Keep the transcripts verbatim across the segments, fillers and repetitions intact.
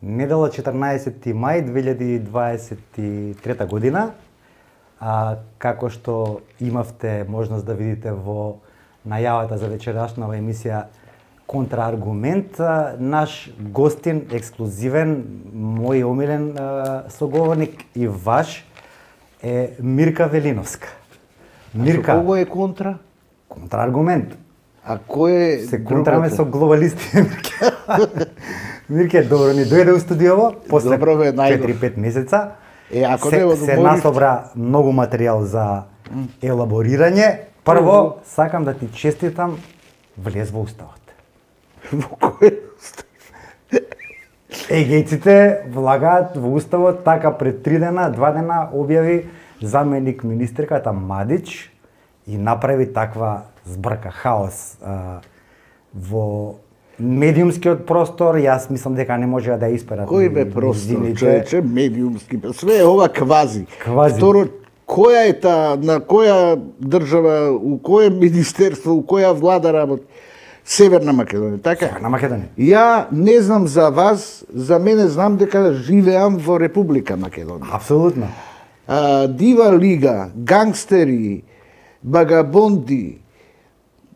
недела четрнаесети мај две илјади дваесет и трета година, а, како што имавте можност да видите во најавата за вечерашнава емисија Контрааргумент, наш гостин, ексклузивен, мој омилен соговорник и ваш е Мирка Велиновска. Мирка. А кој е контра? Контрааргумент. А кој е се контраме со глобалисти, Мирке. Мирке, добро ни дојде у студиово после четири-пет месеца. Е, ако се, не се насобра многу материјал за елаборирање. Прво, сакам да ти честитам, влез во уставот. Во кој устав? Егејците влагаат во уставот, така пред три дена, два дена објави заменик министерката Мадич и направи таква збрка, хаос а, во медиумскиот простор. Јас мислам дека не можеа да исперат. Кој бе простор, човече, медиумски? Све е ова квази. Квази. Второ, која е та, на која држава, у кој министерство, у која влада работи? Северна Македонија, така? Северна Македонија. Ја не знам за вас, за мене знам дека живеам во Република Македонија. Апсолутно. А, дива лига, гангстери, багабонди,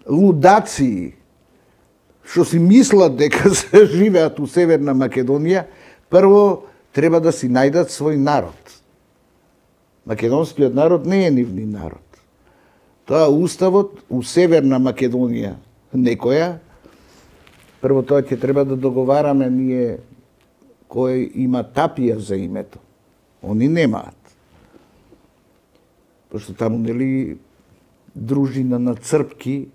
лудаци, што си мислат дека се живеат у Северна Македонија, прво треба да си најдат свој народ. Македонскиот народ не е нивни народ. Тоа уставот у Северна Македонија некоја, прво тоа ќе треба да договараме ние кој има тапија за името. Они немаат. Пошто таму, нели, дружина на црпки,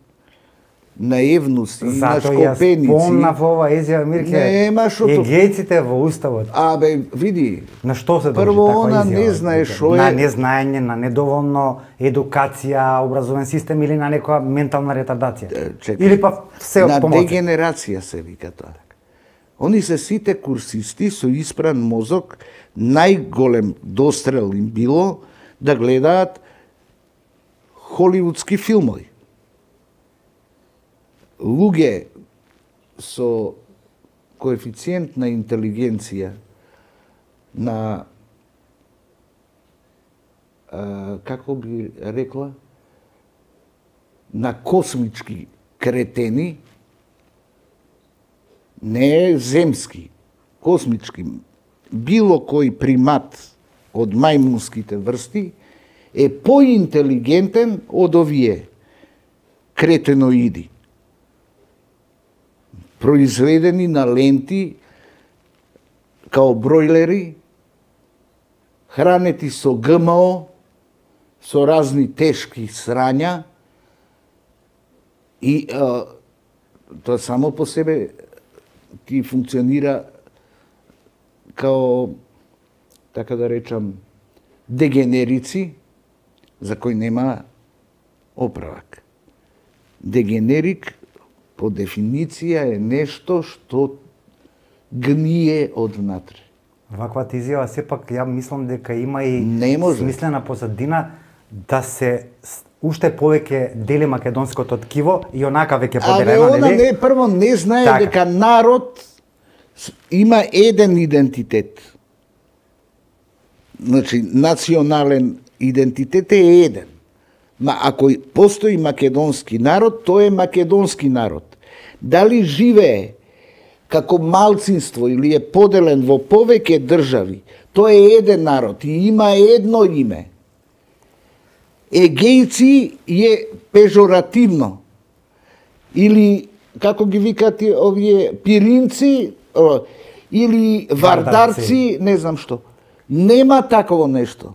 на евнуси, на шкопеници. Зато јас помнав ова изјава, Мирке, Нема шото... егејците во уставот. Абе, види, на што се дължи прво таква она изјава? не знае шо е... На незнаење, на недоволно едукација, образовен систем или на некоја ментална ретардација. Чекай, или па се од на помоци. дегенерација се вика тоа. Они се сите курсисти со испран мозок, најголем дострел им било да гледаат холивудски филмови. Луѓе со коефициент на интелигенција, на а, како би рекла, на космички кретени, не е земски, космички, било кој примат од мајмунските врсти е поинтелигентен од овие кретеноиди, произведени на ленти као бройлери, хранети со ГМО, со разни тешки срања и а, тоа само по себе ти функционира као, така да речам, дегенерици за кој нема оправак. Дегенерик по дефиниција е нешто што гние однатре. Ваквата изјава сепак ја мислам дека има и смислена позадина да се уште повеќе дели македонското ткиво и онака веќе поделено, нели? Абе, она не прво не знае така, дека народ има еден идентитет. Значи, национален идентитет е еден. Ма ако постои македонски народ, тој е македонски народ. Дали живее како малцинство или е поделен во повеќе држави, тој е еден народ и има едно име. Егејци е пежоративно. Или, како ги викат овие, пиринци, или вардарци, не знам што. Нема таково нешто.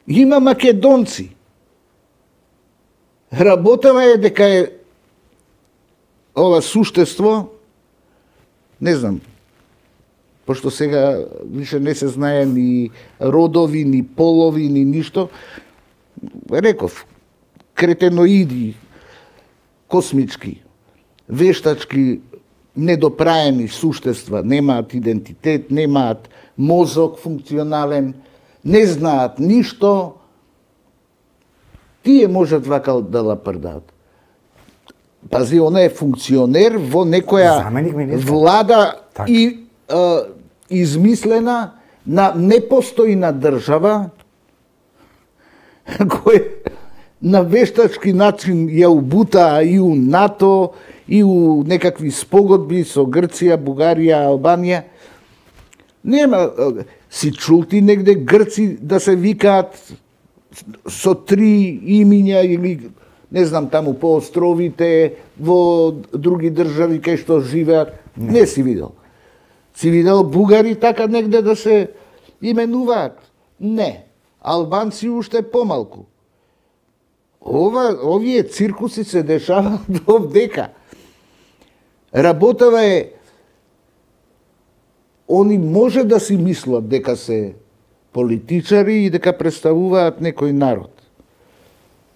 Има македонци. Работава е дека е ова суштество, не знам, пошто сега више не се знае ни родови, ни полови, ни ништо, реков, кретеноиди, космички, вештачки, недопраени суштества, немаат идентитет, немаат мозок функционален, не знаат ништо, тие можат вака да лапрдаат. Пази, она е функционер во некоја влада Так. и а, измислена на непостојна држава која на вештачки начин ја убута и у НАТО, и у некакви спогодби со Грција, Бугарија, Албанија. Нема, си чул ти негде Грци да се викаат со три имиња или не знам таму по островите, во други држави кај што живеат? Не, не си видел. Си видел бугари така негде да се именуваат? Не. Албанци уште помалку. Ова, овие циркуси се дешаваат овдека. Работава е, они може да си мислат дека се политичари и дека представуваат некој народ.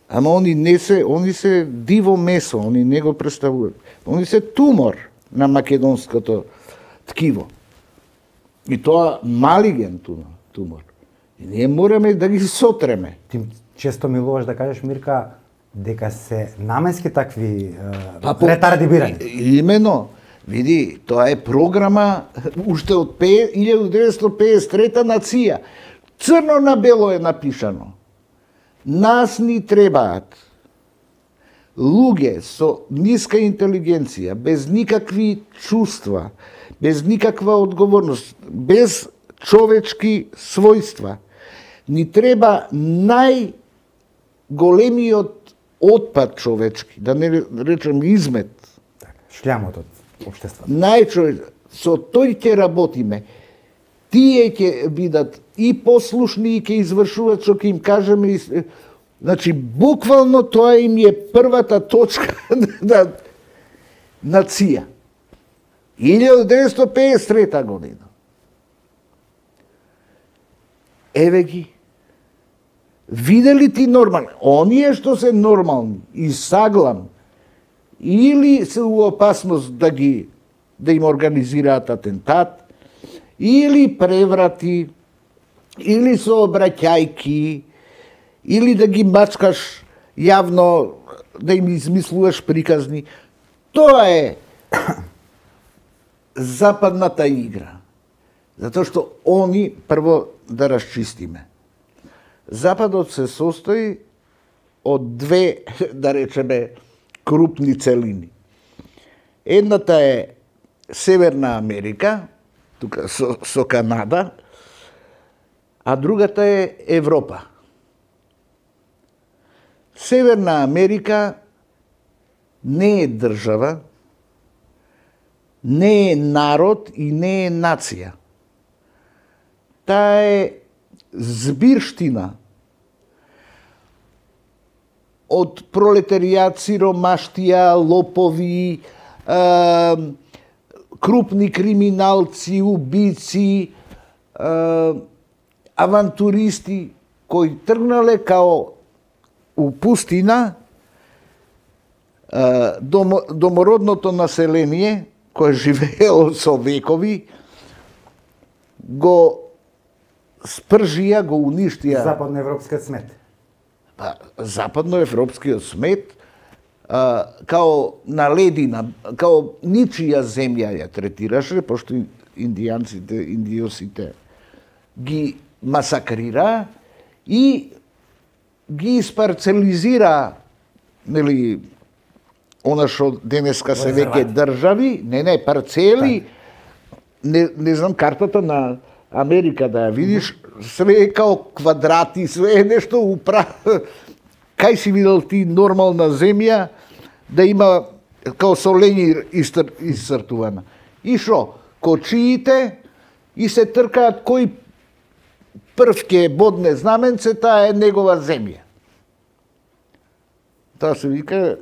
Ама они не се, они се диво месо, они не го представуваат. Они се тумор на македонското ткиво. И тоа малиген тумор. И ние мораме да ги сотреме. Ти често милуваш да кажеш, Мирка, дека се наменски такви па, ретардибирани. Имено. Види, тоа е програма уште од илјада деветстотини пеесет и трета на ЦИА. Црно на бело е напишано. Нас ни требаат луѓе со ниска интелигенција, без никакви чувства, без никаква одговорност, без човечки својства. Ни треба најголемиот отпад човечки, да не речем измет. Шлямот од општеството. Најчовеч, со тој ќе работиме. Тие ќе бидат и послушни и ќе извршуваат што ќе им кажеме. Значи, буквално тоа им е првата точка на, на ЦИА. илјада деветстотини пеесет и трета година. Еве ги. Видели ти нормални? Оние што се нормални и саглам, или се у опасност да ги да им организираат атентат, или преврати, или сообраќајки, или да ги мачкаш јавно, да им измислуваш приказни. Тоа е западната игра. Затоа што они, прво да расчистиме. Западот се состои од две, да речеме, крупни целини. Едната е Северна Америка, тука со, со Канада, а другата е Европа. Северна Америка не е држава, не е народ и не е нација. Таа е збирштина од пролетаријат, сиромаштија, лопови, е, крупни криминалци, убици, е, авантуристи, кои тргнале као у пустина, е, дом, домородното население, кое живеело со векови, го спржија, го уништија. Западноевропскиот смет. Па, западноевропскиот смет, а, као на ледина, као ничија земја ја третираше, пошто индијанците, индиосите ги масакрира и ги испарцелизира, нели, она што денеска се веќе држави, не, не, парцели, не, не знам картата на Америка да ја видиш, све е као квадрати, све е нешто упра... Кај си видел ти нормална земја да има као со лење истр... исцртувана? И шо? Кочиите и се тркаат кој прв ке бодне знаменце, таа е негова земја. Тоа се вика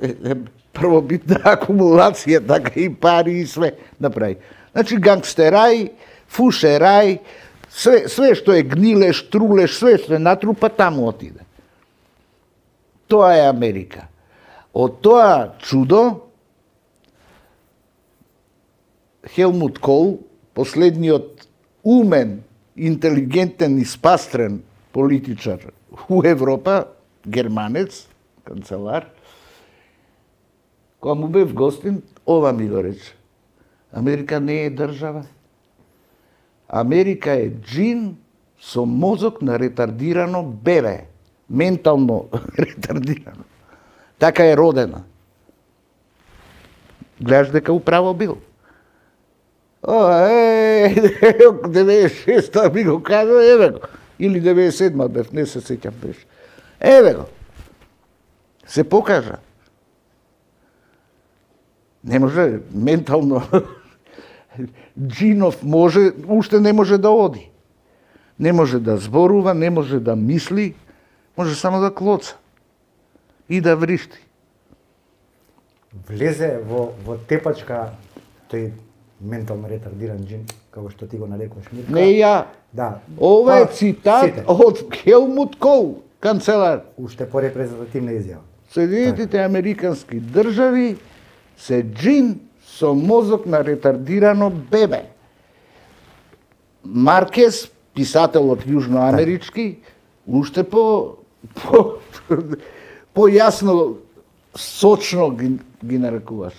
првобитна акумулација, така и пари и све направи. Значи гангстерај, фушерај, све, све што е гнилеш, трулеш, све што е натрупа, таму отиде. Тоа е Америка. Од тоа чудо, Хелмут Кол, последниот умен, интелигентен и спастрен политичар у Европа, германец, канцелар, кога му бев гостин, ова ми го рече. Америка не е држава. Америка е джин со мозок на ретардирано бебе. Ментално ретардирано. Така е родена. Гледаш дека управо бил. О, е, деветдесет и шеста ми го кажа, еве го. Или деветдесет и седма бев, не се сеќам беше. Еве го. Се покажа. Не може ментално. Джинов може, уште не може да оди. Не може да зборува, не може да мисли, може само да клоца и да вришти. Влезе во, во тепачка тој ментално ретардиран джин, како што ти го нарекуваш, Мирка. Не ја. Да. Ова е Па, цитат сите. од Хелмут Кол, канцелар. Уште порепрезентативна изјава. Соединетите Американски држави се джин со мозок на ретардирано бебе. Маркес, писателот јужноамерички, уште по по појасно, сочно ги, ги нарекуваш.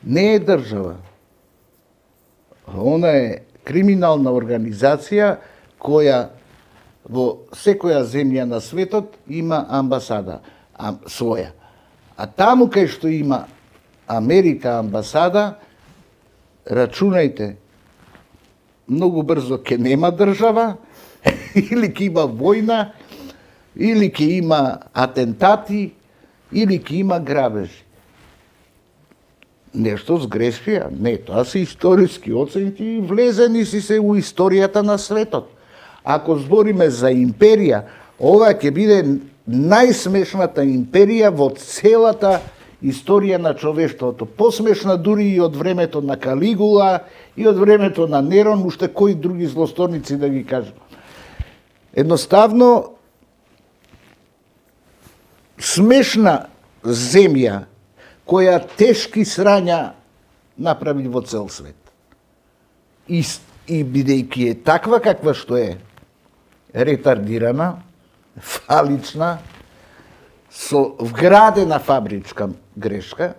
Не е држава. Она е криминална организација која во секоја земја на светот има амбасада а, своја. А таму кај што има Америка амбасада, рачунајте, многу брзо ќе нема држава, или ќе има војна, или ќе има атентати, или ќе има грабежи. Нешто сгрешија? Не, тоа се историски оценки и влезени си се у историјата на светот. Ако збориме за империја, ова ќе биде најсмешната империја во целата историја на човештвото. Посмешна дури и од времето на Калигула, и од времето на Нерон, уште кои други злосторници да ги кажам. Едноставно, смешна земја, која тешки срања направи во цел свет. И, и бидејќи е таква каква што е, ретардирана, фалична, со вградена фабричка грешка,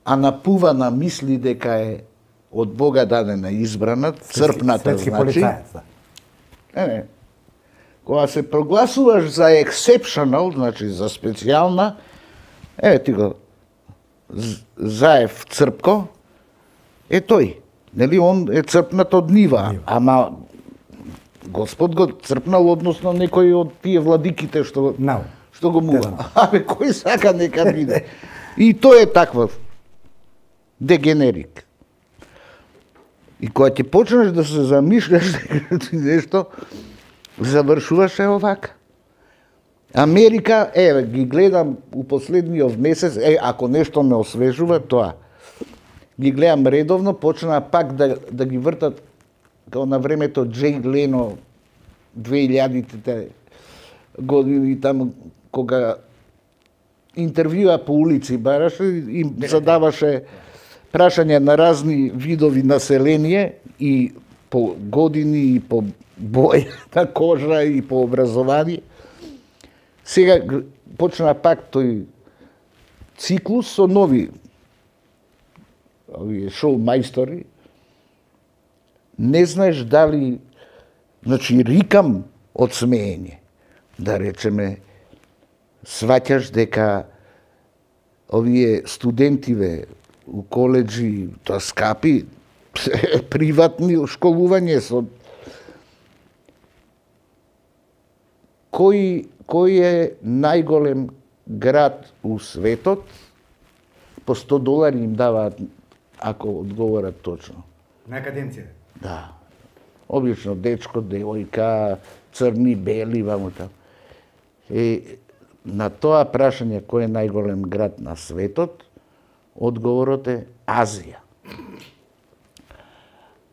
а напувана мисли дека е од Бога дадена избрана, црпната, Светски значи. полицаец, да. Не, не. Кога се прогласуваш за exceptional, значи за специјална, еве ти го Заев Црпко, е тој. Нели, он е црпнат од нива, ама Господ го црпнал, односно некој од тие владиките што, No. што го мува. Абе, кој сака нека биде. И тој е таквав дегенерик. И кога ќе почнеш да се замишляш нешто, завршуваш е овака. Америка, еве, ги гледам у последниот месец, е, ако нешто ме освежува, тоа. Ги гледам редовно, почна пак да, да ги вртат, као на времето Джей Лено, две илјадите години, таму, кога интервјуа по улици бараше, им задаваше прашања на разни видови население и по години, и по боја на кожа, и по образование. Сега почна пак тој циклус со нови овие шоу мајстори. Не знаеш дали, значи рикам од смеење, да речеме, сваќаш дека овие студентиве у коледжи, тоа скапи, приватни школување со кој кој е најголем град у светот, по сто долари им даваат ако одговорат точно. На академција. Да. Обично дечко, девојка, црни, бели, ваму таму. Е, на тоа прашање кој е најголем град на светот, одговорот е Азија.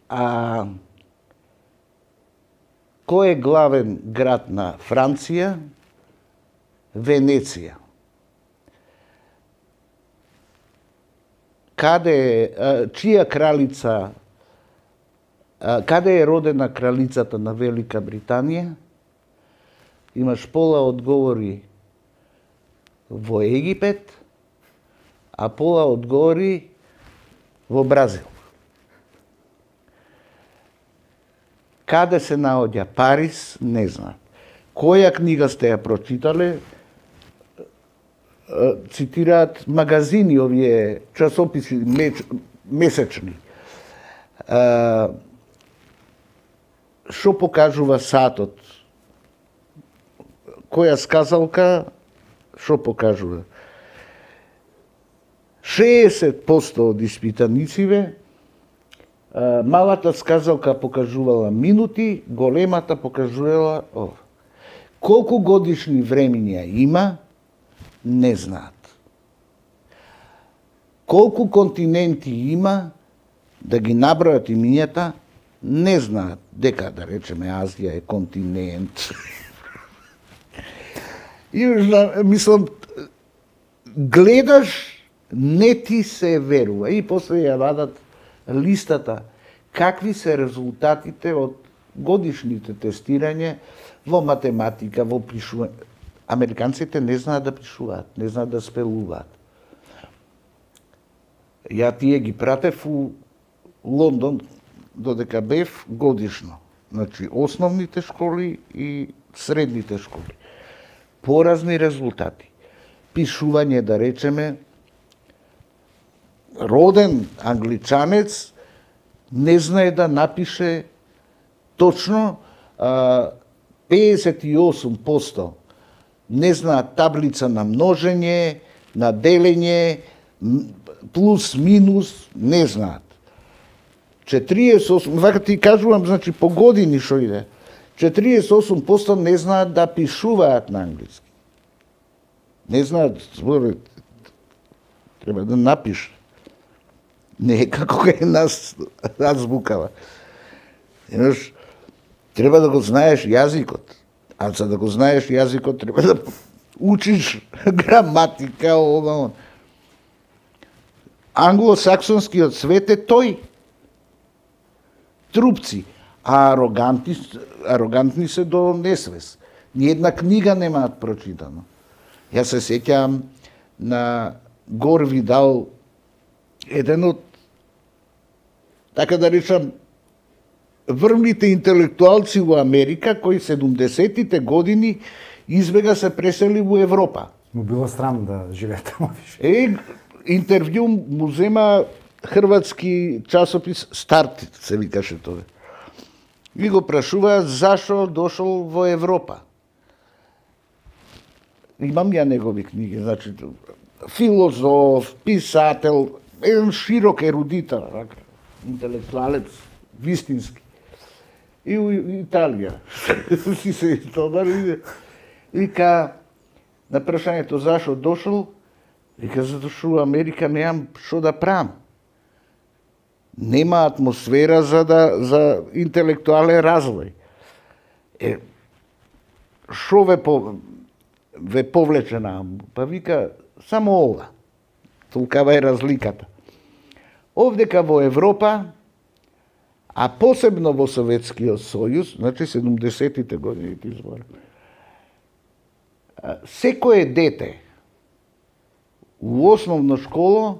А кој е главен град на Франција? Венеција. Каде е, чија кралица, каде е родена кралицата на Велика Британија? Имаш пола одговори во Египет, а пола одговори во Бразил. Каде се наоѓа Париз, не знаат. Која книга сте ја прочитале? Цитираат магазини, овие часописи месечни. Што покажува сатот? Која сказалка, што покажува? шеесет проценти од испитанициве, малата сказалка покажувала минути, големата покажувала ова. Колку годишни времиња има, не знаат. Колку континенти има, да ги набројат имињата, не знаат. Дека, да речеме, Азија е континент. И, мислам, гледаш, не ти се верува. И после ја вадат листата, какви се резултатите од годишните тестирање во математика, во пишување. Американците не знаат да пишуваат, не знаат да спелуваат. Ја тие ги пратев у Лондон, додека бев годишно. Значи, основните школи и средните школи. Поразни резултати. Пишување, да речеме, роден англичанец не знае да напише точно педесет и осум проценти не знаат таблица на множење, на делење, плюс, минус, не знаат. четириесет и осум, вака ти кажувам, значи по години што иде, четириесет и осум проценти не знаат да пишуваат на англиски. Не знаат, зборот, треба да напише. Не е како е нас азбукава. Имаш, треба да го знаеш јазикот. А за да го знаеш јазикот, треба да учиш граматика, ова. Англосаксонскиот свет е тој. Трупци. А арогантни, арогантни се до несвес. Ниедна книга немаат прочитано. Јас се сеќавам на Гор Видал, еден од, така да речам, врвните интелектуалци во Америка, кои седумдесетите години избега се пресели во Европа. Му било срам да живее таму више. Е, интервју му зема хрватски часопис Старт, се викаше тоа. И го прашуваат зашо дошол во Европа. Имам ја негови книги, значи филозоф, писател, еден широк ерудитар, интелектуалец, вистински. И у Италија. Си се истобари. Вика, на прашањето зашо дошол, вика, затоа што у Америка немам што да правам. Нема атмосфера за да за интелектуален развој. Е, шо ве по ве повлече нааму? Па вика, само ова. Толкава е разликата. Овдека во Европа, а посебно во Советскиот сојуз, значи седумдесетите години ти зборам, секое дете у основна школа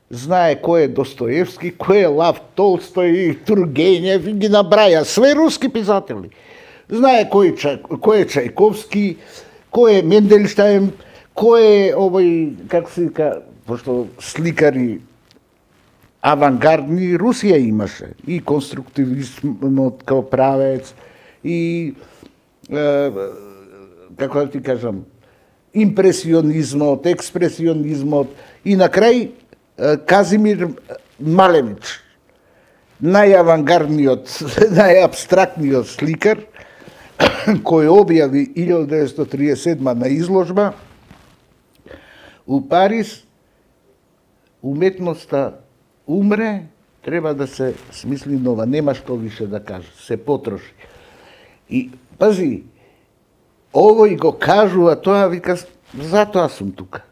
знае кој е Достоевски, кој е Лав Толстој, Тургенев, ги набраја, све руски писатели. Знае кој, кој е Чајковски, кој е Менделштајн, кој е овој, како се вика, пошто сликари авангардни Русија имаше, и конструктивизмот као правец, и, е, како да ти кажам, импресионизмот, експресионизмот, и на крај Казимир Малевич, најавангардниот, најабстрактниот сликар, кој објави илјада деветстотини триесет и седма на изложба у Париз, уметноста умре, треба да се смисли нова, нема што више да каже, се потроши. И, пази, овој го кажува тоа, вика, затоа сум тука.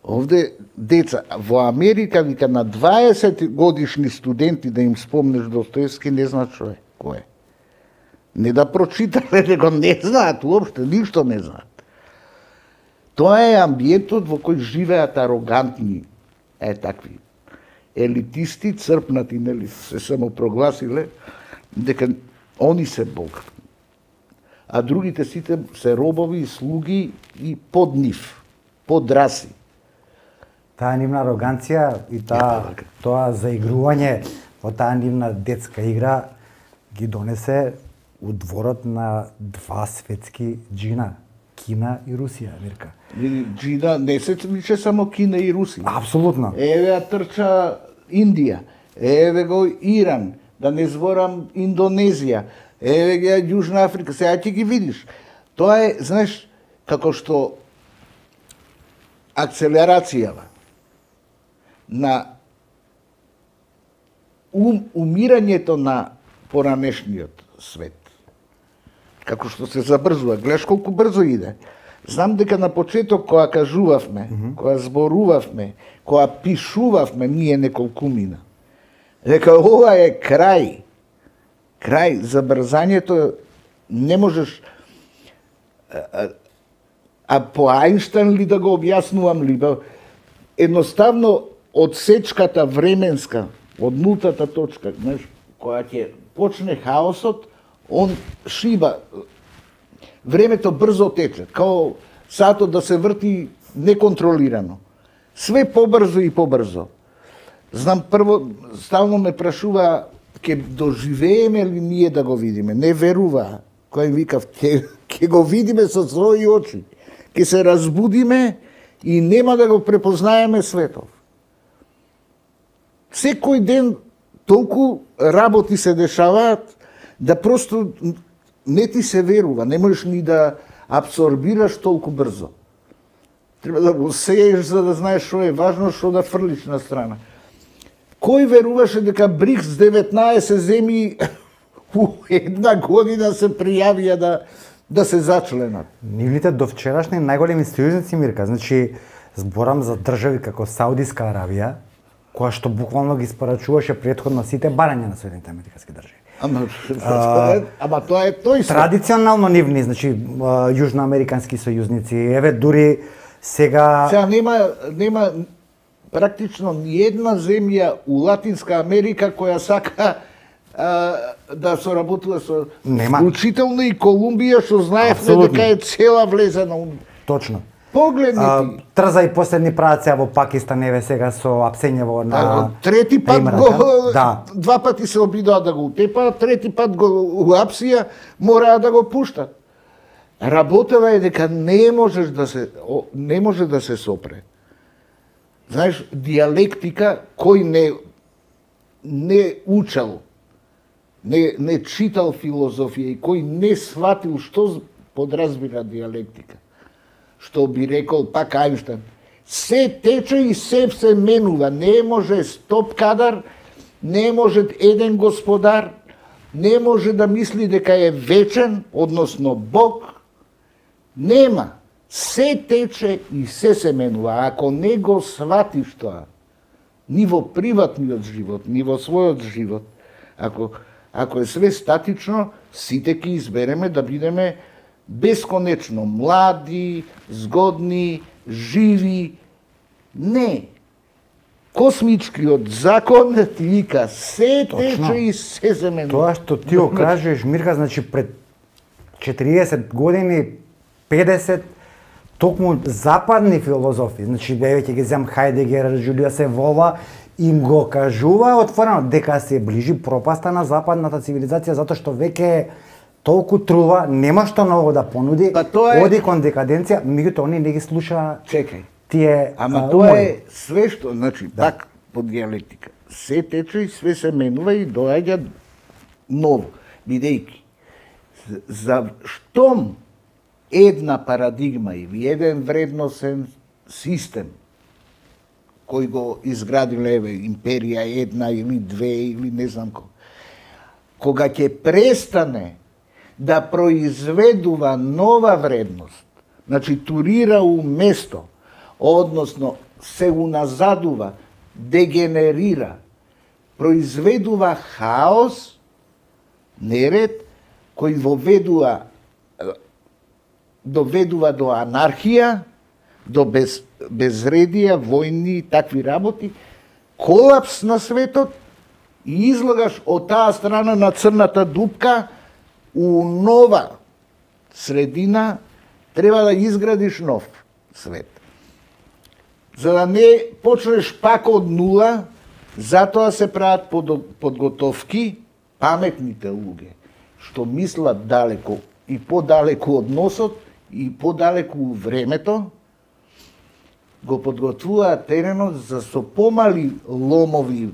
Овде деца, во Америка, вика, на дваесет годишни студенти да им спомнеш Достоевски, не знаат што е, кој е. Не да прочитале, него не знаат, уопште, ништо не знаат. Тоа е амбиентот во кој живеат арогантни, е такви елитисти, црпнати, нели, се самопрогласиле дека они се Бог. А другите сите се робови, слуги и под нив, под раси. Таа нивна ароганција и таа, тоа заигрување во таа нивна детска игра ги донесе у дворот на два светски джина, Кина и Русија, Мирка. Джина не се више само Кина и Русија. Апсолутно. Еве ја трча Индија, еве го Иран, да не зборам Индонезија, еве ги Јужна Африка, сега ќе ги видиш. Тоа е, знаеш, како што акцелерацијава на ум, умирањето на поранешниот свет. Како што се забрзува, гледаш колку брзо иде. Знам дека на почеток кога кажувавме, mm -hmm. кога зборувавме, кога пишувавме ние неколкумина, дека ова е крај. Крај, забрзањето не можеш. А, а по Ајнштајн ли да го објаснувам ли? Едноставно одсечката временска од нултата точка, знаеш, кога ќе почне хаосот, он шиба. Времето брзо тече, као сатот да се врти неконтролирано. Све побрзо и побрзо. Знам, прво, стално ме прашува, ќе доживееме ли ние да го видиме? Не верува. Кој им викав, ќе, ќе го видиме со своји очи. Ќе се разбудиме и нема да го препознаеме светов. Секој ден толку работи се дешаваат, да просто не ти се верува, не можеш ни да абсорбираш толку брзо. Треба да го сееш за да знаеш што е важно, што да фрлиш на страна. Кој веруваше дека БРИКС деветнаесет земји у една година се пријавија да да се зачленат? Нивните довчерашни најголеми сојузници, Мирка, значи зборам за држави како Саудиска Аравија, која што буквално ги испорачуваше претходно сите барања на Соединетите американски држави. Ама, а, ама тоа е тој се. Традиционално нивни, значи јужноамерикански сојузници, еве дури сега Сега нема нема практично ни една земја у Латинска Америка која сака а, да соработува со Нема. Вклучително и Колумбија, што знаевме дека е цела влезена. Точно. Погледни ти. Трза и последни прават сега во Пакистан, еве сега со Апсењево на А, трети пат Имрата. го Да. два пати се обидоа да го утепаат, трети пат го уапсија, мораа да го пуштат. Работава е дека не можеш да се о, не може да се сопре. Знаеш, диалектика кој не не учел, не не читал филозофија и кој не сватил што подразбира диалектика, што би рекол пак Ајнштајн, се тече и се се менува, не може стоп кадар, не може еден господар, не може да мисли дека е вечен, односно Бог, нема. Се тече и се се менува. Ако не го сватиш тоа, ни во приватниот живот, ни во својот живот, ако, ако е све статично, сите ќе избереме да бидеме бесконечно млади, згодни, живи. Не. Космичкиот закон ти вика се тече и се се менува. Тоа што ти го кажеш, Мирка, значи пред четириесет години, педесет, токму западни филозофи, значи еве ќе ги земам Хајдегер, Џулиус Евола, им го кажува отворено дека се ближи пропаста на западната цивилизација затоа што веќе толку трува, нема што ново да понуди, Па тоа е- оди кон декаденција, меѓутоа они не ги слуша Чекај. тие Ама а, тоа умори. е све што, значи, пак по диалектика. Се тече и све се менува и доаѓа ново, бидејќи за штом една парадигма или еден вредносен систем кој го изградиле еве империја една или две или не знам кој, кога ќе престане да произведува нова вредност, значи турира у место, односно се уназадува, дегенерира, произведува хаос, неред, кој воведува, доведува до анархија, до без, безредија, војни и такви работи, колапс на светот и излагаш од таа страна на црната дупка у нова средина, треба да изградиш нов свет. За да не почнеш пак од нула, затоа се прават подготовки, паметните луѓе, што мислат далеко и подалеку од носот и подалеку у времето, го подготвуваат теренот за со помали ломови.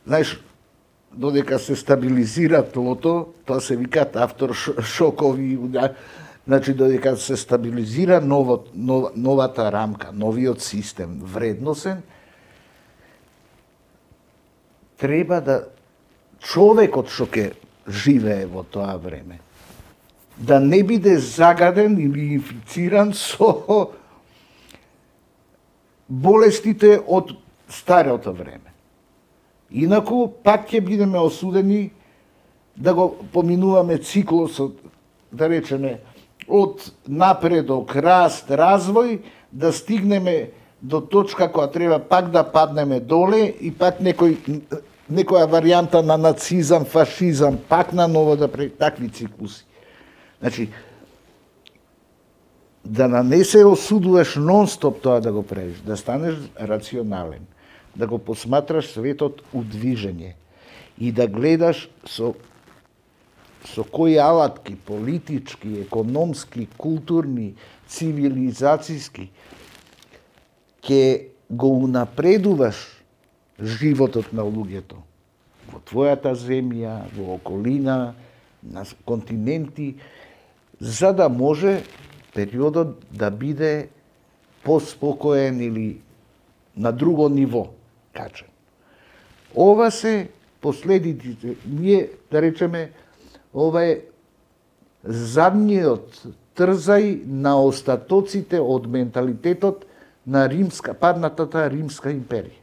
Знаеш, додека се стабилизира тлото, тоа се викаат авторшокови, значи додека се стабилизира ново, нов, новата рамка, новиот систем, вредносен, треба да човекот што ќе живее во тоа време, да не биде загаден или инфициран со болестите од старото време. Инаку, пак ќе бидеме осудени да го поминуваме циклусот, да речеме, од напредок, раст, развој, да стигнеме до точка која треба пак да паднеме доле и пак некој, некоја варијанта на нацизам, фашизам, пак на ново да прави такви циклуси. Значи, да не се осудуваш нон-стоп тоа да го правиш, да станеш рационален, да го посматраш светот у движење и да гледаш со со кои алатки, политички, економски, културни, цивилизацијски, ќе го унапредуваш животот на луѓето во твојата земја, во околина, на континенти, за да може периодот да биде поспокоен или на друго ниво качен. Ова се последиците. Ние, да речеме, ова е задниот трзај на остатоците од менталитетот на римска, паднатата римска империја.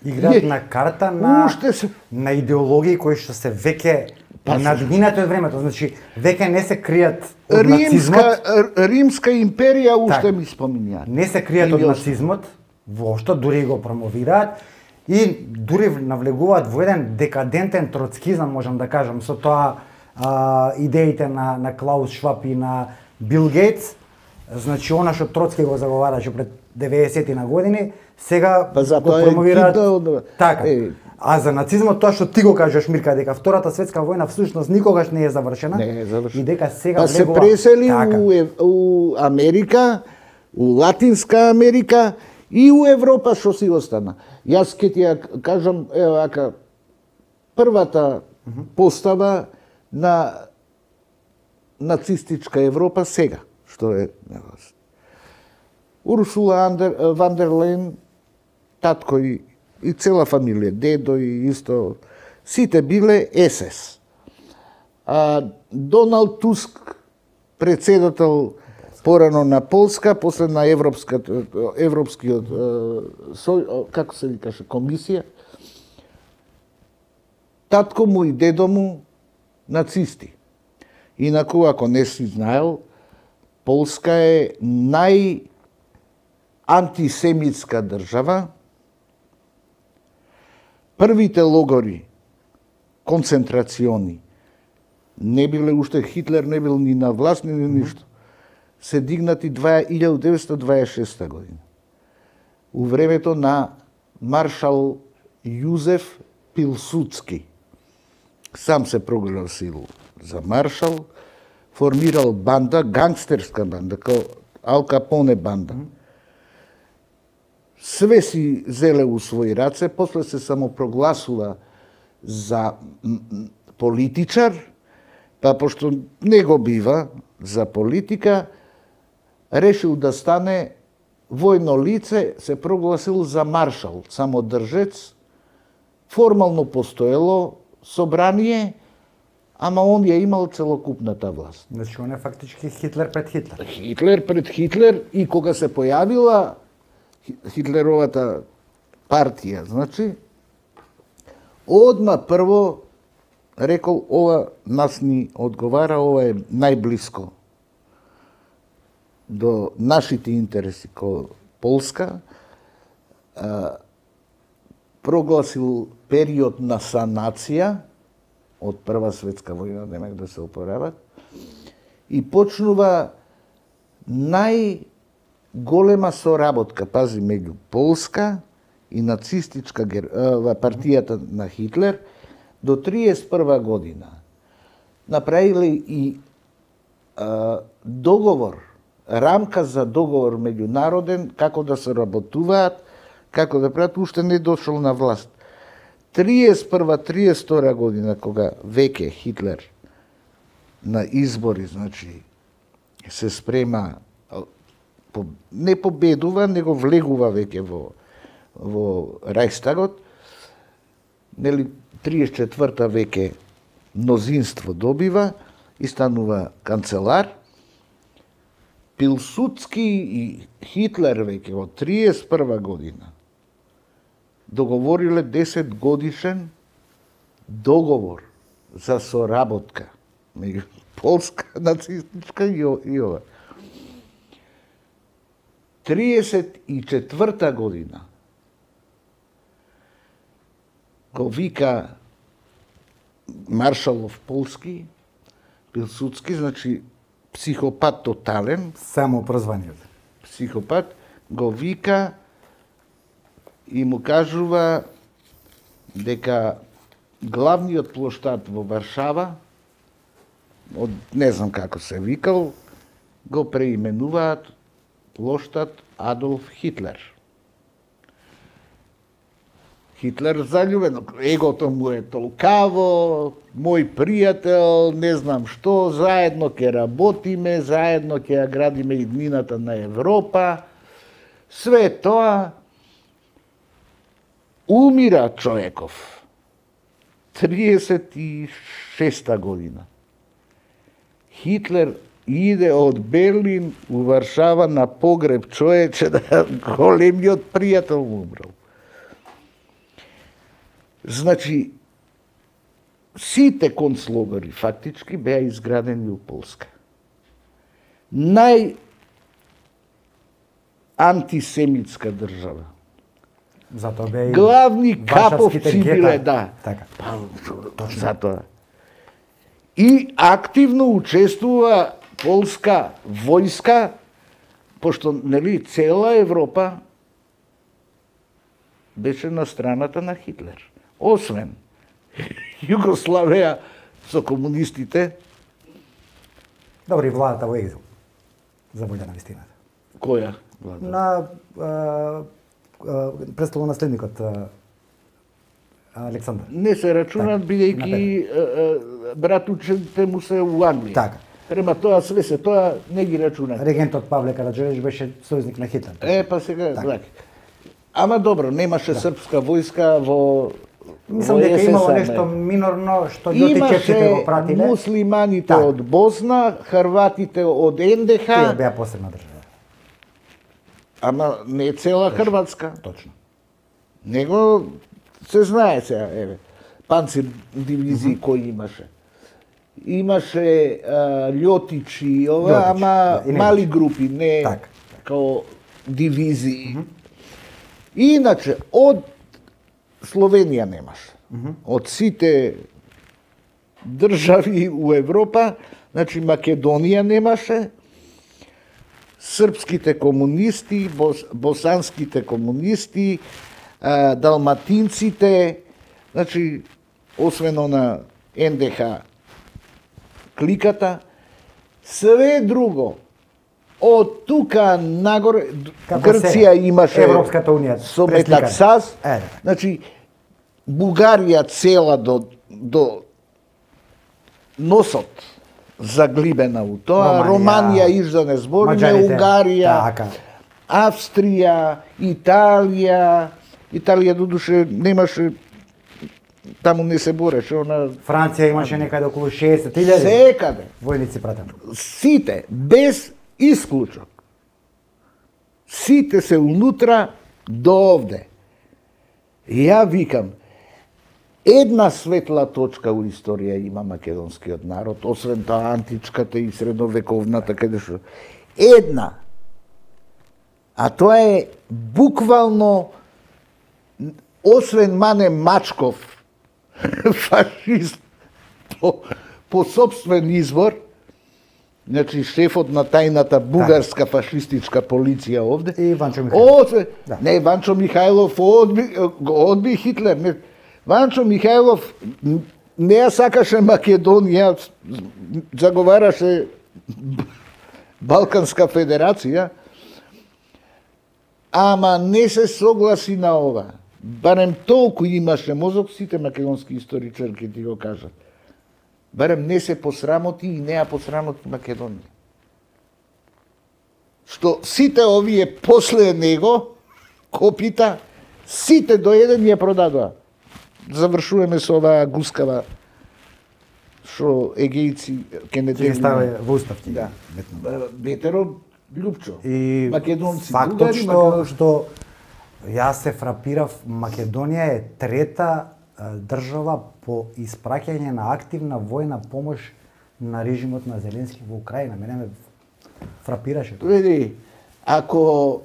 Играат на карта на, се... на идеологии кои што се веќе надминати од времето, значи веќе не се кријат од римска, нацизмот. Римска империја уште так, ми споминјаат. Не се кријат од нацизмот, воопшто дури го промовираат и дури навлегуваат во еден декадентен троцкизам, можам да кажам, со тоа а, идеите на, на Клаус Шваб и на Бил Гейтс. Значи, она што Троцки го заговараше пред деветдесетти на години, сега па го промовираат е... така. Е... А за нацизмот, тоа што ти го кажеш, Мирка, дека Втората светска војна всушност никогаш не е завршена, не е завршена. И дека сега па влегува... се пресели така. у, у Америка, у Латинска Америка и у Европа што си остана. Јас ке ти ја кажам, ево ака, првата uh -huh. постава на нацистичка Европа сега, што е Урсула Андер, ван дер Лейн, татко и, и цела фамилија, дедо и исто, сите биле ес ес. А Доналд Туск, председател порано на Полска, после на Европската, Европскиот, со, како се викаше, комисија, татко му и дедо му нацисти. Инаку, ако не си знаел, Полска е нај антисемитска држава. Првите логори, концентрациони, не биле уште, Хитлер не бил ни на власт, ни ништо, се дигнати илјада деветстотини дваесет и шеста година. У времето на маршал Јузеф Пилсудски. Сам се прогласил за маршал, формирал банда, гангстерска банда, као Ал Капоне банда. Све си зеле у своји раце, после се самопрогласува за политичар, па пошто не го бива за политика, решил да стане војно лице, се прогласил за маршал, самодржец, формално постоело собрание, ама он ја имал целокупната власт. Значи, он е фактички Хитлер пред Хитлер. Хитлер пред Хитлер, и кога се појавила Хитлеровата партија, значи, одма прво рекол, ова нас ни одговара, ова е најблиско до нашите интереси ко Полска, а, прогласил период на санација од Прва светска војна, немак да се опорават, и почнува најголема соработка, пази, меѓу Полска и нацистичка партијата на Хитлер до триесет и прва година. Направиле и а, договор, рамка за договор меѓународен, како да се работуваат, како да прават, уште не дошол на власт. триесет и прва триесет и втора година, кога веќе Хитлер на избори, значи, се спрема, не победува, него влегува веќе во, во Рајхстагот, нели, триесет и четврта веќе мнозинство добива и станува канцелар. Пилсудски и Хитлер веќе во триесет и прва година договориле десет годишен договор за соработка меѓу Полска нацистичка и ова. триесет и четврта година го вика Маршалов Полски, Пилсудски, значи психопат тотален. Само прозваниот. Психопат, го вика и му кажува дека главниот плоштад во Варшава, од не знам како се викал, го преименуваат плоштад Адолф Хитлер. Хитлер заљубен, егото му е толкаво, мој пријател, не знам што, заедно ќе работиме, заедно ќе ја градиме иднината на Европа. Све тоа умира човеков. триесет и шеста година. Хитлер иде од Берлин у Варшава на погреб, човече, да големиот пријател му умрал. Значи, сите концлогори фактички беа изградени у Полска. Нај антисемитска држава. Затоа беа и главни каповци гета. биле, да. Така. Па, затоа. И активно учествува полска војска, пошто, нели, цела Европа беше на страната на Хитлер. Освен Југославија со комунистите. Добри, владата во екзил. За волја на вистината. Која влада? На а, а, престолонаследникот а, Александар. Не се рачунат, така, бидејќи братучите му се у Англија. Така. Према тоа све се тоа не ги рачунат. Регентот Павле Караџорич беше сојузник на Хитлер. Е, па сега, така. така. Ама добро, немаше да. Српска војска во Мислам дека имало нешто минорно што љотичевците го пратиле. Имаше муслиманите так. од Босна, хрватите од Ен Де Ха. Тие беа посебна држава. Ама не цела точно, Хрватска. Точно. Него се знае сега, еве, панцир дивизии mm -hmm. кои имаше. Имаше а, љотичи, ова, Льотич, ама да, мали групи, не так. Као дивизии. Mm -hmm. Иначе, од Словенија немаше. Mm -hmm. Од сите држави у Европа, значи Македонија немаше, српските комунисти, бос, босанските комунисти, а, далматинците, значи, освен на Ен Де Ха кликата, све друго, од тука нагоре, како Грција се, имаше Европската унија со Метаксас, е, значи, Бугарија цела до, до носот заглибена у тоа, Романија, Романија иш да не збориме, Унгарија, така. Австрија, Италија, Италија додуше немаше, таму не се бореше, она... Франција имаше некаде околу шеесет илјади. Секаде. Војници пратени. Сите, без исклучок. Сите се унутра до овде. Ја викам, една светла точка у историја има македонскиот народ, освен таа античката и средновековната, каде што една А тоа е буквално, освен Мане Мачков, фашист по, по собствен избор, значи шефот на тајната бугарска фашистичка полиција овде. И Ванчо Михајлов. О, да. Не, Ванчо Михајлов одби, одби Хитлер. Не. Ванчо Михајлов не ја сакаше Македонија, заговараше Балканска федерација, ама не се согласи на ова. Барем толку имаше мозок, сите македонски историчари ќе ти го кажат. Барем не се посрамоти и не ја посрамоти Македонија. Што сите овие после него, копита, сите до еден ја продадоа. Завршуваме со оваа гускава што егејци ке не Ќе стави во устав ти. Да. Бетеро Лјупчо. И македонци, фактот бугари, што македонци. што јас се фрапирав, Македонија е трета држава по испраќање на активна војна помош на режимот на Зеленски во Украина. Мене ме фрапираше тоа. Види, ако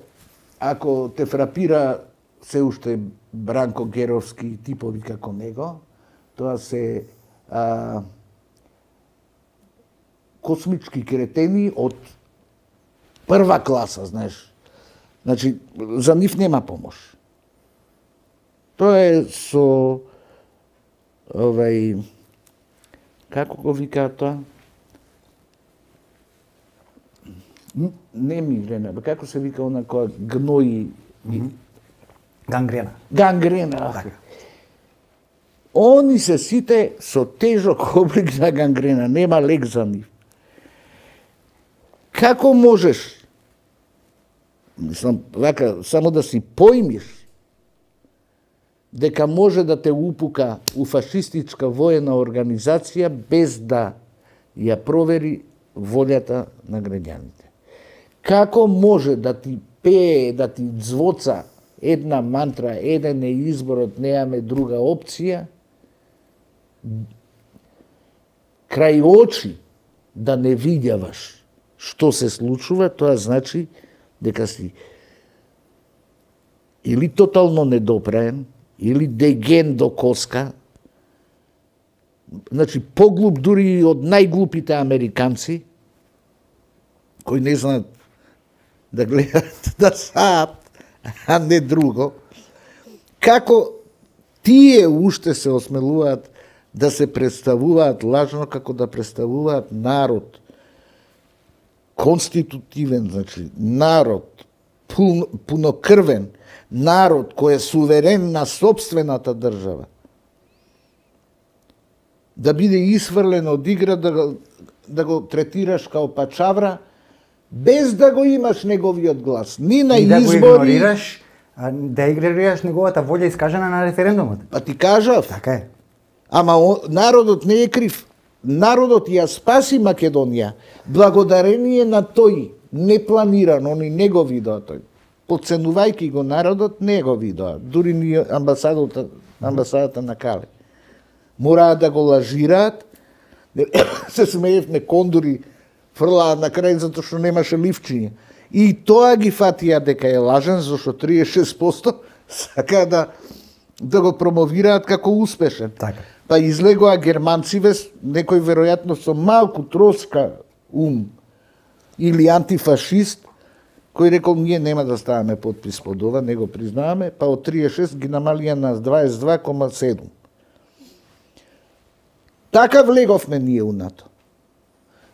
ако те фрапира се уште Бранко Геровски и типови како него, тоа се а, космички кретени од прва класа, знаеш. Значи, за нив нема помош. Тоа е со овај, како го викаат тоа? Не мигрена, бе, како се вика она која гнои... Mm-hmm. Гангрена. Гангрена. Така. Они се сите со тежок облик на гангрена, нема лек за нив. Како можеш, мислам, вака, само да си поимиш, дека може да те упука у фашистичка воена организација без да ја провери волјата на граѓаните? Како може да ти пее, да ти звоца една мантра, еден е изборот, неаме друга опција, крај очи да не видјаваш што се случува, тоа значи дека си или тотално недопраен, или деген до коска, значи поглуп дури и од најглупите американци, кои не знаат да гледат, да саат, а не друго. Како тие уште се осмелуваат да се представуваат лажно, како да представуваат народ конститутивен, значи народ пун, пунокрвен, народ кој е суверен на собствената држава, да биде исфрлен од игра, да го, да го третираш као пачавра, без да го имаш неговиот глас. Ни на и да избори... го игнорираш, а, да игнорираш неговата волја искажана на референдумот. Па ти кажав. Така е. Ама о, народот не е крив. Народот ја спаси Македонија благодарение на тој непланиран, они не го видоа тој. Подценувајќи го народот, не го видоа. Дури ни амбасадата, амбасадата на Кале. Мораа да го лажираат. Се смеевме кондури фрлаат на крај затоа што немаше ливчиња. И тоа ги фатија дека е лажен, зашто триесет и шест проценти сака да да го промовираат како успешен. Така. Па излегоа германциве, некој веројатно со малку троска ум или антифашист, кој рекол ние нема да ставаме подпис под ова, не го признаваме, па од триесет и шест ги намалија на дваесет и два кома седум. Така влеговме ние у НАТО.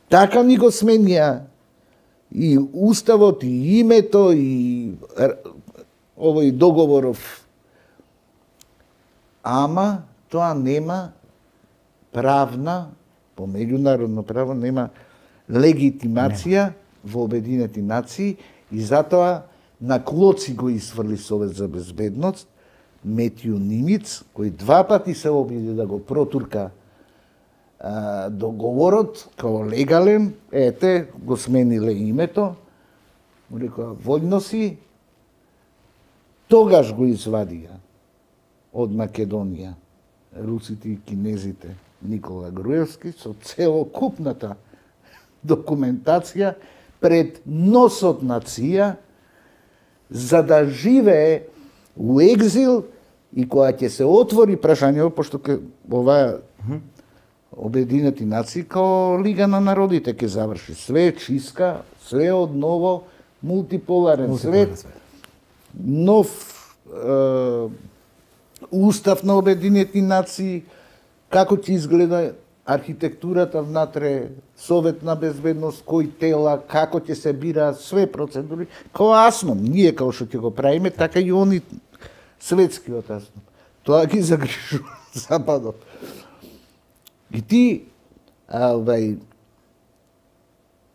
Така ни го сменија и уставот, и името, и овој договоров. Ама тоа нема правна, по меѓународно право, нема легитимација во Обединети нации и затоа на клоци го исфрли Совет за безбедност Метју Нимиц, кој два пати се обиди да го протурка а, договорот као легален, ете, го смениле името, му рекоа, војно си, тогаш го извадија од Македонија русите и кинезите Никола Груевски со целокупната документација пред носот на ЦИА за да живее у екзил и кога ќе се отвори прашањето, пошто ке ова Обединети нации као Лига на народите ќе заврши. Све е чистка, све е одново, мултиполарен свет, нов е, устав на Обединети нации, како ќе изгледа архитектурата внатре, Совет на безбедност, кои тела, како ќе се бираат, све процедури, као АСНОМ, ние као што ќе го правиме, така и они светскиот АСНОМ. Тоа ги загрижува Западот. И ти, авај,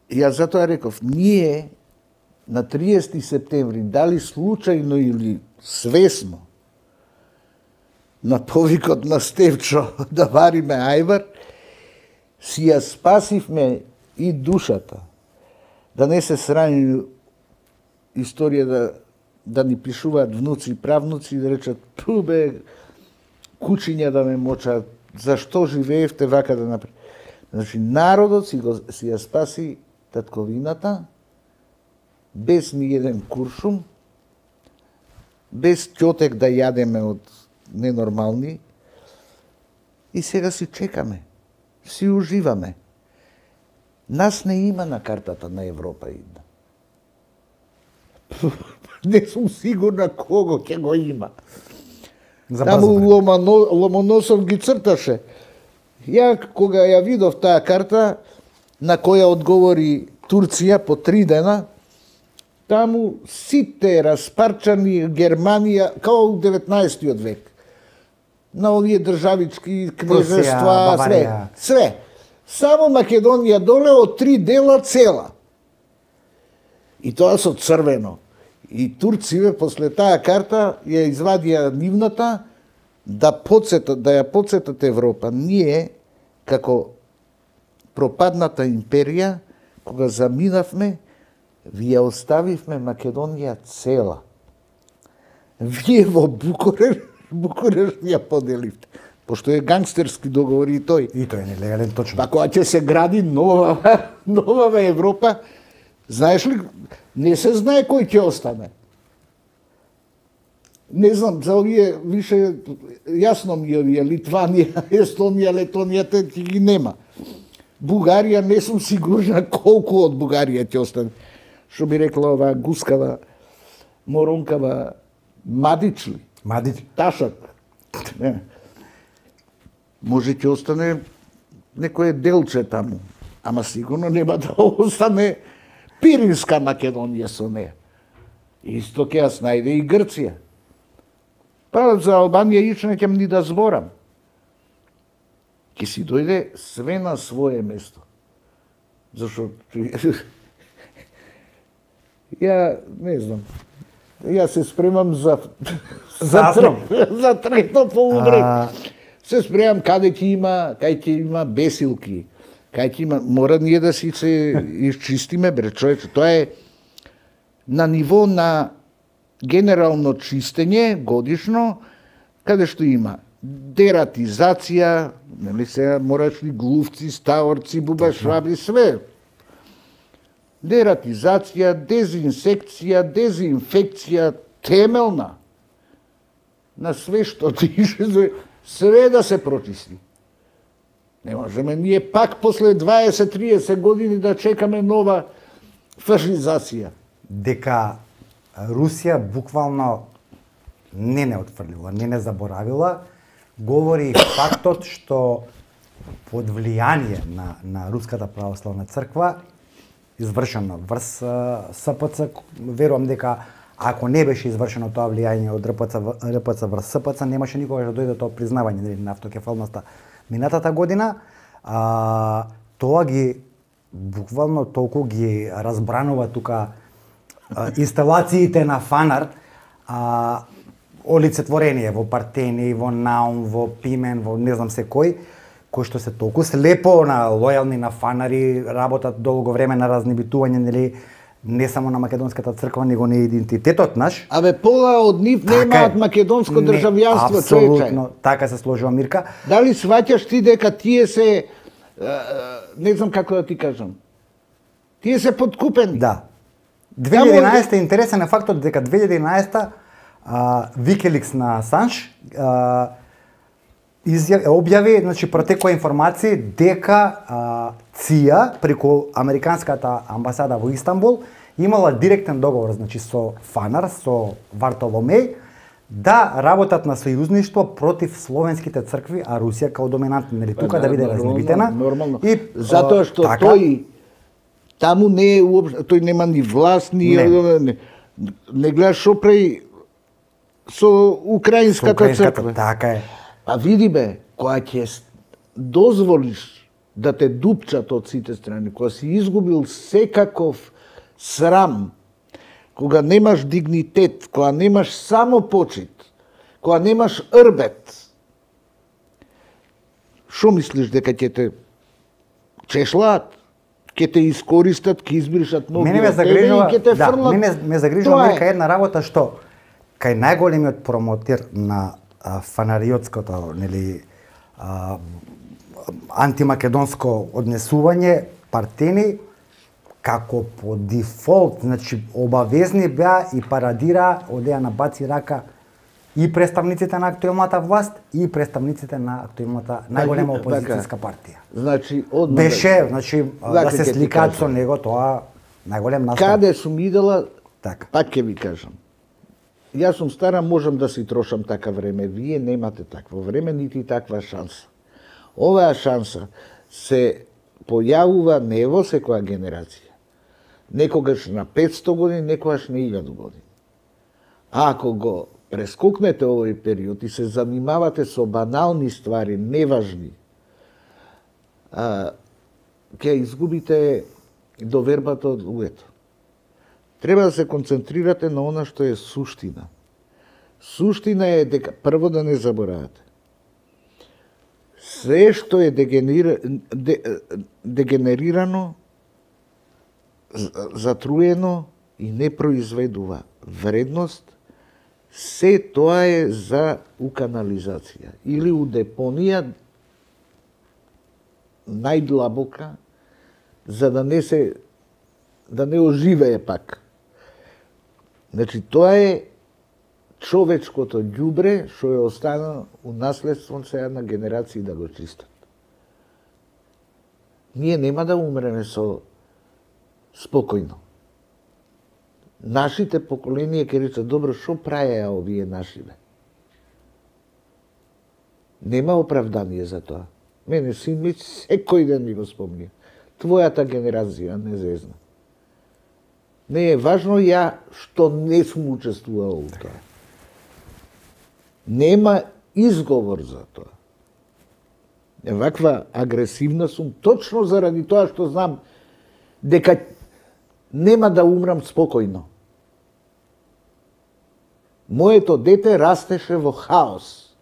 ја затоа реков, ние на триесети септември, дали случајно или свесно, на повикот на Стевчо да вариме ајвар, си ја спасивме и душата. Да не се срани историја да, да ни пишуваат внуци и правнуци и да речат, пу бе, кучиња да ме мочат, зашто живеевте вака да направи. Значи, народот си, го, си ја спаси татковината, без ни еден куршум, без ќотек да јадеме од ненормални, и сега си чекаме, си уживаме. Нас не има на картата на Европа идна. Не сум сигурна кого ќе го има. Таму Ломано, Ломоносов ги црташе. Ја кога ја видов таа карта, на која одговори Турција по три дена, таму сите распарчани Германија, као у деветнаесеттиот век. На овие државички кнежества, све, све. Само Македонија доле од три дела цела. И тоа со црвено. И турците после таа карта ја извадија нивната да подсетат, да ја подсетат Европа. Ние, како пропадната империја, кога заминавме, ви ја оставивме Македонија цела. Вие во Букуреш, Букуреш ја поделивте. Пошто е гангстерски договор и тој. И тој е нелегален, точно. Па кога ќе се гради нова, нова Европа, знаеш ли, не се знае кој ќе остане. Не знам, за овие више, јасно ми овие, Литванија, Естонија, Летонија, те ги нема. Бугарија, не сум сигурна колку од Бугарија ќе остане. Што би рекла ова гускава, моронкава, Мадич ли? Мадич. Ташак. Не. Може ќе остане некое делче таму, ама сигурно нема да остане Пиринска Македонија со неја. Исто ќе јас најде и Грција. Па за Албанија ич не ќем ни да зборам. Ќе си дојде све на свое место. Зашо ја не знам. Ја се спремам за за, трет, за трето полувреме. А... Се спремам каде ќе има, кај ќе има бесилки. Кај ќе има, мора ние да си се изчистиме, бре човече. Тоа е на ниво на генерално чистење годишно, каде што има дератизација, нели се мораш ли глувци, ставорци, бубашваби, све. Дератизација, дезинсекција, дезинфекција, темелна. На све што дише, све да се прочисти. Не можеме ние пак после дваесет-триесет години да чекаме нова фашизација. Дека Русија буквално не не отфрлила, не не заборавила, говори фактот што под влијание на, на Руската православна црква извршено врз СПЦ, верувам дека ако не беше извршено тоа влијање од РПЦ, РПЦ врз СПЦ, немаше никогаш да дојде тоа признавање нели, на автокефалноста минатата година. А, тоа ги буквално толку ги разбранува тука а, инсталациите на Фанар, а, олицетворение во Партени, во Наум, во Пимен, во не знам се кој, кои што се толку слепо на лојални на Фанари, работат долго време на разнебитување, нели, не само на македонската црква, него на идентитетот наш. Абе, пола од нив немаат македонско државјанство, човече. Апсолутно, така се сложува Мирка. Дали сваќаш ти дека тие се, не знам како да ти кажам, тие се подкупени? Да. две илјади и единаесета интересен е фактот дека две илјади и единаесета Wikileaks на Асанж изјави објави, значи протекоа информации дека ЦИА преку американската амбасада во Истанбул имала директен договор, значи со Фанар, со Вартоломеј, да работат на сојузништво против словенските цркви, а Русија као доминантна, нели тука да, да биде разнебитена. Нормално. И затоа што така, тој таму не е уопшто, тој нема ни власт, ни не, не, не гледаш шо прави со украинската, со украинската црква. Така е. А види бе, кога ќе дозволиш да те дупчат од сите страни, кога си изгубил секаков срам, кога немаш дигнитет, кога немаш само почит, кога немаш рбет, шо мислиш дека ќе те чешлаат, ќе те искористат, ќе избришат ноги мене ме загрижува, и ќе те да, фрлат? Мене ме загрижува нека една работа што кај најголемиот промотер на а, фанариотското, нели, а, антимакедонско однесување, Партени, како по дефолт, значи обавезни беа и парадира, одеа на баци рака и представниците на актуелната власт и представниците на актуелната најголема опозицијска партија. Значи, одма беше, значи да се сликаат со него, тоа најголем настап. Каде сум идела, така. Пак ќе ви кажам. Јас сум стара, можам да си трошам така време. Вие немате такво време, нити таква шанса. Оваа шанса се појавува не во секоја генерација. Некогаш на петсто години, некогаш на илјаду години. А ако го прескокнете овој период и се занимавате со банални ствари, неважни, а, ќе изгубите довербата од луѓето. Треба да се концентрирате на она што е суштина. Суштина е дека, прво да не заборавате, се што е дегенер... де... дегенерирано, затруено и не произведува вредност, се тоа е за уканализација или у депонија најдлабока, за да не се да не оживее пак. Значи тоа е човечкото ѓубре што е останало у наследство сега на генерации да го чистат. Ние нема да умреме со спокојно. Нашите поколенија ќе речат, добро, шо праеа овие нашиве? Нема оправдание за тоа. Мене син ми секој ден ми го спомнија. Твојата генерација не зезна. Не е важно ја што не сум учествувал у тоа. Нема изговор за тоа. Ваква агресивна сум точно заради тоа што знам дека нема да умрам спокојно. Моето дете растеше во хаос.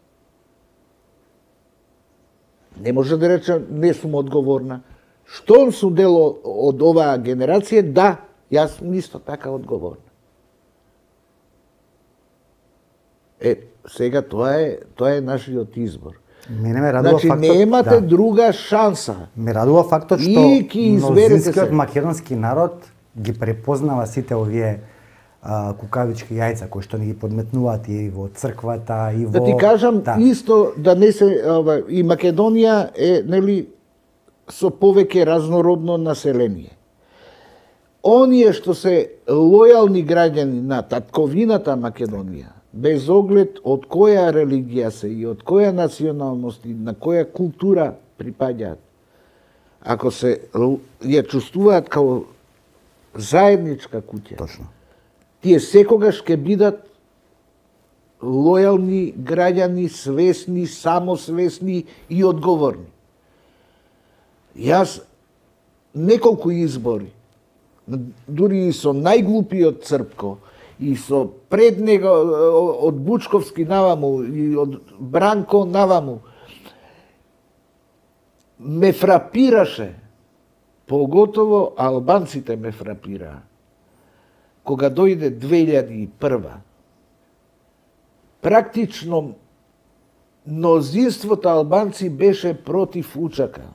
Не може да рече не сум одговорна. Што сум дел од оваа генерација? Да, јас сум исто така одговорна. Е, сега тоа е тоа е нашиот избор. Мене ме радува значи, фактот, немате да. друга шанса. Ме радува фактот што мнозинскиот македонски народ ги препознава сите овие а, кукавички јајца кои што ни ги подметнуваат и во црквата и во... Да ти кажам да. Исто да не се ова, и Македонија е нели со повеќе разнородно население. Оние што се лојални граѓани на татковината Македонија, без оглед од која религија се и од која националност и на која култура припаѓаат, ако се ја чувствуваат као заедничка куќа, Точно. Тие секогаш ќе бидат лојални граѓани, свесни, самосвесни и одговорни. Јас неколку избори, дури и со најглупиот Црпко, и со пред него од Бучковски наваму и од Бранко наваму, ме фрапираше, поготово албанците ме фрапираа. Кога дојде две илјади и прва, практично мнозинството албанци беше против Учака.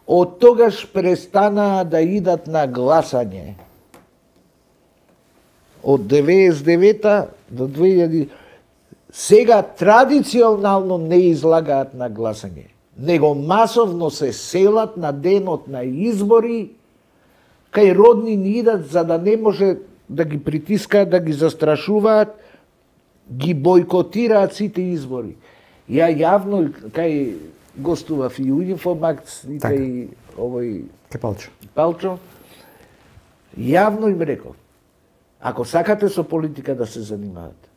Од тогаш престанаа да идат на гласање. од деветдесет и девета до две илјади сега традиционално не излагаат на гласање, него масовно се селат на денот на избори, кај родни ни идат за да не може да ги притискаат, да ги застрашуваат, ги бойкотираат сите избори. Ја јавно кај гостував и у Инфомакс и кај овој Палчо. Палчо, јавно им реков, ако сакате со политика да се занимавате,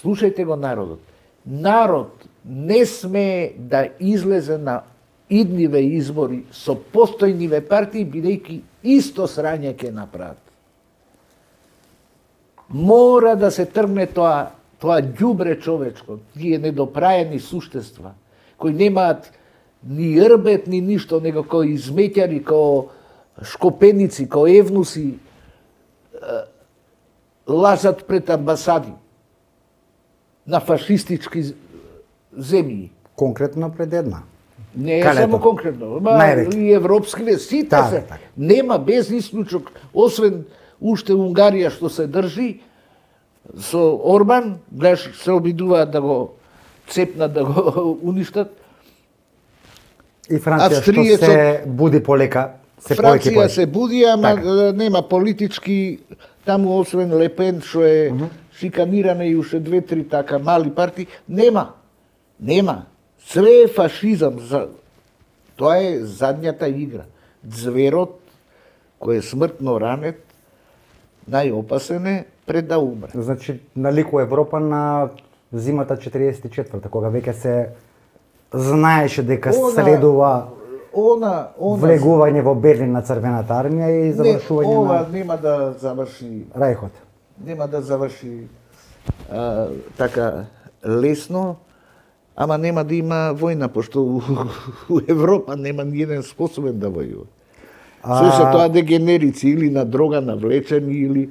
слушајте го народот. Народ не смее да излезе на идниве избори со постојниве партии, бидејќи исто срање ќе направат. Мора да се тргне тоа, тоа ѓубре човечко, тие недопраени суштества, кои немаат ни јрбет, ни ништо, него кои изметјари, кои шкопеници, кои евнуси, лажат пред амбасади на фашистички земји. Конкретно пред една. Не е Калето? само конкретно, ма и европски, сите да, се. така. Нема без исклучок, освен уште Унгарија што се држи со Орбан, гледаш, се обидуваат да го цепнат, да го уништат. И Франција Австријецот, што се буди полека, се повеќе Франција повеќе. се буди, ама Така. нема политички, таму освен Лепен, што е uh -huh. шиканирана и уште две-три така мали партии, нема. Нема. Све е фашизам. За... Тоа е задњата игра. Зверот, кој е смртно ранет, најопасен е пред да умре. Значи, налику Европа на зимата четириесет и четврта, кога веќе се знаеше дека Она- следува Она, она... влегување во Берлин на Црвената армија и Не, завршување ова на нема да заврши, Рајхот. нема да заврши а, така лесно, ама нема да има војна, пошто у, у Европа нема ниеден способен да војува. Се се тоа дегенерици или на дрога навлечени или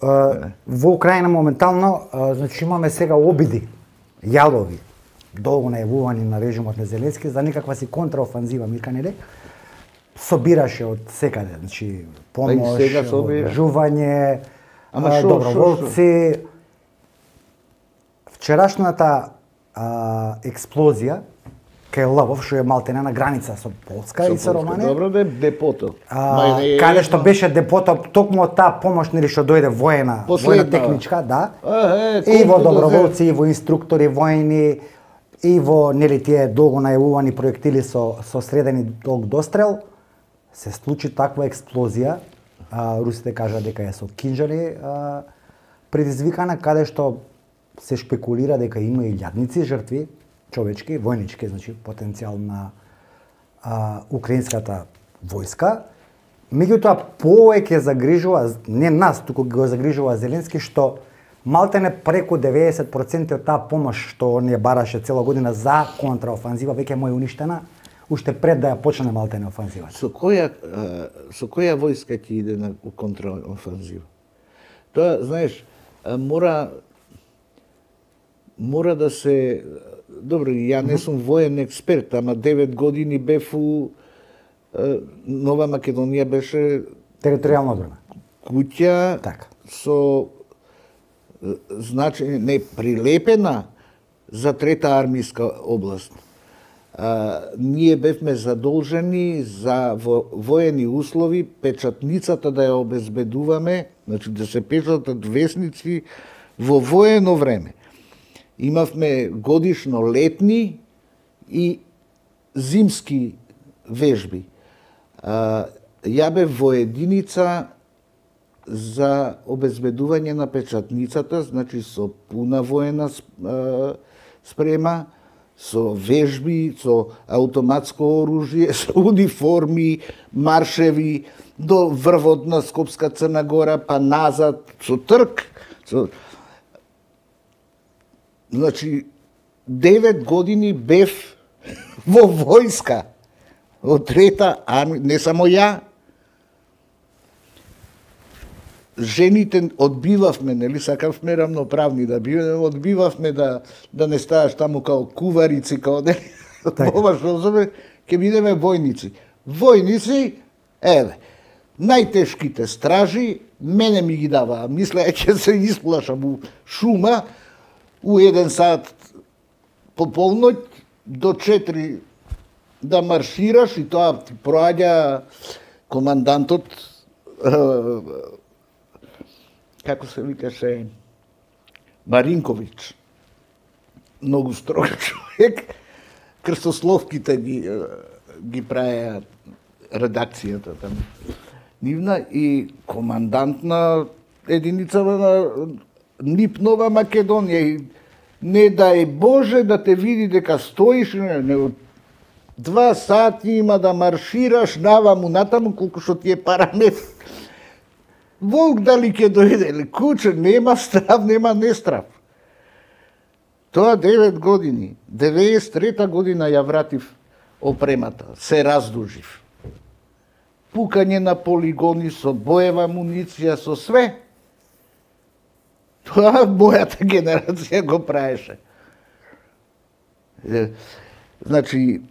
А, во Украина моментално, а, значи имаме сега обиди, јалови, долго најавувани на режимот на Зеленски за некаква си контраофанзива, мика нели? Собираше од секаде, значи помош, Па и сега собира. жување, Ама а, шо, доброволци. Вчерашната а, експлозија кај Лвов, што е малтене на граница со Полска и со Романија. Добро да е депото. А, Ма не е каде што едно. беше депото, токму од таа помош нели што дојде воена, Последна. воена техничка, да. А, е, И во колку да доброволци, и во инструктори војни, и во нели тие долго најавувани проектили со со средени долг дострел, се случи таква експлозија. А, русите кажа дека е со кинџали а, предизвикана, каде што се шпекулира дека има и илјадници жртви, човечки, војнички, значи потенцијал на а, украинската војска. Меѓутоа повеќе загрижува не нас, туку го загрижува Зеленски што малтене преку деветдесет проценти од таа помош што он ја бараше цела година за контраофанзива веќе му е уништена уште пред да ја почне малтене офанзивата. Со која а, со која војска ќе иде на контраофанзива? Тоа, знаеш, а, мора мора да се добро, ја не сум воен експерт, ама девет години бев у а, Нова Македонија беше Територијална одбрана. куќа Така. со значи не прилепена за трета армиска област. А, ние бевме задолжени за во, воени услови печатницата да ја обезбедуваме, значи да се печатат весници во воено време. Имавме годишно летни и зимски вежби. А, ја бев во единица за обезбедување на печатницата, значи со пуна воена а, спрема, со вежби, со автоматско оружје, со униформи, маршеви, до врвот на Скопска Црна Гора, па назад, со трк. Со... Значи, девет години бев во војска, од трета армија, не само ја, жените одбивавме, нели, сакавме равноправни да биме, одбивавме да да не ставаш таму као куварици, као не, Така. ова што зове, ќе бидеме војници. Војници, еве, најтешките стражи, мене ми ги даваа, мисля, ќе се исплашам у шума, у еден сат по полноќ до четири да маршираш и тоа ти проаѓа командантот, како се викаше, Маринковиќ, многу строг човек, крстословките ги, ги праја редакцијата там нивна и командант на единицава на НИП Нова Македонија и не дај Боже да те види дека стоиш, не, не, два сати има да маршираш наваму натаму колку што ти е парамет. Волк дали ќе дојде или куче, нема страв, нема нестрав. Тоа девет години, деветдесет и трета година ја вратив опремата, се раздужив. Пукање на полигони со боева амуниција, со све. Тоа мојата генерација го праеше. Значи,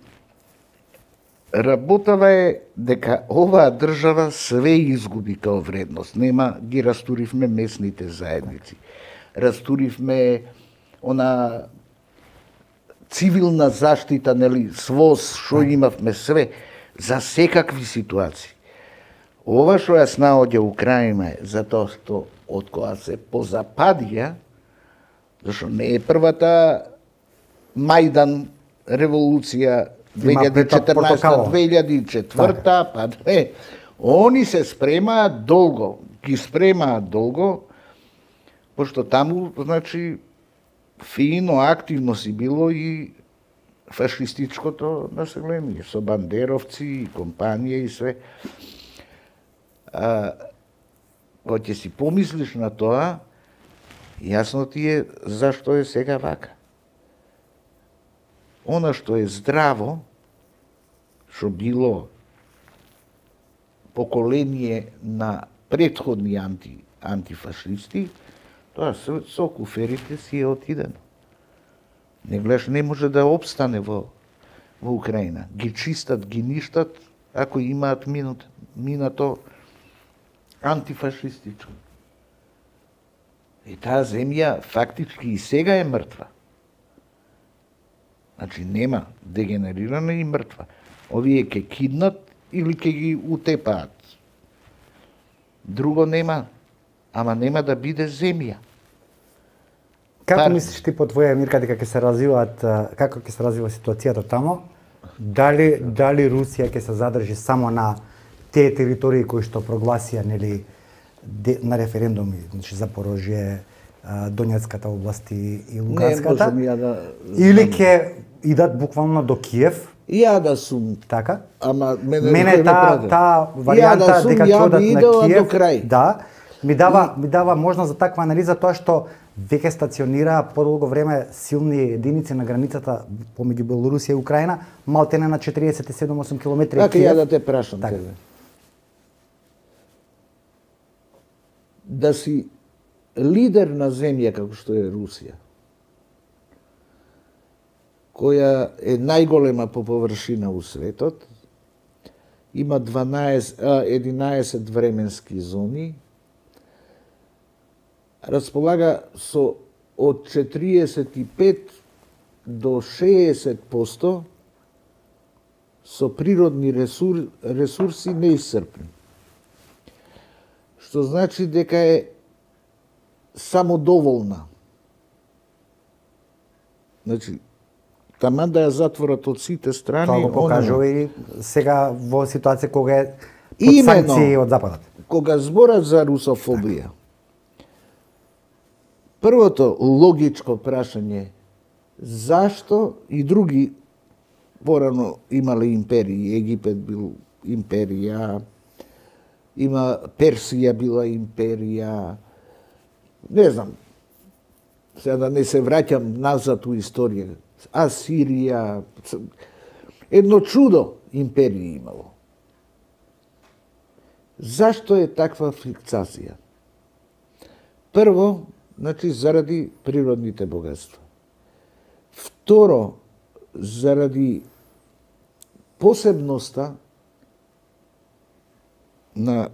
работава е дека оваа држава све изгуби као вредност. Нема, ги растуривме местните заедници. Растуривме она цивилна заштита, нели, СВОС, што имавме све, за секакви ситуации. Ова што ја снаоѓа Украина е затоа што од кога се позападија, зашто не е првата Мајдан револуција две илјади и четрнаесета две илјади и четврта, па две. Они се спремаат долго, ги спремаат долго, пошто таму, значи, фино, активно си било и фашистичкото население, со бандеровци, компанија и све. А, кога ќе си помислиш на тоа, јасно ти е зашто е сега вака. Она што е здраво, што било поколение на претходни анти, антифашисти, тоа со, со куферите си е отидено. Не гледаш, не може да обстане во, во Украина. Ги чистат, ги ништат, ако имаат минут, минато антифашистичко. И таа земја фактички и сега е мртва. Значи нема, дегенерирана и мртва. Овие ќе киднат или ќе ги утепаат. Друго нема, ама нема да биде земја. Како Пар... мислиш ти по твоја мирка дека ќе се развиваат, како ќе се развива ситуацијата тамо? Дали дали Русија ќе се задржи само на тие територии кои што прогласија, нели, на референдуми, значи Запорожје, Донецката област и Луганската? Не, можам ја да... Или ќе идат буквално до Киев? Ја да сум. Така? Ама мене, мене таа та варијанта да сум, дека ќе одат на Киев, до крај. да, ми дава и... ми дава можност за таква анализа, тоа што веќе стационира подолго време силни единици на границата помеѓу Белорусија и Украина, малтене на четириесет и седум до осум километри. Така ја да те прашам така. тебе. Да си лидер на земја како што е Русија, која е најголема по површина у светот, има дванаесет, единаесет временски зони, располага со од четириесет и пет до шеесет проценти со природни ресур, ресурси неисцрпни. Што значи дека е самодоволна. Значи, таман да ја затворат од сите страни... Тоа го покажува и сега во ситуација кога е под Именно, санкции од Западот. Кога зборат за русофобија, првото логичко прашање зашто и други порано имале империи, Египет бил империја, има Персија била империја, не знам, сега да не се враќам назад у историја, Асирија, едно чудо империја имало. Зашто е таква фиксација? Прво, значи, заради природните богатства. Второ, заради посебноста на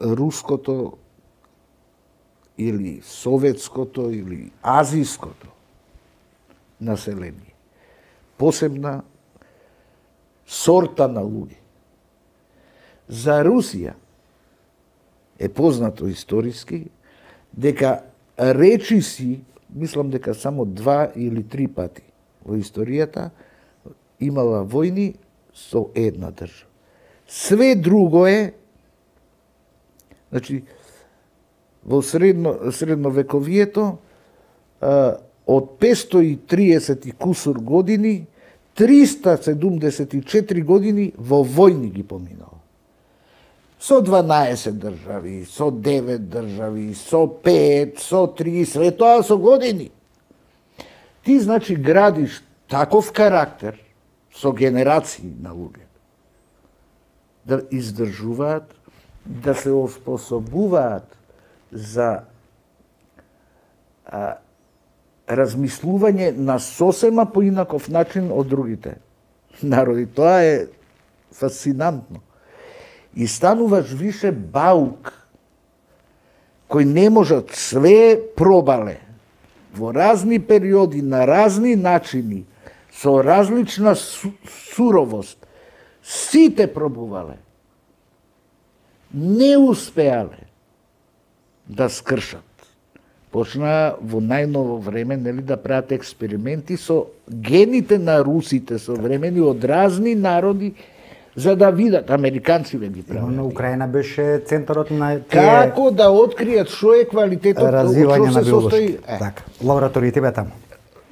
руското или советското или азиското население. Посебна сорта на луѓе. За Русија е познато историски дека речиси, мислам дека само два или три пати во историјата имала војни со една држава. Све друго е, значи, во средно, средновековието, а, од петстотини и триесет и кусур години, триста седумдесет и четири години во војни ги поминала. Со дванаесет држави, со девет држави, со пет, со три, све тоа со години. Ти, значи, градиш таков карактер со генерации на луѓе, да издржуваат, да се оспособуваат за а, размислување на сосема поинаков начин од другите народи. Тоа е фасцинантно. И стануваш више баук, кој не можат, све пробале во разни периоди, на разни начини, со различна су, суровост. Сите пробувале. Не успеале да скршат. Почна во најново време, нели, да прават експерименти со гените на русите современи од разни народи, за да видат, американците ги прават. На Украина беше центарот на тие... Како да откријат што е квалитетот, развивање на биолошки. Така, лабораториите бе таму.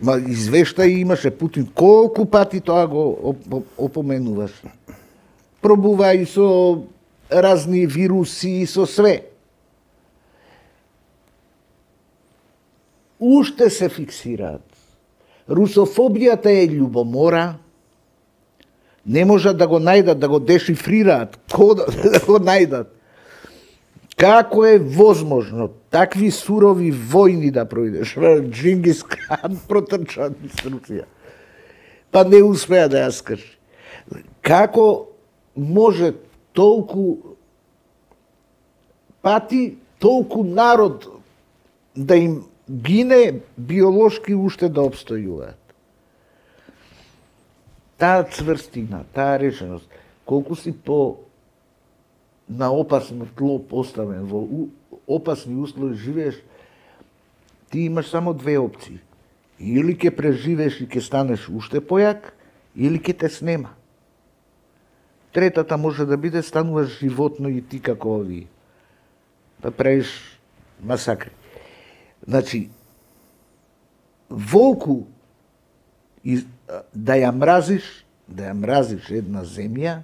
Ма извештај имаше Путин, колку пати тоа го опоменуваш. Пробува и со разни вируси, и со све. Уште се фиксираат. Русофобијата е љубомора, не можат да го најдат, да го дешифрираат, кодот да го најдат. Како е возможно такви сурови војни да проидеш? Джингис Хан протрча низ Русија. Па не успеа да ја скрши. Како може толку пати, толку народ да им гине биолошки уште да обстојуваат? Таа цврстина, таа решеност, колку си по на опасно тло поставен, во опасни услови живееш, ти имаш само две опции. Или ќе преживееш и ќе станеш уште појак, или ќе те снема. Третата може да биде стануваш животно и ти како овие. Да правиш масакри. Значи, волку да ја мразиш, да ја мразиш една земја,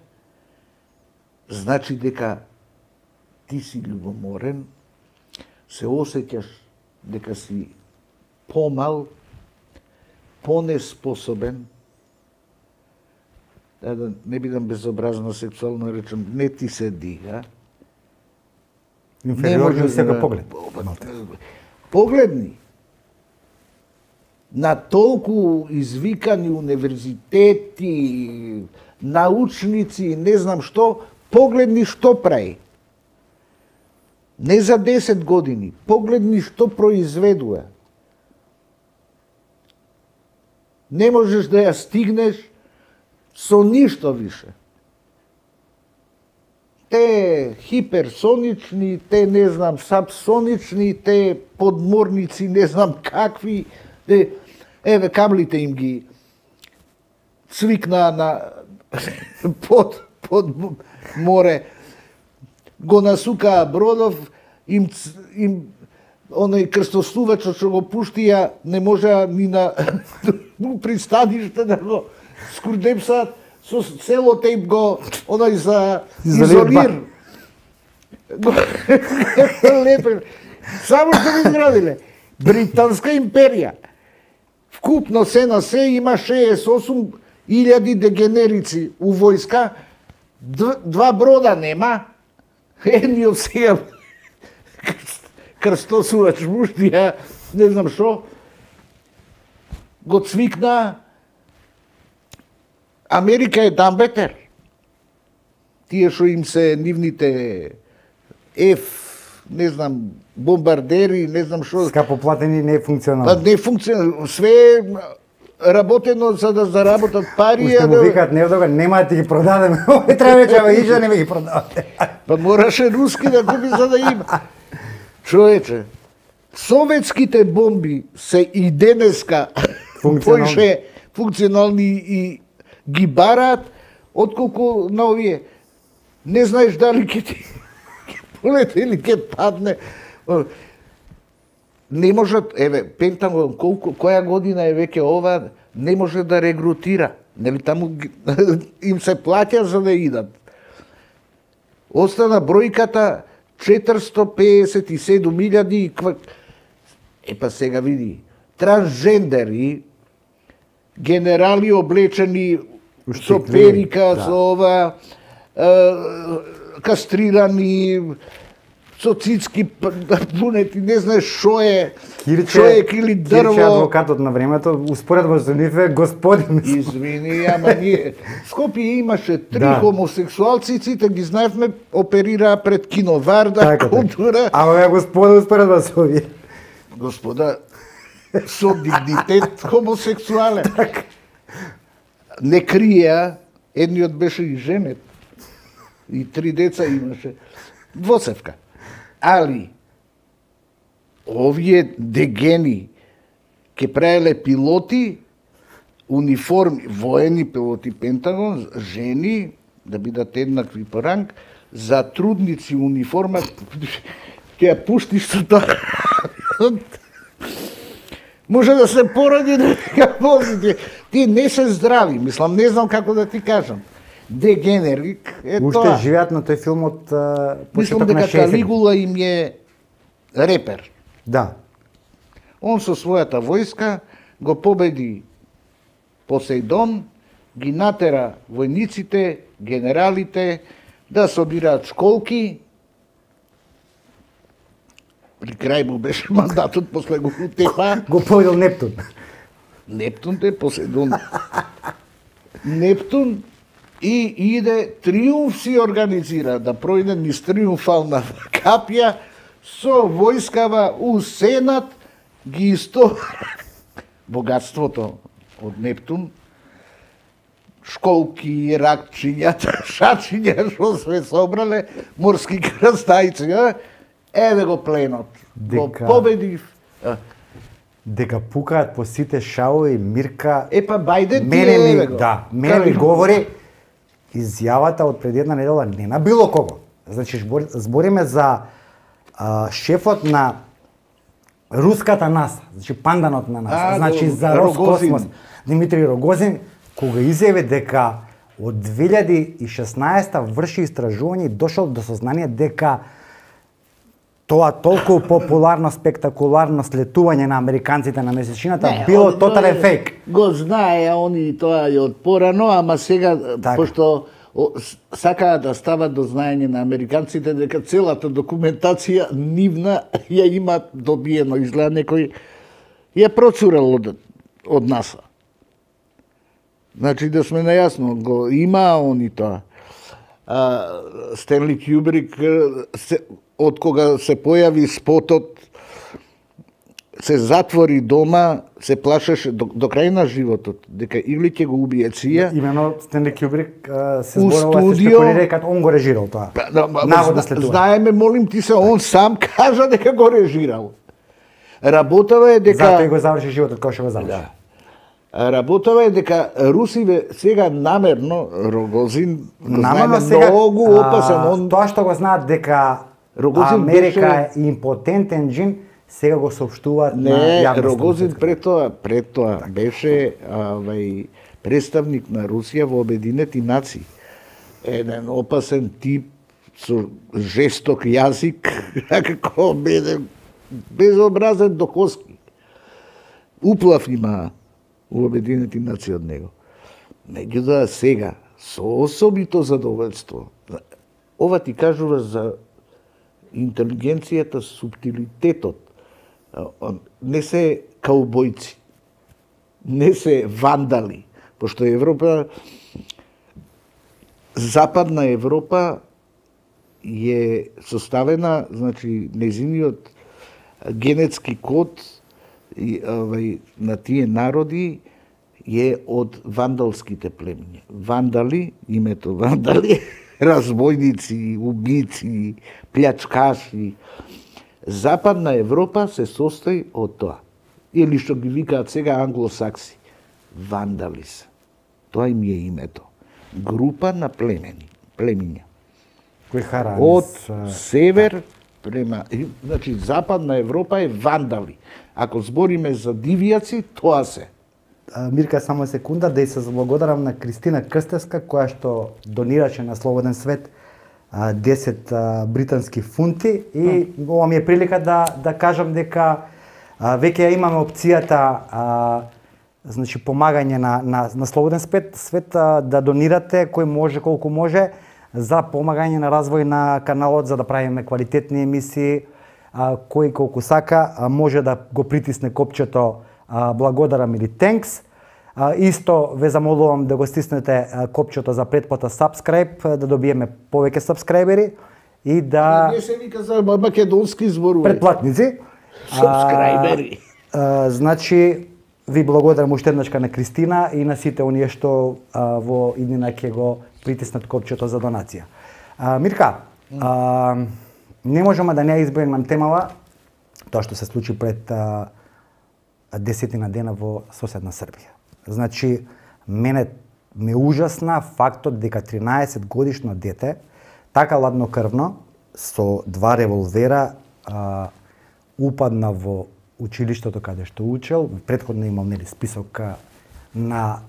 значи дека ти си љубоморен, се осеќаш дека си помал, понеспособен, да, да не бидам безобразно сексуално речем, не ти се дига. Инфериорни од секој поглед. Погледни на толку извикани универзитети, научници, не знам што, погледни што прави. Не за десет години, погледни што произведува. Не можеш да ја стигнеш со ништо више. Те хиперсонични, те не знам сабсонични, те подморници, не знам какви, те, еве каблите им ги цвикна на под, под море, го насукаа бродов, им, им оној крстосувачот што го пуштија, не можеа ни на пристаниште да го скурдепсаат, со селотейп го, оној за изолир. Лепе. Само што го изградиле. Британска империја. Вкупно се на се има шеесет и осум илјади дегенерици у војска, два брода нема, едниот сега крстосувач муштија, не знам што, го цвикна. Америка е дамбетер. Тие што им се нивните Ф, не знам, бомбардери, не знам што. Скапо платени, не е функционално. Па не функционално, све е работено за да заработат пари. Уште му викаат невдога, нема да ти ги продадеме, овој треба вече ова иже не ме ги продавате. Па мораше руски да купи за да има. Човече, советските бомби се и денеска поише функционални и ги бараат, отколку на овие. Не знаеш дали ќе ти полете или ќе падне. Не можат, еве, Пентагон, колку, која година е веќе ова, не може да регрутира. Нели таму им се плаќа за да идат. Остана бројката четиристотини педесет и седум илјади. Епа сега види, трансжендери, генерали облечени со перика, со ова, кастрирани, со цицки пунети, не знаеш шо е, човек или дрво. Кирче, адвокатот на времето, успоредно со нив е господин. Извини, ама ние... Скопје имаше три да. хомосексуалци, сите ги знаевме, оперираа пред кино Варда, така, култура. Ама ја господа успоредно со овие. Господа, со дигнитет хомосексуален. Так. Не криеа, едниот беше и женет. И три деца имаше. Двоцевка. Али, овие дегени ке правеле пилоти, униформи, воени пилоти Пентагон, жени, да бидат еднакви по ранг, за трудници униформа, ќе ја пуштиш со тоа. Може да се поради да ја возите. Тие не се здрави, мислам, не знам како да ти кажам. Дегенерик е Уште тоа. Уште живеат на тој филм од Мислам почеток на дека шеесетте. Калигула им е репер. Да. Он со својата војска го победи Посейдон, ги натера војниците, генералите да собираат школки. При крај му беше мандатот, после го утепа. Го победил Нептун. Нептун те Посейдон. Нептун и иде триумф си организира да пројде низ триумфална капја со војскава у Сенат ги исто богатството од Нептун, школки, ракчињата, шачиња, што све собрале, морски крстајци, а? Еве го пленот. Го Дека- победив. А, Дека пукаат по сите шаови, Мирка. Епа Бајден ти Мене еве ми, го. да, мене ми Кажи. говори изјавата од пред една недела не на било кого. Значи збор- збориме за а, шефот на руската НАСА, значи панданот на НАСА, А, значи до- за Рогозин. Роскосмос, Димитри Рогозин, кога изјави дека од две илјади и шеснаесета врши истражување и дошол до сознание дека тоа толку популарно, спектакуларно слетување на американците на месечината Не, било од- тотален фейк. Го знае они тоа и од порано, ама сега, Така. пошто о, с- сакаат да стават до знаење на американците дека целата документација нивна ја имаат добиено, изгледа некој ја процурал од, од НАСА. Значи да сме најасно, го има они тоа. А, Стенли Кјубрик, се, од кога се појави спотот, се затвори дома, се плашеше до, до крај на животот, дека или ќе го убие ција. Имено Стенли Кјубрик а, се У зборува, се студио- спекулира дека он го режирал тоа. Па, да, ма, Наводно зна- слетување. Знаеме, молим ти се, он сам кажа дека го режирал. Работава е дека... Затоа и го заврши животот како што го заврши. Да. Работава е дека русиве сега намерно, Рогозин, го Намерно знаеме, сега многу опасен, а, он тоа што го знаат дека Рогозин Америка беше- е импотентен джин, сега го соопштуваат на не, јавност. Рогозин пред тоа, пред тоа беше авај представник на Русија во Обединети нации. Еден опасен тип со жесток јазик, како беден безобразен до коски. Уплав има у Обединети нации од него. Меѓутоа сега, со особито задоволство, ова ти кажува за интелигенцијата, суптилитетот. Не се каубојци, не се вандали, пошто Европа, Западна Европа е составена, значи, незиниот генетски код и, овај, на тие народи е од вандалските племиња. Вандали, името вандали, разбойници, убици, плячкаши. Западна Европа се состои од тоа. Или што ги викаат сега англосакси. Вандали се. Тоа им е името. Група на племени, племиња. Кои харани Од с- север према, и, значи Западна Европа е вандали. Ако збориме за дивјаци, тоа се. А, Мирка, само секунда да и се заблагодарам на Кристина Крстевска, која што донираше на Слободен свет а, десет а, британски фунти и ова ми е прилика да да кажам дека а, веќе ја имаме опцијата а, значи помагање на на на Слободен свет, свет а, да донирате кој може колку може за помагање на развој на каналот, за да правиме квалитетни емисии. А, кој колку сака а, може да го притисне копчето а, благодарам или thanks. А, исто ве замолувам да го стиснете а, копчето за претплата subscribe, а, да добиеме повеќе сабскрајбери и да Не се вика за македонски зборувај. претплатници. Сабскрајбери. А, значи ви благодарам уште еднашка на Кристина и на сите оние што а, во иднина ќе го притиснат копчето за донација. А, Мирка, а, не можеме да не ја избегнеме темава тоа што се случи пред а, десетина дена во соседна Србија. Значи, мене ме ужасна фактот дека тринаесет годишно дете така ладнокрвно со два револвера а, упадна во училиштето каде што учел. Претходно имал нели список а, на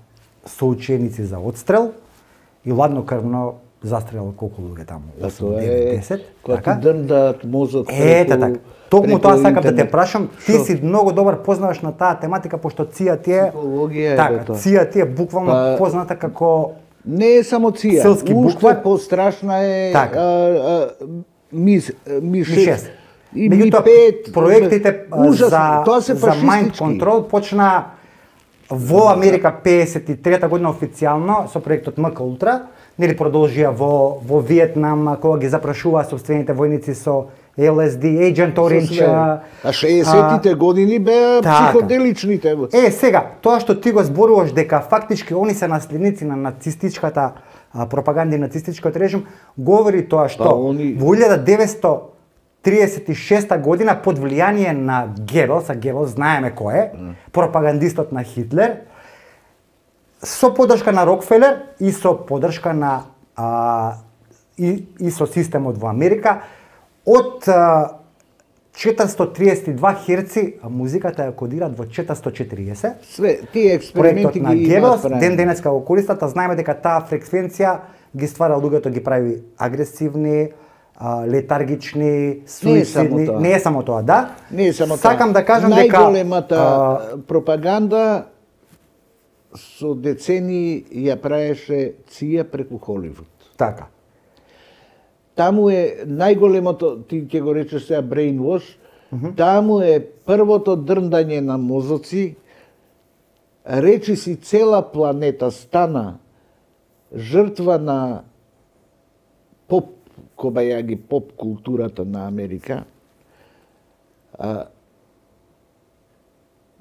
соученици за одстрел и ладнокрвно застрелал колку луѓе таму, осум, девет, десет. Кога ти дрндаат мозок Ете преку- така. Токму преку тоа сакам да те интернет. прашам, ти Шо? си многу добар познаваш на таа тематика пошто ЦИА ти е Психологија е така, тоа. ЦИА ти е буквално Па, позната како Не е само ција. Селски Уште буквар. пострашна е Така. а, а, ми, ми ми шест. шест. И ми Меѓутоа, пет. проектите а, Ужасно. за Тоа се за Mind фашистички. Control почна во Америка педесет и трета година официјално со проектот МК Ултра, нели продолжија во во Виетнам кога ги запрашуваа собствените војници со Ел Ес Ди, Agent Orange. а, А шеесеттите години беа така. психоделичните. Е, сега, тоа што ти го зборуваш дека фактички они се наследници на нацистичката а, пропаганда и нацистичкиот режим, говори тоа што Па, они- во илјада деветстотини триесет и шеста година под влијание на Гебелс, а Гебелс знаеме кој е, пропагандистот на Хитлер, со поддршка на Рокфелер и со поддршка на а, и, и со системот во Америка, од а, четиристотини триесет и два херци, а музиката ја кодираат во четиристотини четириесет. Све, тие експерименти Проектот на ги имаат Гебелс, правено. ден денеска го користат, а знаеме дека таа фреквенција ги ствара луѓето, ги прави агресивни, а, летаргични, суицидни. тоа. Не е само тоа, да. Не е само Сакам тоа. да кажам дека Најголемата а, пропаганда со децени ја правеше ЦИА преку Холивуд. така. Таму е најголемото, ти ќе го речеш сега brainwash, таму е првото дрндање на мозоци, речи си цела планета стана жртва на поп, кобајаги поп културата на Америка. А,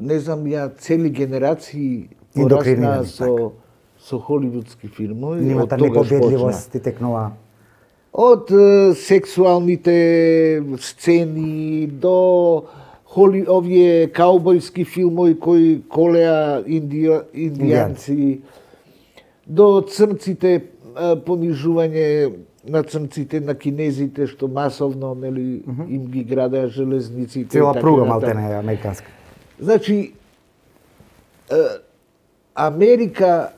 не знам, ја цели генерации порасна Индокринирани, со, со холивудски филмови. Нимата од тогаш непобедливост ти текнува. Од е, сексуалните сцени до холи, овие каубојски филмови кои колеа индија, индијанци, до црнците, е, понижување на црнците, на кинезите, што масовно нели, им ги градеа железниците. и Цела така пруга натаму. малтене е американска. Значи, е, Америка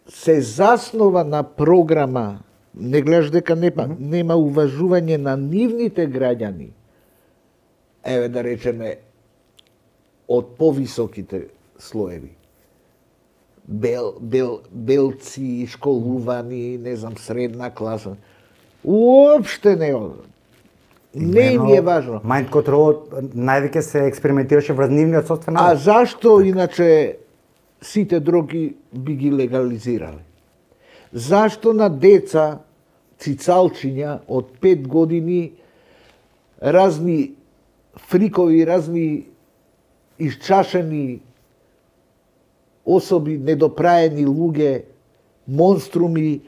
се заснова на програма, не гледаш дека нема, нема уважување на нивните граѓани, еве да речеме, од повисоките слоеви. Бел, бел, белци, школувани, не знам, средна класа. Уопште не од. Не им е важно. Mind Control највеќе се експериментираше врз нивниот собствен А народ. зашто иначе сите дроги би ги легализирале? Зашто на деца цицалчиња од пет години, разни фрикови, разни исчашени особи, недопраени луѓе, монструми,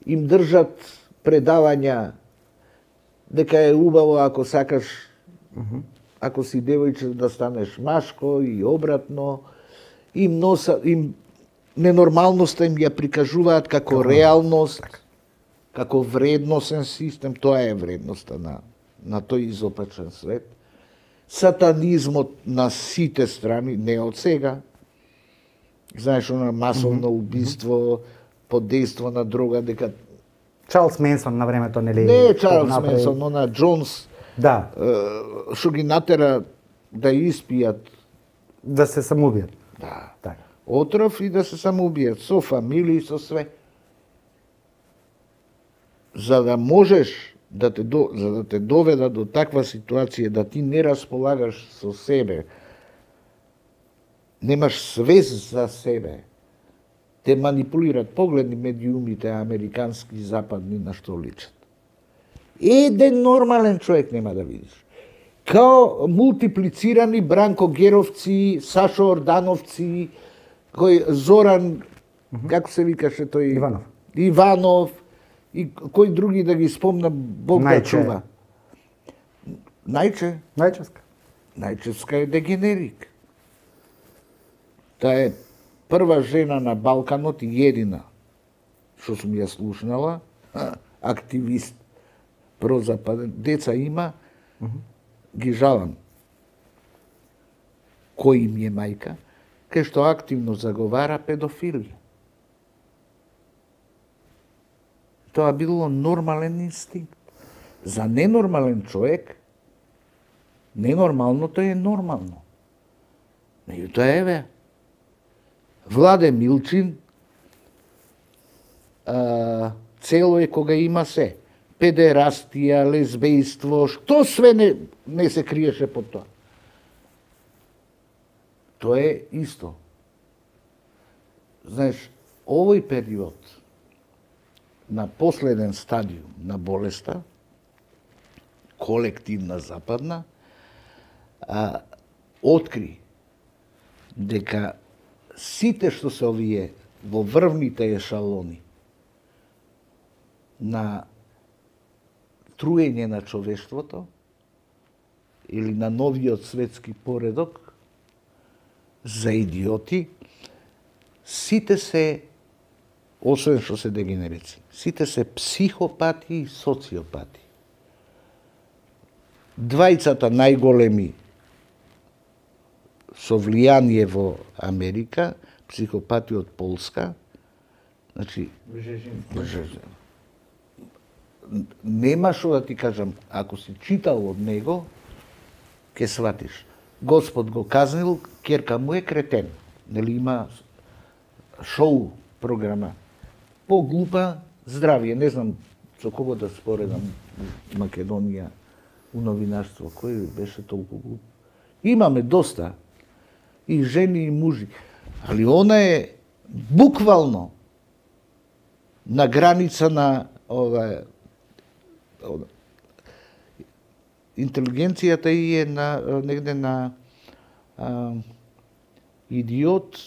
им држат предавања дека е убаво ако сакаш, mm-hmm. ако си девојче да станеш машко и обратно, им носа, им ненормалноста им ја прикажуваат како реалност, како вредносен систем, тоа е вредноста на, на тој изопачен свет. Сатанизмот на сите страни, не од сега. Знаеш, она масовно убиство, под дејство на дрога, дека... Чарлс Менсон на времето, нели? Не Чарлс направи... Менсон, но на Джонс, да. Што ги натера да испијат. Да се самоубијат. Да. Така. Отров и да се самоубијат, со фамилии, со све. За да можеш да те, до, за да те доведа до таква ситуација, да ти не располагаш со себе, немаш свест за себе, те манипулират, погледни медиумите американски, западни, на што личат. Еден нормален човек нема да видиш. Као мултиплицирани Бранко Геровци, Сашо Ордановци, кој Зоран, mm-hmm. како се викаше тој? Иванов. Иванов, и кои други да ги спомна, Бог да чува. Најче? Најчевска. Најчевска е дегенерик. Таа е прва жена на Балканот и едина, што сум ја слушнала, активист прозападен. Деца има, mm-hmm. ги жалам. Кој им е мајка? Кај што активно заговара педофилија. Тоа било нормален инстинкт. За ненормален човек, ненормалното е нормално. Меѓутоа еве, Владе Милчин, а, цело е кога има се. Педерастија, лесбејство, што све не, не се криеше под тоа. Тоа е исто. Знаеш, овој период на последен стадиум на болеста, колективна западна, а, откри дека сите што се овие во врвните ешалони на труење на човештвото или на новиот светски поредок за идиоти, сите се, освен што се дегенерици, сите се психопати и социопати. Двајцата најголеми со влијание во Америка, психопати од Полска, значи, Бжежински. Нема што да ти кажам, ако си читал од него, ќе сватиш. Господ го казнил, ќерка му е кретен. Нели има шоу програма. Поглупа здравие, не знам со кого да споредам Македонија у новинарство, кој беше толку глуп. Имаме доста и жени и мужи, али она е буквално на граница на ова, ова интелигенцијата и е на негде на а, идиот,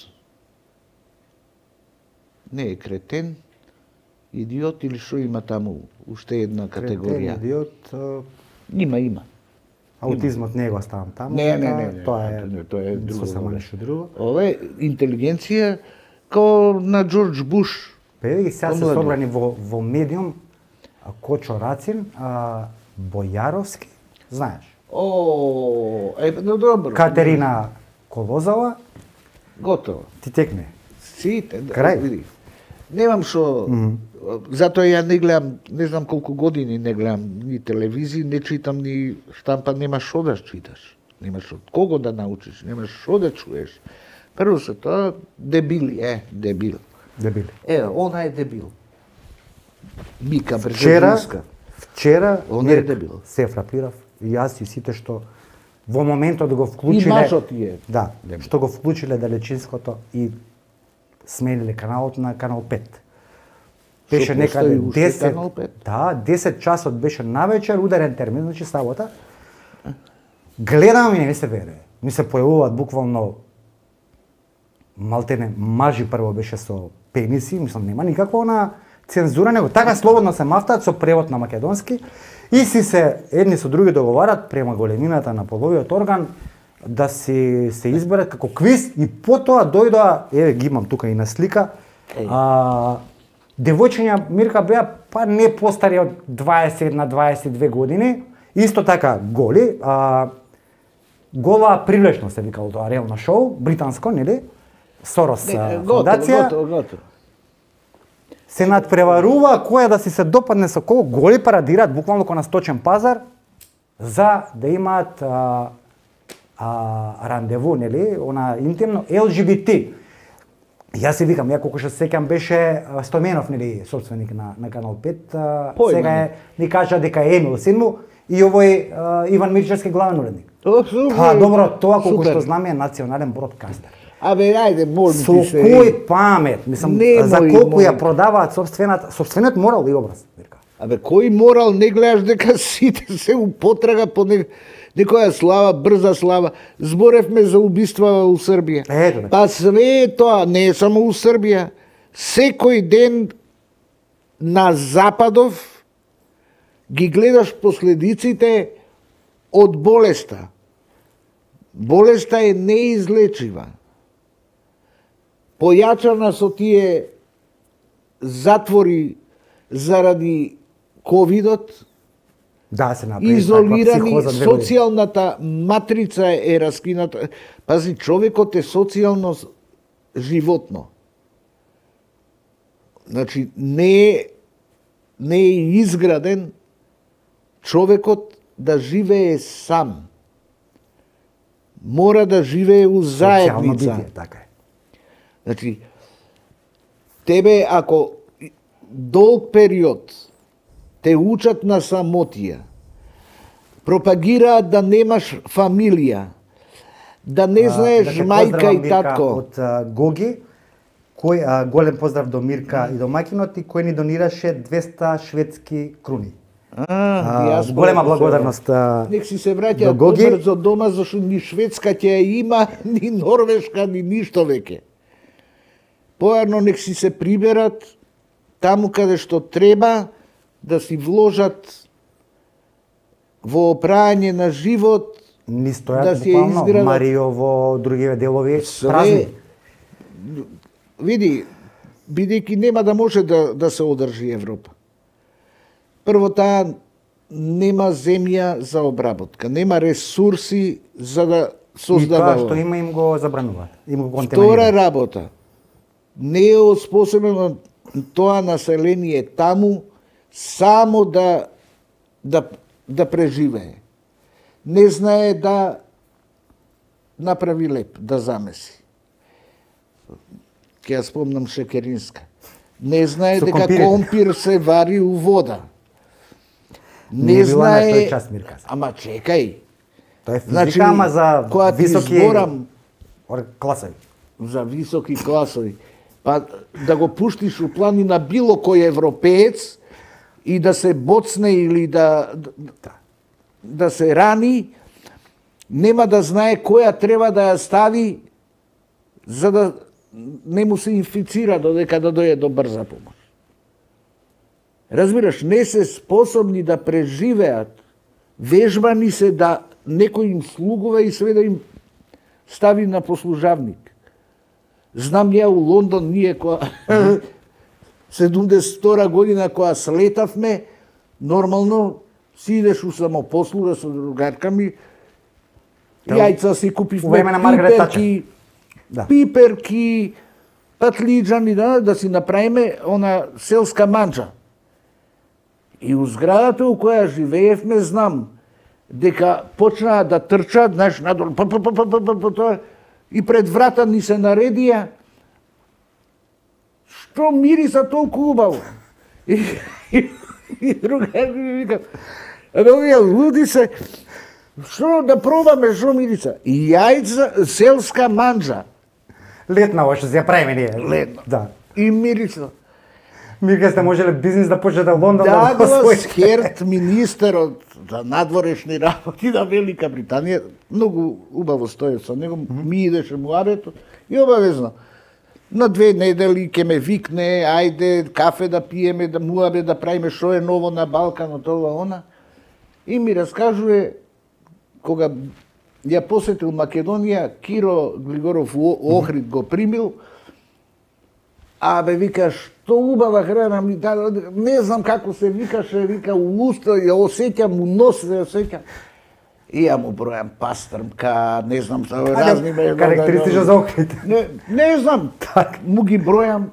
не е кретен, идиот или што има таму уште една категорија. Кретен, идиот, а... има, има. Аутизмот не го ставам таму. Не, не, не, не, тоа е, не, тоа е друго. Само нешто друго. Ова е интелигенција као на Џорџ Буш. Пе ги сега се собрани во, во медиум Кочо Рацин, а, Бојаровски, знаеш? О, е, no, добро. Катерина Колозова. Готово. Ти текне. Сите, крај. Види. Немам што, mm-hmm. затоа ја не гледам, не знам колку години не гледам ни телевизија, не читам ни штампа, нема што да читаш. Немаш од кого да научиш, немаш што да чуеш. Прво се тоа, дебили, е, дебил. Дебили. Е, она е дебил. Мика Вчера, Бржезинска. вчера, она е дебил. Се фрапирав, и јас и сите што во моментот го вклучиле... И мажот е. Да, дебил. Што го вклучиле Далечинското и смениле каналот на канал пет. беше некаде десет, Канал пет. да, десет часот беше навечер, ударен термин, значи сабота. Гледам и не ми се вере. Ми се појавуваат буквално малтене мажи, прво беше со пениси, мислам нема никаква она цензура, него така слободно се мафтаат со превод на македонски и си се едни со други договарат према големината на половиот орган да си се изберат како квиз и потоа дојдоа, еве ги имам тука и на слика, а, девојчиња Мирка беа па не постари од дваесет на дваесет и две години, исто така голи, а, гола привлечност се викало тоа реално шоу, британско, нели? Сорос фондација. Готово, готово. Се надпреварува која да си се допадне со кого, голи парадираат буквално ко на сточен пазар за да имаат а, а, рандеву, нели, она интимно Ел Джи Би Ти. Јас си викам, ја колку што се сеќам беше Стојменов, нели, собственик на на Канал пет, а, сега е ни кажа дека е Емил син му и овој а, Иван Мирчевски главен уредник. Па добро, тоа колку што знам е национален бродкастер. Абе, ајде, молим Со ти се. кој памет, мислам, Немој, за колку ја молим. продаваат собствената, собствениот морал и образ, Мирка. Абе, кој морал не гледаш дека сите се употрага по не... некоја слава, брза слава. Зборевме за убиства у Србија. Ето, Па све е тоа, не е само у Србија. Секој ден на Западов ги гледаш последиците од болеста. Болеста е неизлечива. Појачана со тие затвори заради ковидот, Да, се направи изолирани, таква психоза две години. социјалната матрица е раскината. Пази, човекот е социјално животно. Значи, не е, не е изграден човекот да живее сам. Мора да живее у Социјално заедница. битие, така е. Значи, тебе ако долг период те учат на самотија, пропагираат да немаш фамилија, да не знаеш А, да те мајка поздравам, и Мирка, татко. Од а, Гоги, кој а, голем поздрав до Мирка и до маќинот и кој ни донираше двеста шведски круни. А, А, диаспора, голема се- благодарност а, Нек си се до враќаат Гоги. побрзо дома, зашто ни Шведска ќе ја има, ни Норвешка, ни ништо веќе. Поарно нек си се приберат таму каде што треба да си вложат во опрање на живот, Ни стојат да си ја буквално изградат. Мариово, другиве делови, Све. празни. Види, бидејќи нема да може да, да се одржи Европа. Прво, таа нема земја за обработка, нема ресурси за да И создава. тоа што има им го забрануваат. Им го Втора контаминираат. работа, не е оспособено тоа население таму само да, да, да преживее. Не знае да направи леп, да замеси. Ке ја спомнам Шекеринска. Не знае Со дека компирите. компир се вари у вода. Не Не била на тој знае... час, Мирка. Ама чекај, Тоа е физика, Значи, ама за кога ти високи зборам ор- класови. за високи класови, па да го пуштиш у планина било кој европеец и да се боцне или да, да, да се рани, нема да знае која треба да ја стави за да не му се инфицира додека да дојде до брза помош. Разбираш, не се способни да преживеат, вежбани се да некој им слугува и све да им стави на послужавник. Знам ја у Лондон, ние која седумдесет и втора година која слетавме, нормално си идеш у самопослуга со другарка ми, јајца си купивме, у време на Маргарет пиперки, Да. пиперки, патлиџани, да, да си направиме она селска манџа. И у зградата у која живеевме, знам, дека почнаа да трчат, знаеш, надолу, па, па, па, па, па, па, па, тоа, и пред врата ни се наредија, што мириса толку убаво. И, и, и друга ми вика, абе, овие луди се, што да пробаме, што мириса? И јајца, селска манџа. Летна още се ја правиме ние. Летна. Да. И мириса. Мирка сте можеле бизнис да почнете во Лондон Да, го го освоите. Скерт, министерот за надворешни работи на Велика Британија, многу убаво стоев со него, ми идеше муабетот и обавезно. На две недели ќе ме викне, ајде кафе да пиеме, да муабе да правиме што е ново на Балканот, ова она. И ми раскажува кога ја посетил Македонија, Киро Глигоров Охрид го примил. А бе, вика, што убава храна ми даде, не знам како се викаше, вика, у уста, ја осеќам, у нос се осеќам. И ја му бројам пастрмка, не знам, разни... Карактеристично за Охрид. Не, не знам, му ги бројам.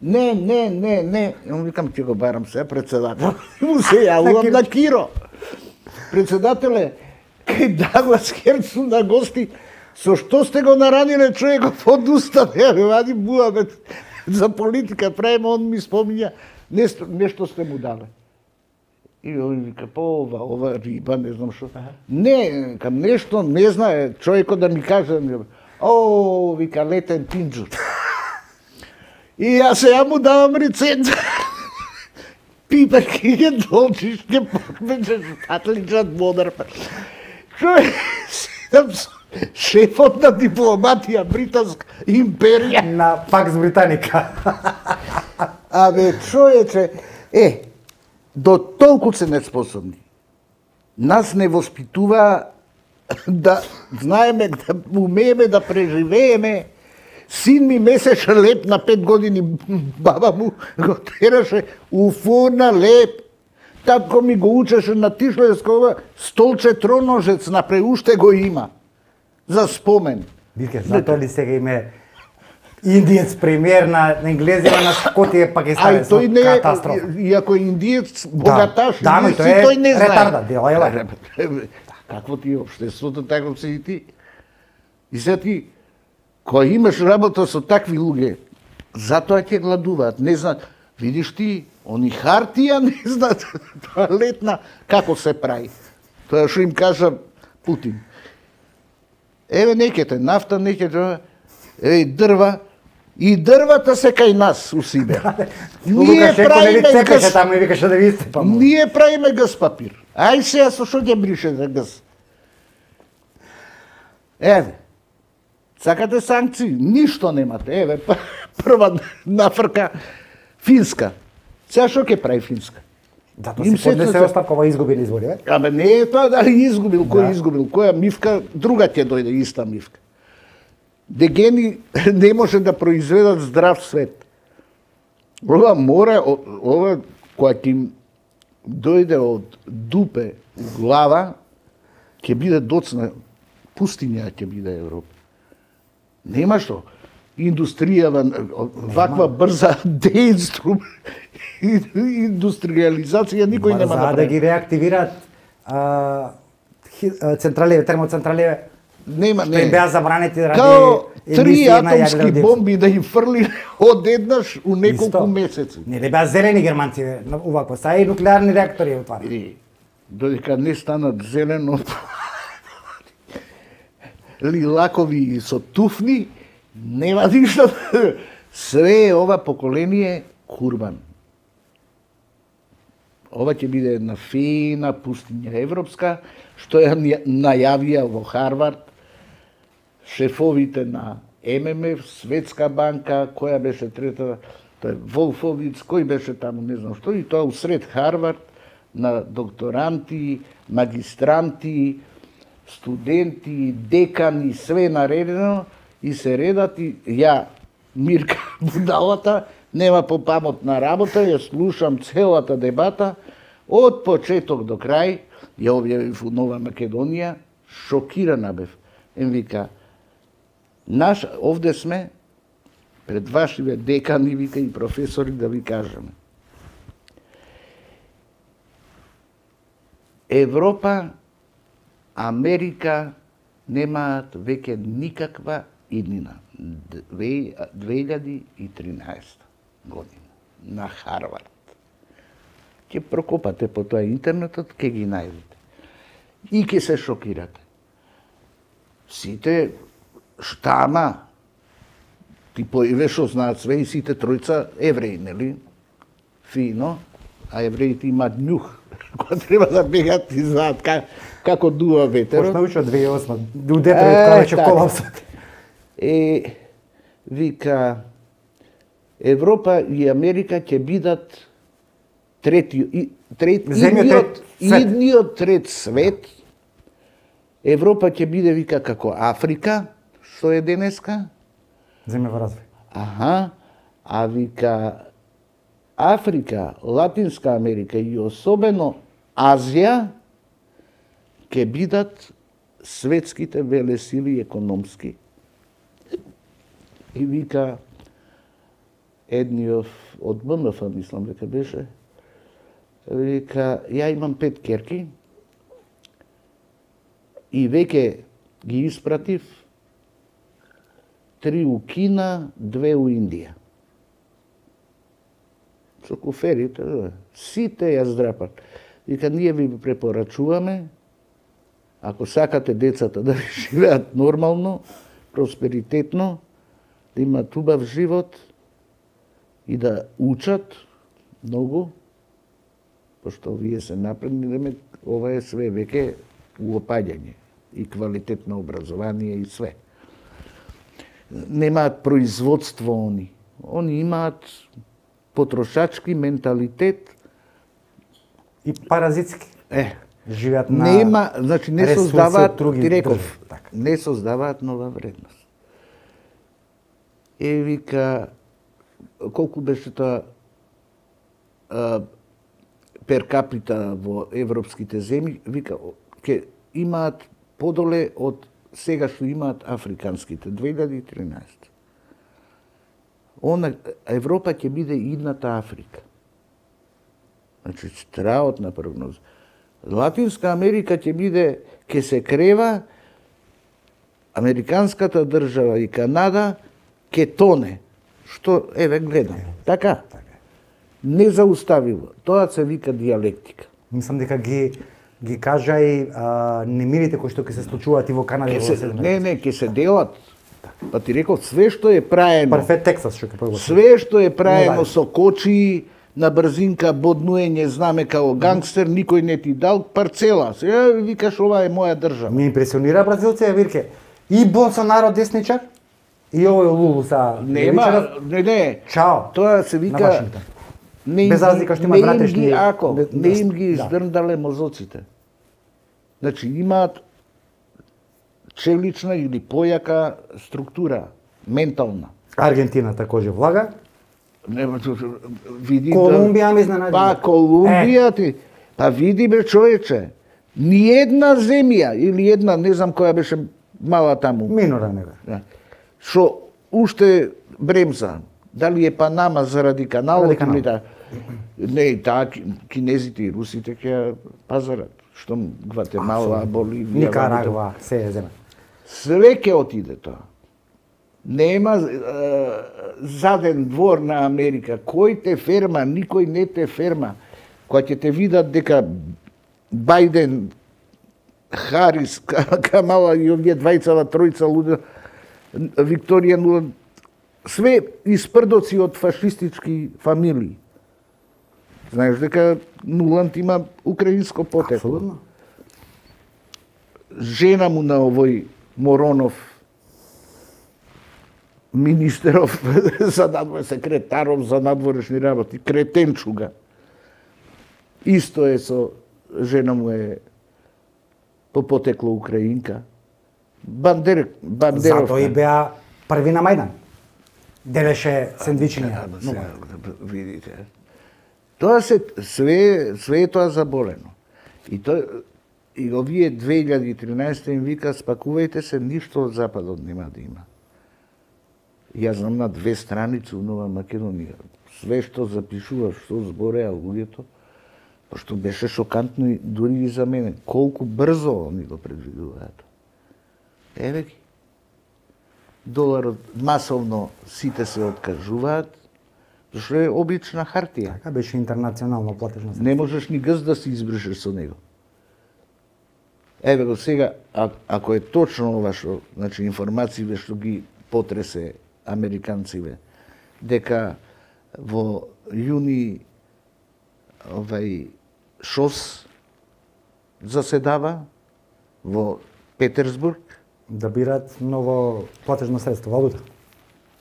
Не, не, не, не. И му викам, ќе го барам се, председател. И му се јавувам на Киро. Председателе, кај Даглас Херцу на гости, со што сте го нараниле човекот од уста, ја ме вади буабет за политика, правиме, он ми спомиња, нешто, нешто сте му дале. И ој вика, по ова, ова риба, не знам што. Не, кам нешто, не знае, човекот да ми каже, о, вика, летен пинџур. И јас се ја му давам реценза. Пипер ке ќе долчиш, ке покмечеш атличат модар. Човек, седам со шефот на дипломатија британска империја. На Пакс Британика. Абе, човече, е, до толку се неспособни. Нас не воспитува да знаеме, да умееме да преживееме. Син ми месеше леп на пет години, баба му го тераше у фурна леп. Татко ми го учеше на Тишлевскова, столче троножец напре уште го има. За спомен. Бирке, затоа ли сега име индиец премиер на, на енглезima на Скотија, Пакистанец, тој не е, катастрофа. иако е индиец, богаташ, да, не но си, тој е тој не знае. ретарда, дела е. Какво ти е општеството, тако си и ти. И сега ти, кој имаш работа со такви луѓе, затоа ќе гладуваат, не знаат. Видиш ти, они хартија не знаат, тоалетна, како се прави. Тоа што им кажа Путин. Еве некете, нафта некете, еве дрва, и дрвата се кај нас у Сибир. Ние правиме газ... таму и викаше да ви истепам. Ние правиме газ папир. Ај сега со што ќе брише за газ? Еве. Сакате санкции? Ништо немате. Еве, прва нафрка Финска. Сега што ќе прави Финска? Зато си поднесе оставка, ова изгубил избори, е? Абе не е тоа дали изгубил, кој изгубил, која мивка, друга ќе дојде иста мивка. Дегени не може да произведат здрав свет. Ова мора, ова која ќе им дојде од дупе у глава, ќе биде доцна пустиња ќе биде Европа. Нема што. Индустријава, ваква брза деинструм, индустриализација никој нема да прави. За да ги реактивираат централеве, термоцентралеве, нема, што им беа забранети ради као три емисија на атомски јадрен бомби да им фрли одеднаш у неколку месеци. Не ли беа зелени германци, увакво, са и нуклеарни реактори отварани. Додека не станат зелено, лилакови со туфни, нема ништо. Све ова поколение курбан. Ова ќе биде една фина пустиња европска, што ја најавија во Харвард шефовите на Ем Ем Еф, Светска банка, која беше трета, тој Волфовиц, кој беше таму, не знам што, и тоа усред Харвард на докторанти, магистранти, студенти, декани, све наредено, и се редат и ја, Мирка Будалата, нема попамотна работа, ја слушам целата дебата, од почеток до крај, ја објавив у Нова Македонија, шокирана бев. Ем вика, наш, овде сме, пред вашиве декани, вика, и професори, да ви кажеме. Европа, Америка немаат веќе никаква иднина. две илјади и тринаесета година на Харвард. Ќе прокопате по тоа интернетот, ќе ги најдете. И ќе се шокирате. Сите штама, типови што знаат све, и сите тројца евреи, нели? фино, а евреите имаат нюх, кога треба да бегаат и знаат как, како дува ветерот. Почна научи од две илјади и осма, у Детройт кога беше колапсот. Е, вика, Европа и Америка ќе бидат трети, и, трет, Земјот трет свет. идниот трет свет. Европа ќе биде, вика, како Африка, што е денеска. Земја во развој. Аха, а вика, Африка, Латинска Америка и особено Азија ќе бидат светските велесили економски. И вика, едниот од Б М Ф, мислам дека беше, вика, ја имам пет керки и веќе ги испратив три у Кина, две у Индија. Со куферите, сите ја здрапат. Вика, ние ви препорачуваме, ако сакате децата да живеат нормално, просперитетно, да имаат убав живот и да учат многу, пошто вие се напредни, ова е све веќе уопаѓање и квалитетно образование и све. Немаат производство они. Они имаат потрошачки менталитет И паразитски. Е, живеат на нема, значи не ресурси од создаваат, други ти реков, држави, така. не создаваат нова вредност. Е, вика, колку беше тоа а, пер капита во европските земји, вика, ќе имаат подоле од сега што имаат африканските, две илјади и тринаесет. Она, Европа ќе биде идната Африка. Значи, страотна прогноза. Латинска Америка ќе биде, ќе се крева, американската држава и Канада ќе тоне. Што, еве, гледам. Така? Незауставиво. Тоа се вика диалектика. Мислам дека ги ги кажа и а, немирите кои што ќе се случуваат и во Канада и Ке во се, Северна. не, не, ќе се делат. Па ти реков, све што е праено, Парфет Тексас што ќе погласам. све што е праено Не со кочи, на брзинка, боднуење, знаме као гангстер, никој не ти дал парцела. Сега викаш, ова е моја држава. Ме импресионира бразилците, вирке. И Болсонаро десничар, и овој Лулу са Нема, левичаров. не, не. Чао. Тоа се На вика... Вашингтон. Не им Без ги- разлика што има не им вратешни- ги, ако, не- не им ги да. издрндале мозоците. Значи, имаат челична или појака структура, ментална. Аргентина такоже влага. Нема, ту- ту- види Колумбија ме изненади. Па Колумбија ти. Па види бе човече. Ниедна земја или една, не знам која беше мала таму. Минора нега. Да. Што уште бремза. Дали е Панама заради каналот Заради каналот. или да. Не, таа ки- кинезите и русите ќе ја пазарат. Што Гватемала, Боливија, Никарагва, се е земја. све ќе отиде тоа. Нема е, заден двор на Америка. Кој те ферма, никој не те ферма. Кога ќе те видат дека Бајден, Харис, Камала и овие двајцава, тројца луѓе, Викторија Нуланд, све испрдоци од фашистички фамилии. Знаеш дека Нуланд има украинско потекло. Апсолутно. Жена му на овој Моронов, министеров за надвор, секретаров за надворешни работи, кретенчуга. Исто е со жена му е по потекло украинка. Бандер, Бандеровка. Затоа и беа први на Мајдан. Делеше сендвичиња. Ама сега, видите. Тоа се све све е тоа заболено. И тоа и овие две илјади и тринаесета им вика спакувајте се, ништо од западот нема да има. Јас знам на две страници у Нова Македонија. Све што запишува, што збореа луѓето, пошто беше шокантно и дури и за мене. Колку брзо они го предвидуваат. Еве ги. Доларот масовно сите се откажуваат, зашто е обична хартија. Така беше интернационално платежно средство. Не можеш ни гз да се избришеш со него. Еве го сега, а, ако е точно ова што, значи информациите што ги потресе американциве, дека во јуни овај ШОС заседава во Петерсбург. Да бират ново платежно средство, валута.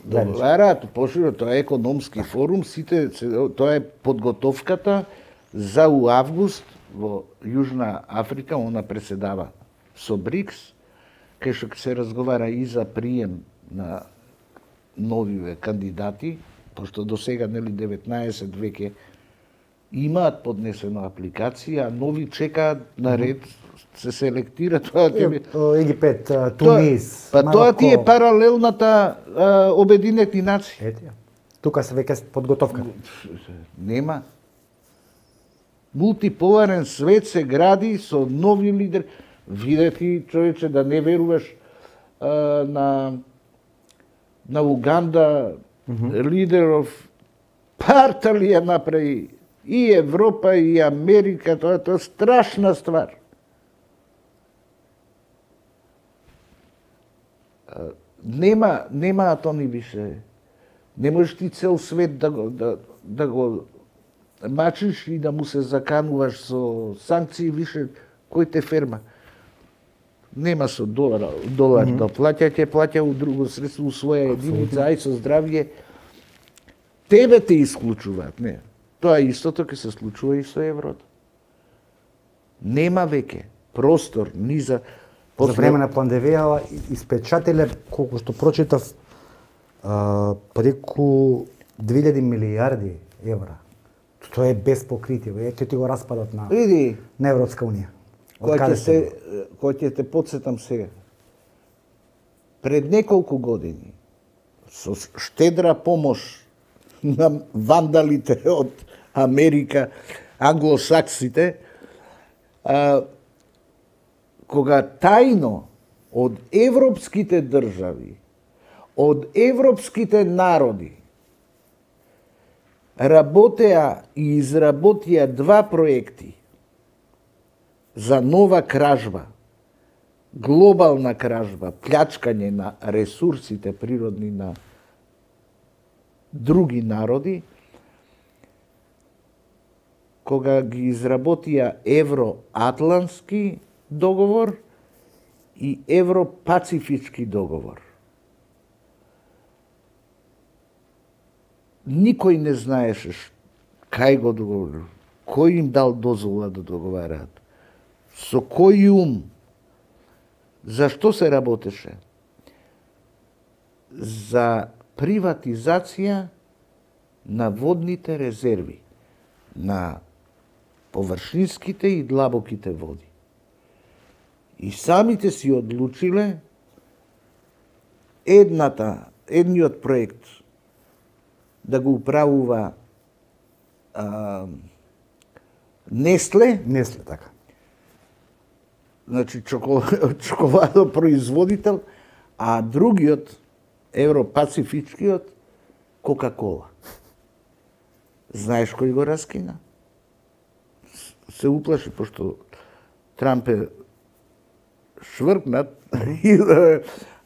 Договараат поширо, тоа е економски форум, сите тоа е подготовката за у август во Јужна Африка, она преседава со БРИКС, кај што се разговара и за прием на нови кандидати, пошто до сега нели деветнаесет веќе имаат поднесена апликација, а нови чекаат на ред, се селектира тоа тебе. Египет, Тунис, Па тоа ти е паралелната а, Обединети нации. Ете, тука се веќе подготовка. Нема. Мултиполарен свет се гради со нови лидери. Видети, човече, да не веруваш а, на на Уганда, mm -hmm. лидеров парта ли ја направи и Европа и Америка, тоа тоа е страшна ствар. Нема, немаат они више. Не можеш ти цел свет да го, да, да го мачиш и да му се закануваш со санкции више, кој те ферма. Нема со долар, долар mm -hmm. да плаќа, ќе плаќа у друго средство, у своја единица, ај со здравје. Тебе те исклучуваат, не. Тоа истото ќе се случува и со еврото. Нема веќе простор ни за После... За време на пандемија испечателе, колку што прочитав, а, преку две илјади милијарди евра. Тоа е без покритие, ќе ти го распадат на, Види, на Европска унија. Кој ќе се, кој ќе те подсетам сега. Пред неколку години, со штедра помош на вандалите од Америка, англосаксите, а, кога тајно од европските држави, од европските народи, работеа и изработија два проекти за нова кражба, глобална кражба, плячкање на ресурсите природни на други народи, кога ги изработија Евроатлантски договор и Европацифички договор. Никој не знаеше кај го договор, кој им дал дозвола да договараат, со кој ум, зашто се работеше? За приватизација на водните резерви, на површинските и длабоките води. И самите си одлучиле едната, едниот проект да го управува а, Нестле. Нестле, така. Значи чоколадопроизводител, а другиот, Европацифичкиот, Кока-кола. Знаеш кој го раскина? Се уплаши, пошто Трамп е швркнат,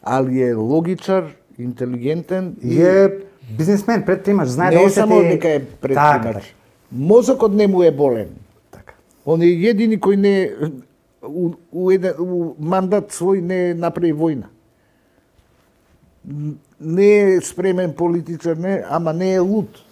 али е логичар, интелигентен. И е бизнесмен, предпримач, знае да не осети... само дека е предпримач. Така, така. Мозокот не му е болен. Така. Он е едини кој не у, у, еден, у мандат свој не направи војна. Не е спремен политичар, не, ама не е луд.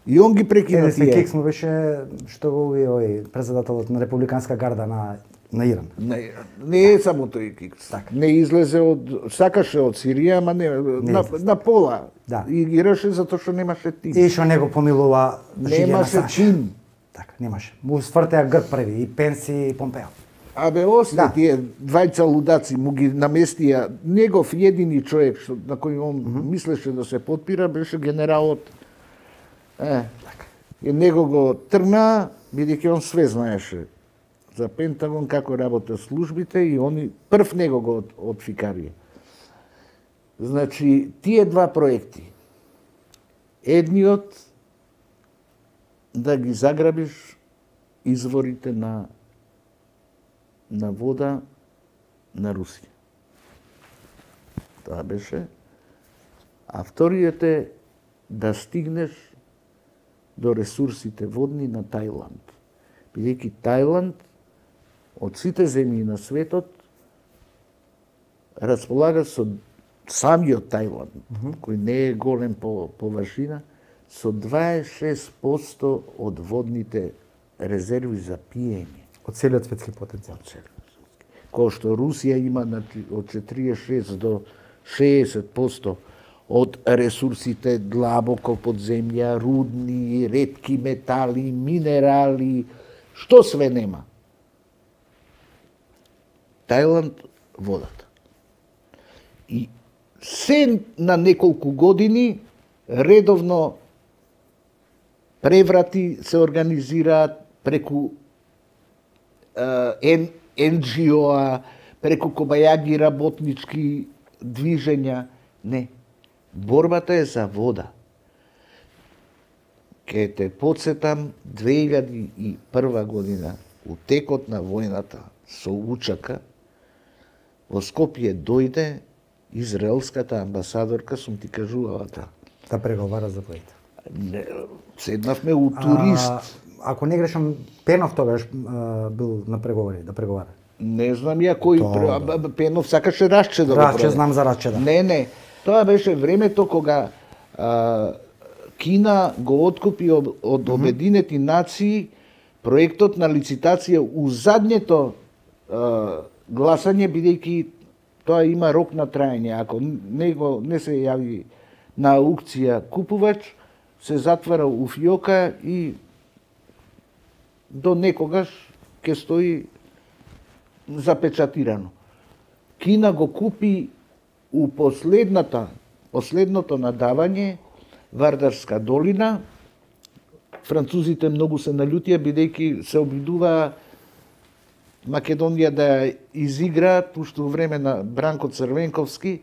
И он ги прекина тие. Еден кекс му беше што го уви овој председателот на Републиканска гарда на на Иран. Не, не е само тој кекс. Так. Не излезе од, сакаше од Сирија, ама не, не на, на пола. Да. И гираше затоа што немаше тим. И што него помилува немаше тим. Така, немаше. Му свртеа грб први и Пенси и Помпео. Абе, осте да. Тие двајца лудаци му ги наместија. Негов едини човек што, на кој он mm -hmm. мислеше да се подпира, беше генералот. Е, така. И него го тргна, бидејќи он све знаеше за Пентагон, како работат службите, и они прв него го од, одфикарија. Значи, тие два проекти. Едниот да ги заграбиш изворите на на вода на Русија. Тоа беше. А вториот е да стигнеш до ресурсите водни на Тајланд. Бидејќи Тајланд од сите земји на светот располага со самиот Тајланд, mm -hmm. кој не е голем по површина, со дваесет и шест проценти од водните резерви за пиење. Од целиот светски потенцијал. Кој што Русија има од четириесет и шест до шеесет проценти од ресурсите длабоко под земја, рудни, ретки метали, минерали, што све нема. Тајланд водата. И се на неколку години редовно преврати се организираат преку ен џи о-а, преку кобајаги работнички движења. Не. Борбата е за вода. Ке те подсетам, две илјади и прва година, у текот на војната со Учака, во Скопје дојде израелската амбасадорка, сум ти кажувала та. Да преговара за војата. Седнавме у турист. А, ако не грешам, Пенов тогаш а, бил на преговори, да преговара. Не знам ја кој Тоа, Пенов сакаше Рачче да го Рачче, продаде. знам за Рачче, да. Не, не. Тоа беше времето кога а, Кина го откупи од, од Обединети нации проектот на лицитација у задњето а, гласање, бидејќи тоа има рок на траење. Ако не, го, не се јави на аукција купувач, се затвара у фиока и до некогаш ќе стои запечатирано. Кина го купи у последната, последното надавање Вардарска долина. Французите многу се налютија, бидејќи се обидува Македонија да ја изигра, пушто време на Бранко Црвенковски,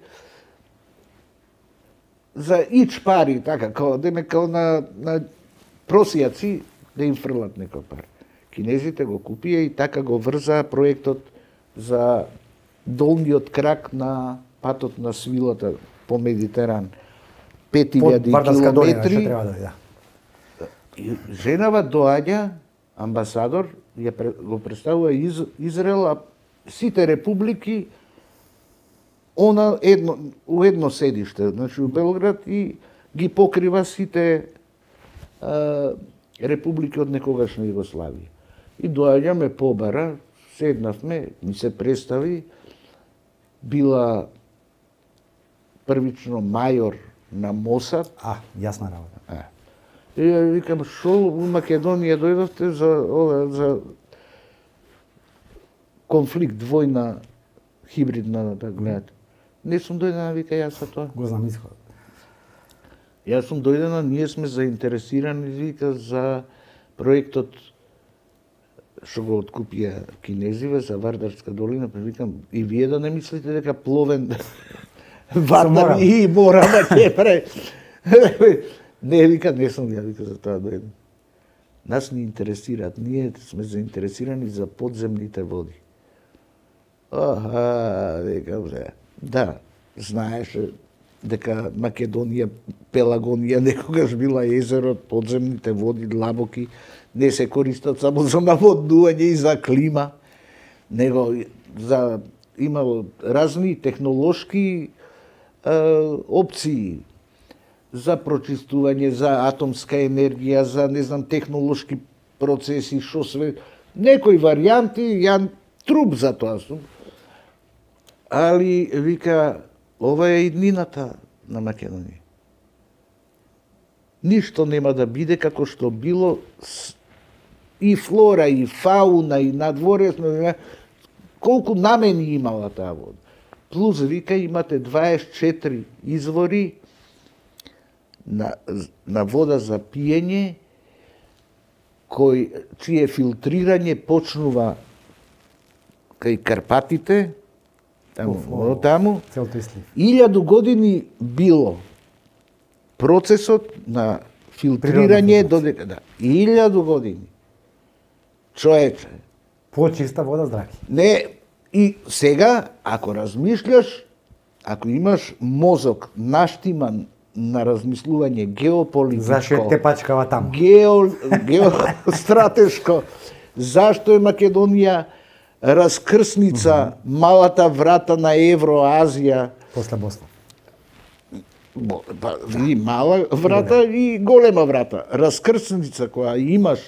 за ич пари, така, као, деме, као на, на просијаци, да им фрлат некој пари. Кинезите го купија и така го врзаа проектот за долниот крак на патот на свилата по Медитеран. пет илјади километри. Да. И женава доаѓа, амбасадор, ја го представува из, Израел, а сите републики она едно, у едно седиште, значи у Белград, и ги покрива сите а, републики од некогашна Југославија. И доаѓаме побара, седнавме, ми се представи, била првично мајор на Мосад. А, јасна работа. А. И ја викам, шо у Македонија дојдовте за ова, за конфликт, војна, хибридна, да гледате. Не сум дојдена, вика, јас за тоа. Го знам исход. Јас сум дојдена, ние сме заинтересирани, вика, за проектот што го откупија кинезиве за Вардарска долина, па викам, и вие да не мислите дека пловен Вардар и мора да ќе пре. Не, вика, не сум ја, вика, за тоа дојден. Нас ни интересираат, ние сме заинтересирани за подземните води. Аха, вика, бре. Да, знаеше дека Македонија, Пелагонија некогаш била езеро, подземните води длабоки, не се користат само за наводнување и за клима, него за имало разни технолошки е, опции за прочистување, за атомска енергија, за, не знам, технолошки процеси, шо све, некои варијанти, ја труп за тоа сум. Али, вика, ова е иднината на Македонија. Ништо нема да биде како што било, и флора, и фауна, и надворесно, колку намени имала таа вода. Плюс, вика, имате дваесет и четири извори на, на вода за пиење, кој, чие филтрирање почнува кај Карпатите, таму, о, таму, илјаду години било процесот на филтрирање додека, да, илјаду години. Човече. Почиста вода, здрави. Не, и сега, ако размишљаш, ако имаш мозок наштиман на размислување геополитичко. Зашто е тепачкава таму? Гео, геостратешко. Зашто е Македонија раскрсница, mm -hmm. малата врата на Евроазија. После Босна. Бо, па, види, мала врата и голема врата. Раскрсница која имаш,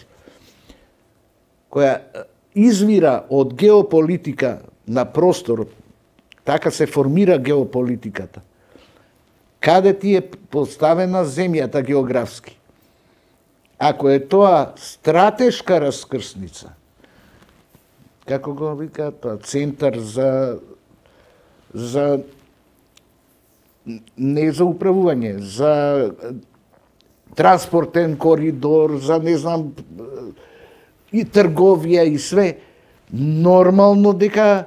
која извира од геополитика на просторот, така се формира геополитиката. Каде ти е поставена земјата географски? Ако е тоа стратешка раскрсница, како го викаат тоа, центар за за не за управување, за транспортен коридор, за не знам и трговија и све, нормално дека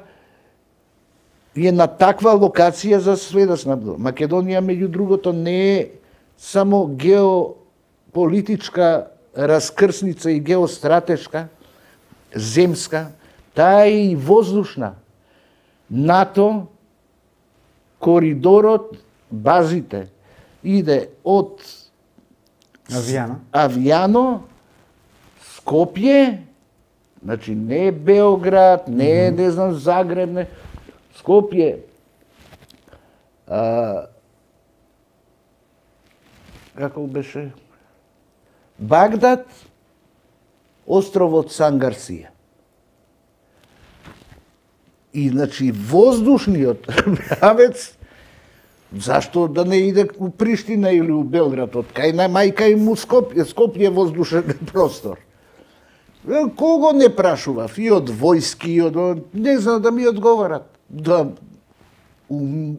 е на таква локација за све да снабдува. Македонија, меѓу другото, не е само геополитичка раскрсница и геостратешка, земска, таа е и воздушна. НАТО, коридорот, базите, иде од Авијано, Авијано, Скопје, значи не е Београд, не е, не знам, Загреб, не, Скопје, а, како беше? Багдад, островот Сан Гарсија. И, значи, воздушниот правец, зашто да не иде у Приштина или у Белград, од кај на мајка им у Скопје, Скопје воздушен простор. Кого не прашував, и од војски, и од... не знам да ми одговарат. Да, у,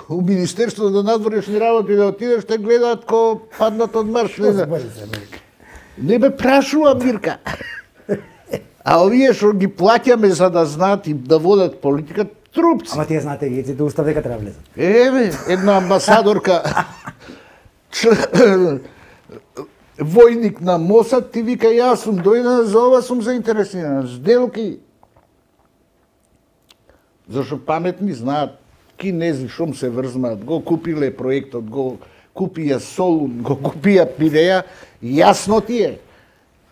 у Министерството на надворешни работи да отидеш, те гледаат ко паднат од Марш. Не, не бе прашува, Мирка. А овие што ги плаќаме за да знаат и да водат политика, трупци. Ама тие знаете ги, еците устав дека треба влезат. Еве, една амбасадорка, војник на Мосад, ти вика, јас сум дојдена, за ова сум заинтересирана. Сделки. Зашто паметни знаат, кинези шом се врзмаат, го купиле проектот, го купија Солун, го купија Пиреја, јасно ти е.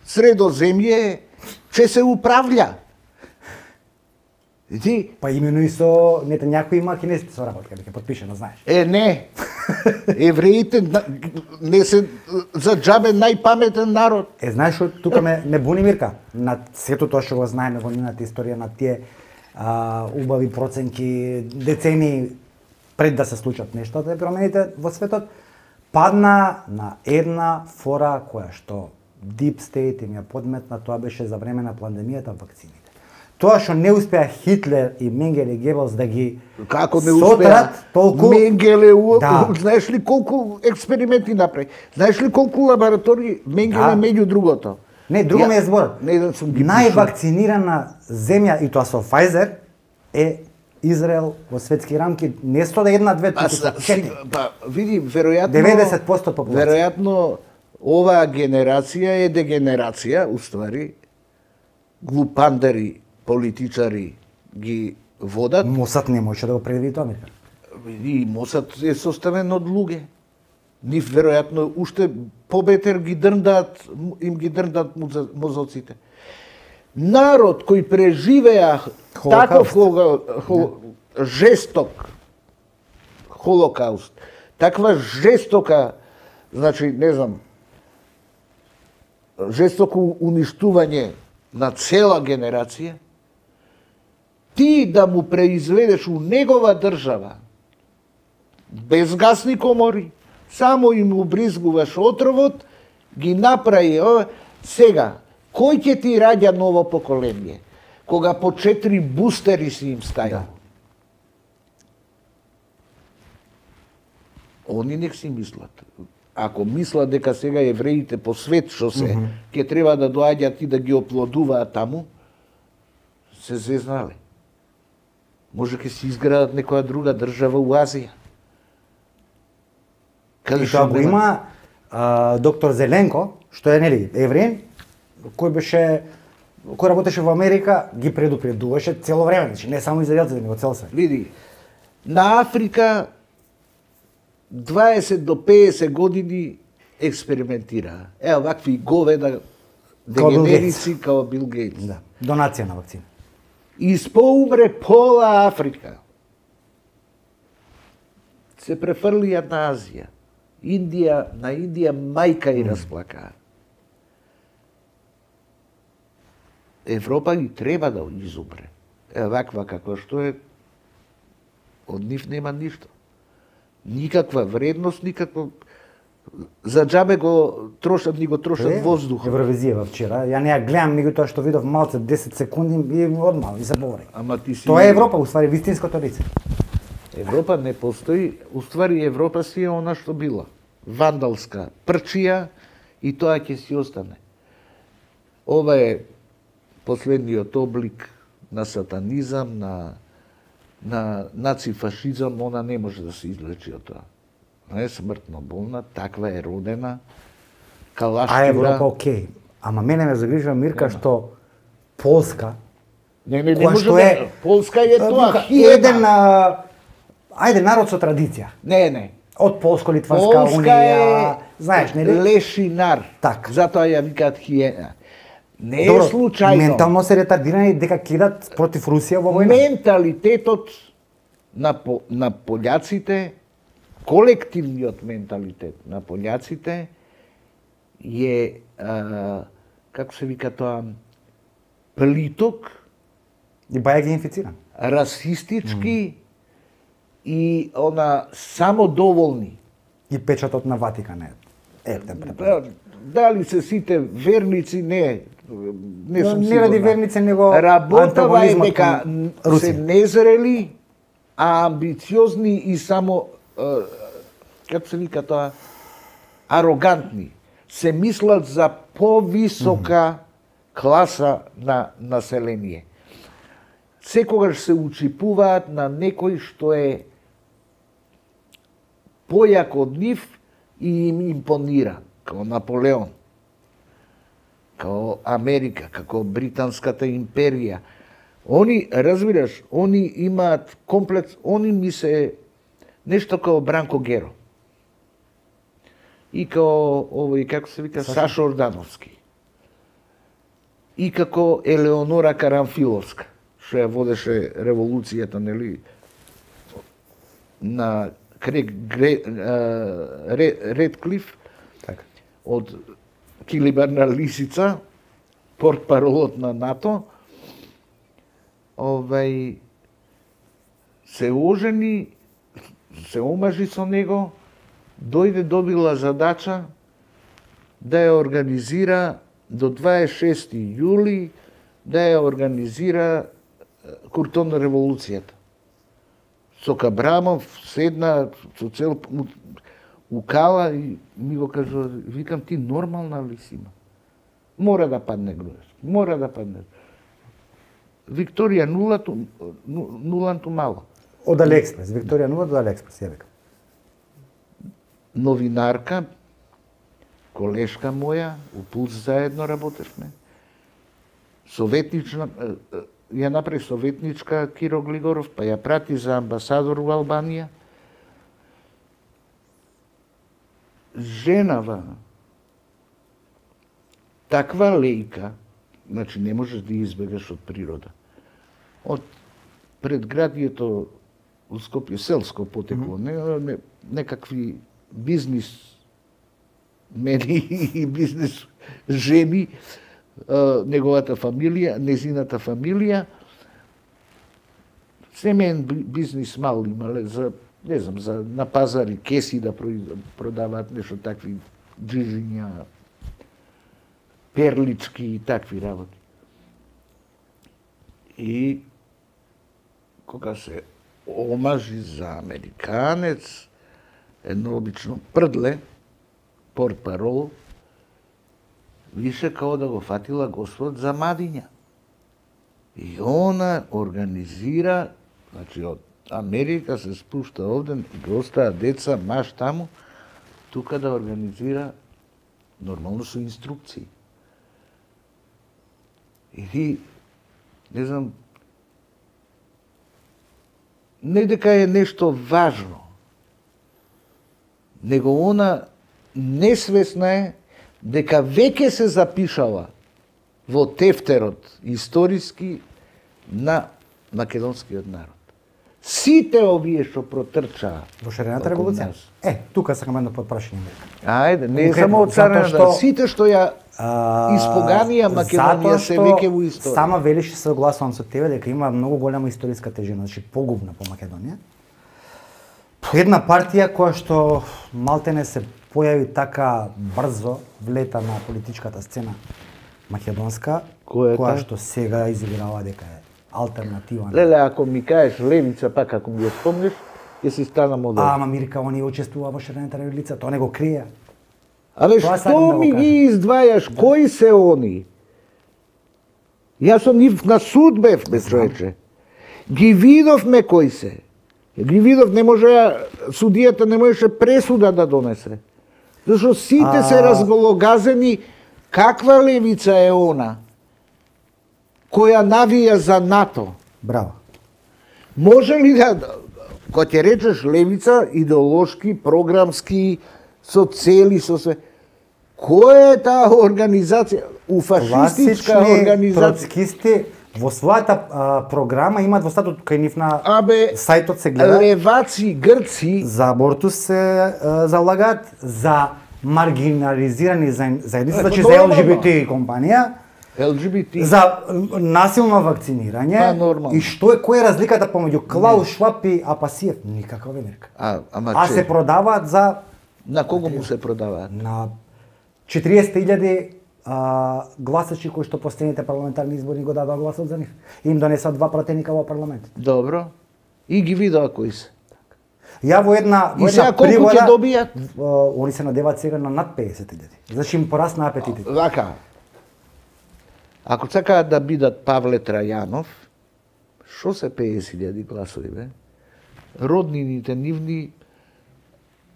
Средоземје че се управља. Ти? Па имено и со нете някои има кинезите со работка, дека потпишено, знаеш. Е, не. Евреите не се за џабе најпаметен народ. Е, знаеш што тука ме не буни, Мирка, на сето тоа што го знаеме во нивната историја, на тие а, убави проценки, децени пред да се случат нештата и промените во светот, падна на една фора која што Deep State им ја подметна, тоа беше за време на пандемијата, вакцините. Тоа што не успеа Хитлер и Менгеле Гебелс да ги како не успеа толку Менгеле, да. Знаеш ли колку експерименти направи? Знаеш ли колку лаборатории Менгеле да. Меѓу другото? Не, друго ми е зборот. Не да сум ги највакцинирана земја и тоа со Pfizer е Израел во светски рамки, не сто една две туку со четири. Па види, веројатно деветдесет проценти популација. Веројатно оваа генерација е дегенерација, уствари глупандари политичари ги водат. Мосад не може да го предвиди тоа, Мирка. И Мосад е составен од луѓе. Нив веројатно уште побетер ги дрндаат, им ги дрндаат мозоците. Народ кој преживеа таков хол, хол, жесток холокауст, таква жестока, значи, не знам, жестоко уништување на цела генерација, ти да му преизведеш у негова држава, без гасни комори, само им убризгуваш отровот, ги направи ова. Сега, кој ќе ти раѓа ново поколение, кога по четири бустери си им стаја? Да. Они нек си мислат. Ако мислат дека сега евреите по свет што се, mm -hmm. ќе треба да доаѓаат и да ги оплодуваат таму, се зезнале. Може ќе се изградат некоја друга држава у Азија. Каде што го има а, доктор Зеленко, што е нели евреин, кој беше кој работеше во Америка, ги предупредуваше цело време, значи не само израелците, него цел свет. Види, на Африка дваесет до пеесет години експериментира. Ево вакви говеда дегенерици као Бил Гейтс. Да. Донација на вакцина. Испоумре пола Африка. Се префрлија на Азија. Индија, на Индија мајка и расплака. Европа ги треба да изумре. Е, ваква каква што е, од нив нема ништо. Никаква вредност, никаква... За џабе го трошат, ни го трошат воздух. Евровизија вчера. Ја не ја гледам, него тоа што видов малце десет секунди и одмал и заборев. Ама ти си... Тоа е Европа, уствари вистинското лице. Европа не постои, уствари Европа си е она што била. Вандалска прчија и тоа ќе си остане. Ова е последниот облик на сатанизам, на на нацифашизам, она не може да се излечи од тоа. Не е смртно болна, таква е родена, калашкира. А Европа окей. Ама мене ме загрижува Мирка што Полска, не, не, не која може што да... е Полска е тоа, еден, а, ајде, народ со традиција. Не, не. Од Полско-Литванска унија, знаеш, нели? Лешинар. Так. Затоа ја викаат хиена. Не е Добро, случајно. ментално се ретардирани дека кидат против Русија во војна. Менталитетот на, по, на пољаците, колективниот менталитет на пољаците е, а, како се вика тоа, плиток, И баја ги инфициран. расистички mm. и она самодоволни. И печатот на Ватикан е. Е, Да, дали се сите верници, не, не сум не сигурна. ради верници, него Работава е антагонизмот дека кон се Русија. незрели, а амбициозни и само, е, како се вика тоа, арогантни. Се мислат за повисока mm -hmm. класа на население. Секогаш се учипуваат на некој што е појак од нив и им импонира, као Наполеон, као Америка, како Британската империја. Они, разбираш, они имаат комплекс, они ми се нешто као Бранко Геро. И као овој, како се вика, Сашо, Сашо Ордановски. И како Елеонора Карамфиловска, што ја водеше револуцијата, нели, на Крек Гре, а, Редклиф, Така. од Килибарна лисица, портпаролот на НАТО, овај, се ожени, се омажи со него, дојде добила задача да ја организира до дваесет и шести јули, да ја организира куртон револуцијата. Со Кабрамов седна со цел укала и ми го кажува, викам, ти нормална ли си има? Мора да падне Груевски, мора да падне. Викторија нулато, нуланто мало. Од Алиекспрес, Викторија нула до Алиекспрес, ја викам. Новинарка, колешка моја, у Пулс заедно работевме. Советнична, ја направи советничка Киро Глигоров, па ја прати за амбасадор во Албанија. Женава, таква лејка, значи не можеш да избегаш од природа. Од предградието у Скопје, селско потекло, mm -hmm. не, не, некакви бизнис мени и бизнес жени, неговата фамилија, незината фамилија, семеен бизнис мал имале за, не знам, за на пазари кеси да продаваат нешто такви джижиња, перлички и такви работи. И кога се омажи за американец, едно обично прдле, портпарол, више као да го фатила Господ за мадиња. И она организира, значи од Америка се спушта овде, ги остаа деца, маш таму, тука да организира нормално со инструкции. И не знам, не дека е нешто важно, него она несвесна е дека веќе се запишала во тефтерот историски на македонскиот народ. Сите овие што протрчаа во шарената револуција. Е, тука сакам едно подпрашање. Ајде, не е само од царената, сите што ја испоганија Македонија се веќе во историја. Сама велиш се согласувам со тебе дека има многу голема историска тежина, значи погубна по Македонија. Една партија која што малтене се појави така брзо влета на политичката сцена македонска, која, која што сега изиграва дека е алтернатива. Леле, ако ми кажеш левица, пак ако ми ја спомнеш, ќе си стана модел. Ама Мирка, они учествува во шарената револуција, тоа не го крие. Абе, што ми ги издвајаш? Да. Кои се они? Јас сум нив на суд бев, бе човече. Ги видовме кои се. Ги видов, не може, судијата не можеше пресуда да донесе. Зашто сите а... се разгологазени, каква левица е она, која навија за НАТО. Браво. Може ли да, кога ќе речеш левица, идеолошки, програмски, со цели, со све, која е таа организација? У фашистичка организација. Троцкисти во својата а, програма имаат во статут кај нив на Абе, сајтот се гледа. Леваци, грци за абортус се а, залагаат, за маргинализирани заедници, значи за Ел Џи Би Ти компанија. Ел Џи Би Ти. За насилно вакцинирање. Па, нормално. И што е, која е разликата помеѓу Клаус Шваб и Апасиев? Никаква Америка. А, ама а че... се продаваат за... На кого му се продаваат? На четириесет илјади гласачи кои што последните парламентарни избори го дадоа гласот за нив. Им донесоа два пратеника во парламент. Добро. И ги видоа кои се. Ја во една во и сега колку пригода, ќе добијат? Они се надеваат сега на над педесет илјади. Значи им порасна апетитите. Вака. Ако сакаат да бидат Павле Трајанов, шо се педесет илјади гласови, бе? Роднините нивни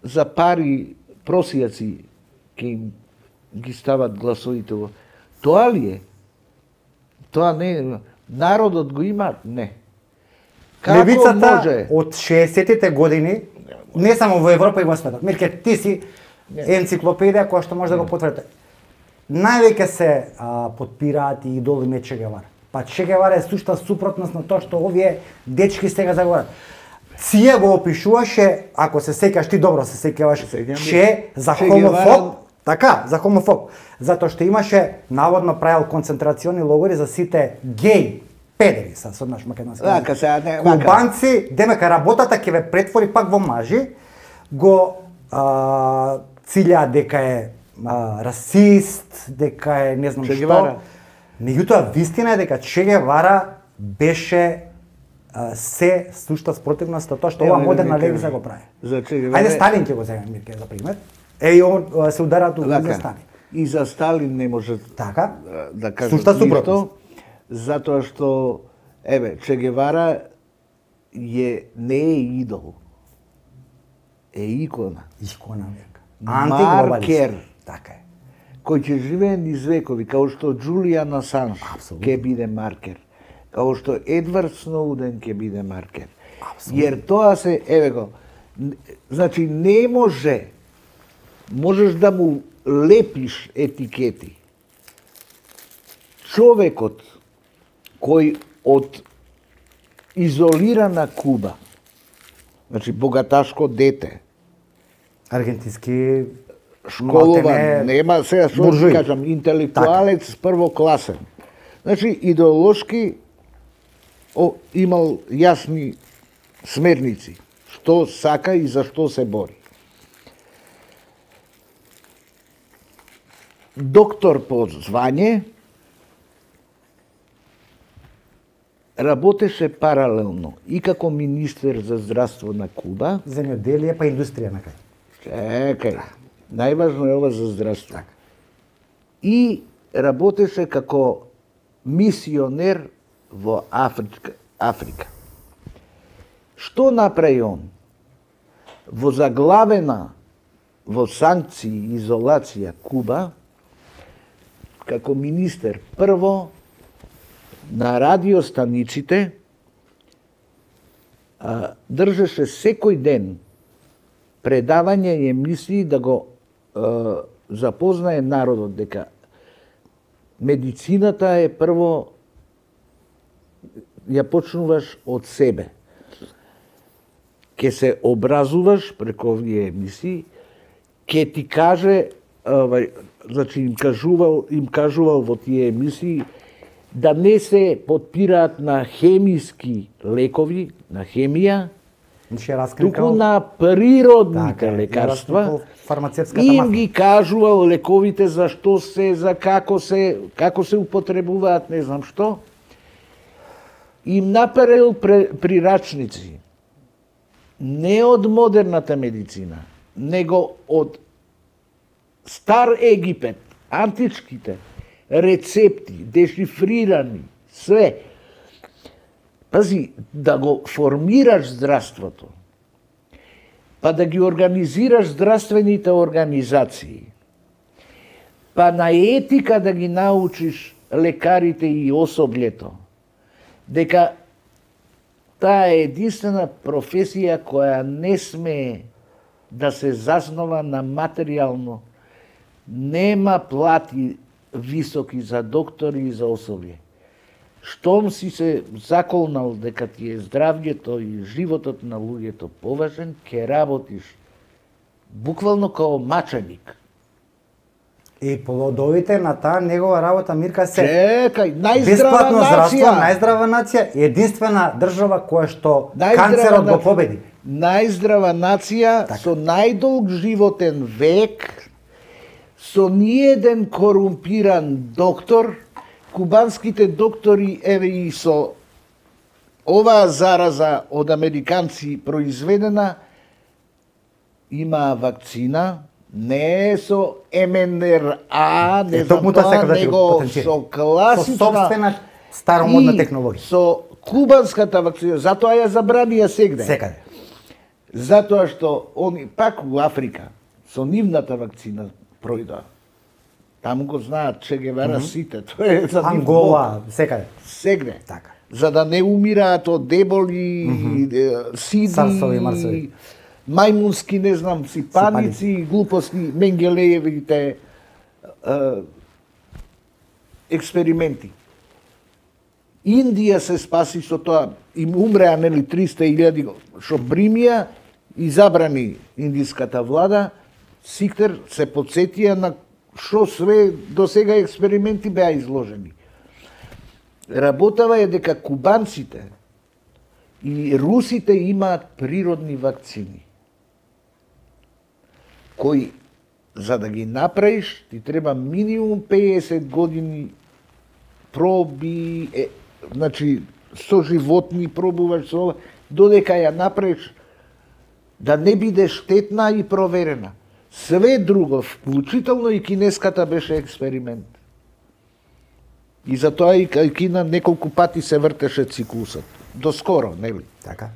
за пари просијаци ке им ги стават гласовите во... Тоа ли е? Тоа не е. Народот го има? Не. Како левицата може? Од шеесеттите години, не само во Европа и во светот. Мирке, ти си енциклопедија која што може да го потврди. Највеќе се а, подпираат и идоли ме Че Гевара. Па Че Гевара е сушта супротност на тоа што овие дечки сега заговорат. Ција го опишуваше, ако се сеќаш, ти добро се сеќаваш, че за хомофоб, така, за хомофоб, затоа што имаше наводно правил концентрациони логори за сите геј педери, са со наш македонски. Вака се, не, вака. Кубанци, демека работата ќе ве претвори пак во мажи, го а, цилја дека е а, расист, дека е не знам Че што. Гевара. Меѓутоа вистина е дека Че Гевара беше а, се сушта спротивност тоа што ова модерна левица го прави. За Че Гевара. Ајде Сталин ќе го земе Мирке за пример. Е и он се удараат у за Сталин. И за Сталин не може така да кажат сушта супротивност. Затоа што еве Че Гевара е не е идол. Е икона. Икона века. Маркер. Така е. Кој ќе живее низ векови, као што Џулијан Асанж ќе биде маркер. Као што Едвард Сноуден ќе биде маркер. Абсолютно. Јер тоа се, еве го, значи не може, можеш да му лепиш етикети. Човекот кој од изолирана Куба, значи богаташко дете, аргентински школован, нема сега што да кажам, интелектуалец така. Првокласен. Значи идеолошки о, имал јасни смерници, што сака и за што се бори. Доктор по звање, работеше паралелно и како министер за здравство на Куба, земјоделие па индустрија на кај. Чекај, најважно е ова за здравство. Так. И работеше како мисионер во Африка. Африка. Што направи он? Во заглавена во санкции и изолација Куба, како министер, прво на радиостаниците а, држеше секој ден предавање и емисии да го е, запознае народот дека медицината е прво ја почнуваш од себе. Ке се образуваш преку овие емисии, ке ти каже, овај, значи им кажувал, им кажувал во тие емисии да не се потпираат на хемиски лекови, на хемија, туку на природните така, лекарства. Им ги кажувал лековите за што се, за како се, како се употребуваат, не знам што. Им наперил прирачници не од модерната медицина, него од стар Египет, античките рецепти, дешифрирани, све. Пази, да го формираш здравството, па да ги организираш здравствените организации, па на етика да ги научиш лекарите и особлето, дека таа е единствена професија која не смее да се заснова на материјално, нема плати високи за доктори и за особје. Штом си се заколнал дека ти е здравјето и животот на луѓето поважен, ќе работиш буквално као маченик. И плодовите на таа негова работа, Мирка, се Чекај, најздрава бесплатно нација, здравство, најздрава нација и единствена држава која што канцерот го победи. Најздрава нација, така, со најдолг животен век, со ниеден корумпиран доктор. Кубанските доктори, еве и со оваа зараза од американци произведена, имаа вакцина, не со Ем Ен Ер А, не знам тоа, него со класична, со собствена старомодна технологија. Со кубанската вакцина, затоа ја забранија сегде. Секаде. Затоа што они пак у Африка со нивната вакцина пројдоа. Таму го знаат Че Гевара mm -hmm. сите, тоа е за Ангола, секаде. Сегде. Така. За да не умираат од деболи, mm -hmm. сиди, Сарсови, марсови, мајмунски, не знам, сипаници, глупости, Менгелеевите е, експерименти. Индија се спаси со тоа, им умреа нели триста илјади, што примија и забрани индиската влада, сите се потсетија на што све до сега експерименти беа изложени. Работава е дека кубанците и русите имаат природни вакцини, кои, за да ги направиш, ти треба минимум педесет години проби, е, значи, со животни пробуваш, со, додека ја направиш, да не биде штетна и проверена. Све друго, вклучително и кинеската, беше експеримент. И затоа и Кина неколку пати се вртеше циклусот. Доскоро, нели? Така.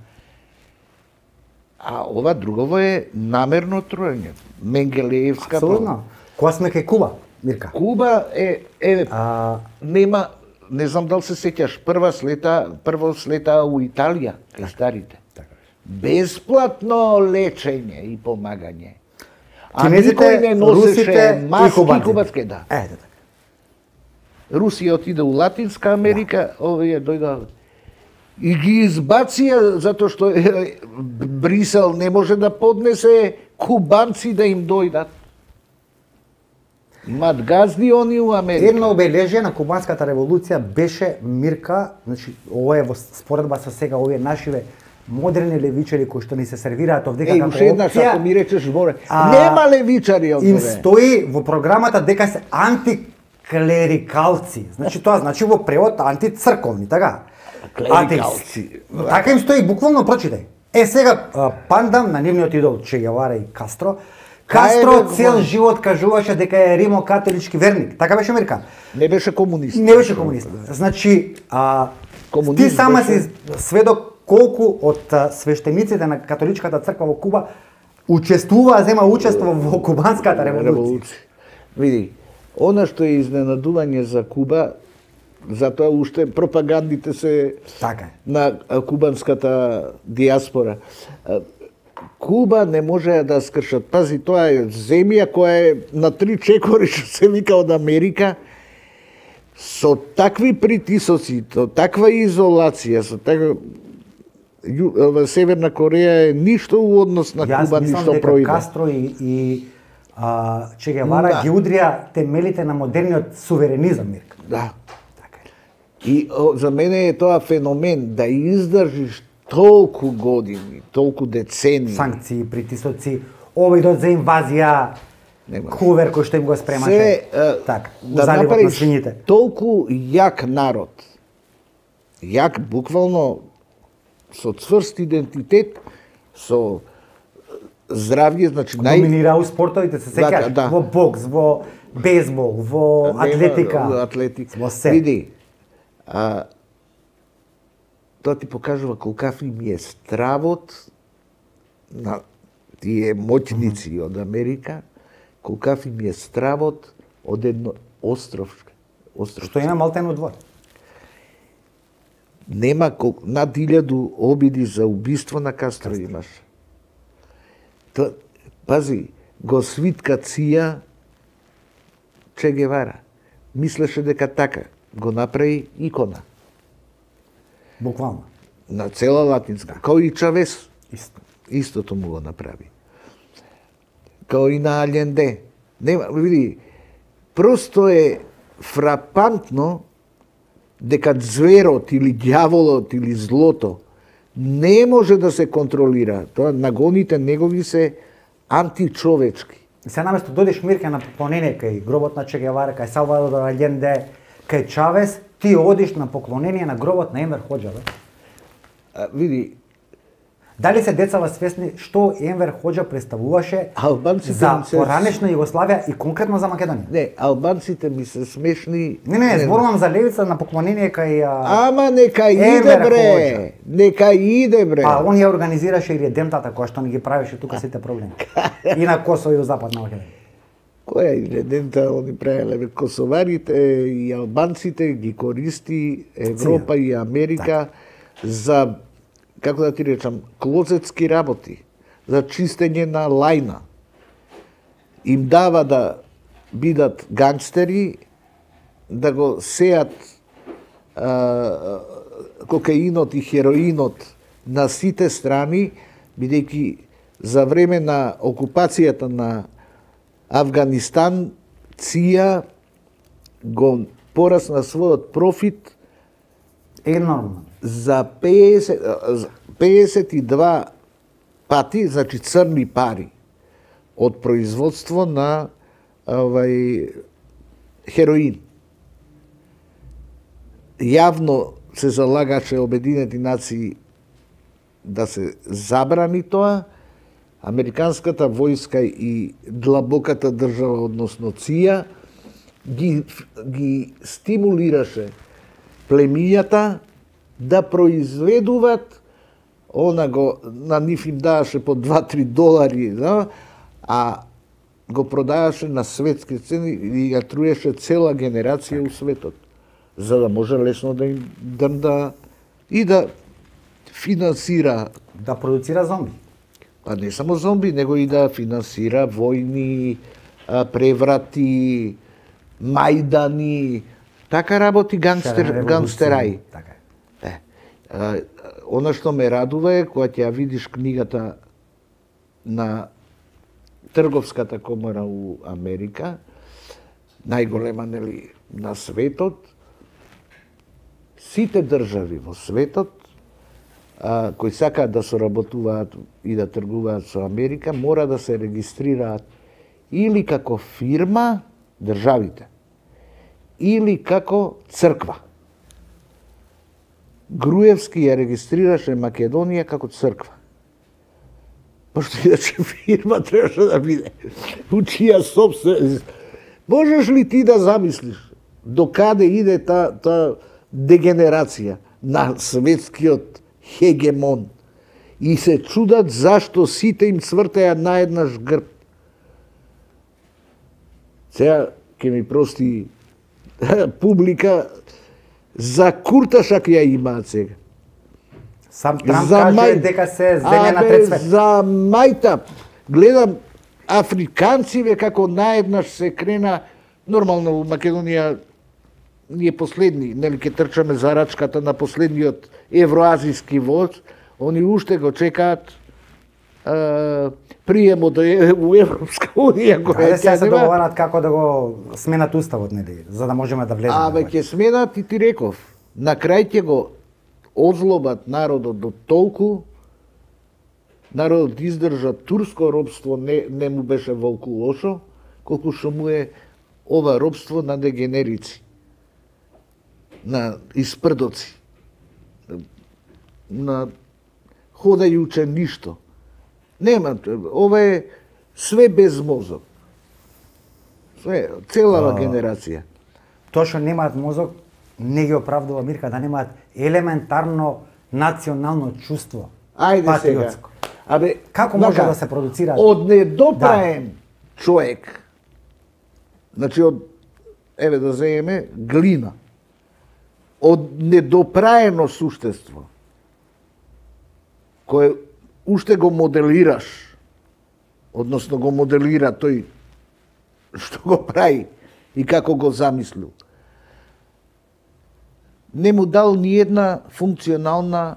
А ова другово е намерно труење. Менгелеевска... Апсолутно. Кога сме кај Куба, Мирка? Куба е... е а... нема... Не знам дали се сеќаш, прва слета, прво слета у Италија, кај старите. Така. Бесплатно лечење и помагање. А кинезите, никој не носеше русите маски и кубанците. кубански, да. Е, така. Русија отиде у Латинска Америка, да. Овие дојда и ги избација затоа што Брисел не може да поднесе кубанци да им дојдат. Имат газди они у Америка. Едно обележие на кубанската револуција беше, Мирка, значи ова е во споредба со сега овие нашиве модерни левичари кои што ни се сервираат овде како опција. Еј, уште еднаш ако ми речеш зборе, а, нема левичари овде. Им стои во програмата дека се антиклерикалци. Значи тоа значи во превод антицрковни, така? Клерикалци. Така им стои, буквално прочитај. Е сега пандам на нивниот идол Че Гевара и Кастро. Кастро цел живот кажуваше дека е римо-католички верник. Така беше Американ. Не беше комунист. Не беше комунист. Значи, а, ти сама беше... си сведок колку од свештениците на католичката црква во Куба учествуваа, зема учество во кубанската револуција. Види, она што е изненадување за Куба, затоа уште пропагандите се така на кубанската диаспора. Куба не може да скршат. Пази, тоа е земја која е на три чекори, што се вика од Америка, со такви притисоци, со таква изолација, со таква... Северна Кореја е ништо у однос на Куба, ништо проиде. Јас мислам дека Кастро и, и а, Че Гевара да. ги удрија темелите на модерниот суверенизам, Мирка. Да. Така е. И о, за мене е тоа феномен, да издржиш толку години, толку децени. Санкции, притисоци, обидот за инвазија, Нема. Хувер кој што им го спремаше. Се, така, да направиш толку јак народ, јак буквално, со цврст идентитет, со здравје, значи нај... Доминира у спортовите, се сеќаш, да, да. Во бокс, во бейсбол, во атлетика, Нема, атлетика. Во се. Види, а, тоа ти покажува колкав им е стравот на тие моќници mm -hmm. од Америка, колкав им е стравот од едно остров. остров. Што има Малтено двор. Нема кол... над илјаду обиди за убиство на Кастро, Кастро. имаш. Та, пази, го свитка ција Че Гевара. Мислеше дека така го направи икона. Буквално. На цела латинска. Да. Као и Чавес. Исто. Истото му го направи. Као и на Алјенде. Нема, види, просто е фрапантно дека зверот или ѓаволот или злото не може да се контролира. Тоа нагоните негови се античовечки. Се наместо додиш, Мирка, на поклонение кај гробот на Че Гевара, кај Салвадор Алјенде, кај Чавес, ти одиш на поклонение на гробот на Енвер Хоџа, бе? А, види, дали се децава свесни што Енвер Хоџа представуваше албанците за се... поранешна Југославија и конкретно за Македонија? Не, албанците ми се смешни. Не, не, не, зборувам за левица на поклонение кај а... Ама нека иде, бре. Хоџа. Нека иде, бре. А он ја организираше и редемтата која што ни ги правеше тука сите проблеми. И на Косово и у Западна Македонија. Која и редента они правеле? Косоварите и албанците ги користи Европа и Америка так. за, како да ти речам, клозетски работи, за чистење на лајна. Им дава да бидат гангстери, да го сеат а, кокаинот и хероинот на сите страни, бидејќи за време на окупацијата на Авганистан, ција го порасна својот профит енормно за педесет, педесет и два пати, значи црни пари од производство на овај хероин. Јавно се залагаше Обединети нации да се забрани тоа. Американската војска и длабоката држава, односно ција, ги, ги стимулираше племињата да произведуваат, она го, на нив им даваше по два-три долари, да, а го продаваше на светски цени и ја труеше цела генерација у светот, за да може лесно да им да, и да финансира. Да продуцира зомби. Па не само зомби, него и да финансира војни, преврати, мајдани, така работи гангстер, гангстерај. Така е. Е, она што ме радува е, кога ќе ја видиш книгата на Трговската комора у Америка, најголема, нели, на светот, сите држави во светот, а, кои сакаат да соработуваат и да тргуваат со Америка, мора да се регистрираат или како фирма, државите, или како црква. Груевски ја регистрираше Македонија како црква. Пошто иначе фирма требаше да биде у чија собственост. Можеш ли ти да замислиш до каде иде та, та дегенерација на светскиот хегемон и се чудат зашто сите им цвртеа наеднаш грб. Сега ќе ми прости публика, за курташак ја имаат сега. Сам Трамп каже мај... дека се земја на трет свет. За мајта, гледам африканциве како наеднаш се крена, нормално во Македонија ние последни, нели ке трчаме за рачката на последниот евроазиски воз, они уште го чекаат е, приемо до у Европска унија која ќе се договарат како да го сменат уставот, нели, за да можеме да влеземе. Абе ќе сменат и ти реков, на крај ќе го озлобат народот до толку, народот издржа турско робство, не, не му беше волку лошо, колку што му е ова робство на дегенерици, на испрдоци, на ходајуче ништо. Нема, ова е све без мозок. Све, целава генерација. Тоа што немаат мозок, не ги оправдува Мирка, да немаат елементарно национално чувство. Ајде патриотско. сега. Абе, како може да се продуцира? Од недопраен да. човек, значи од, еве да земеме, глина, од недопраено суштество, кое уште го моделираш, односно го моделира тој што го прави и како го замислил, не му дал ни една функционална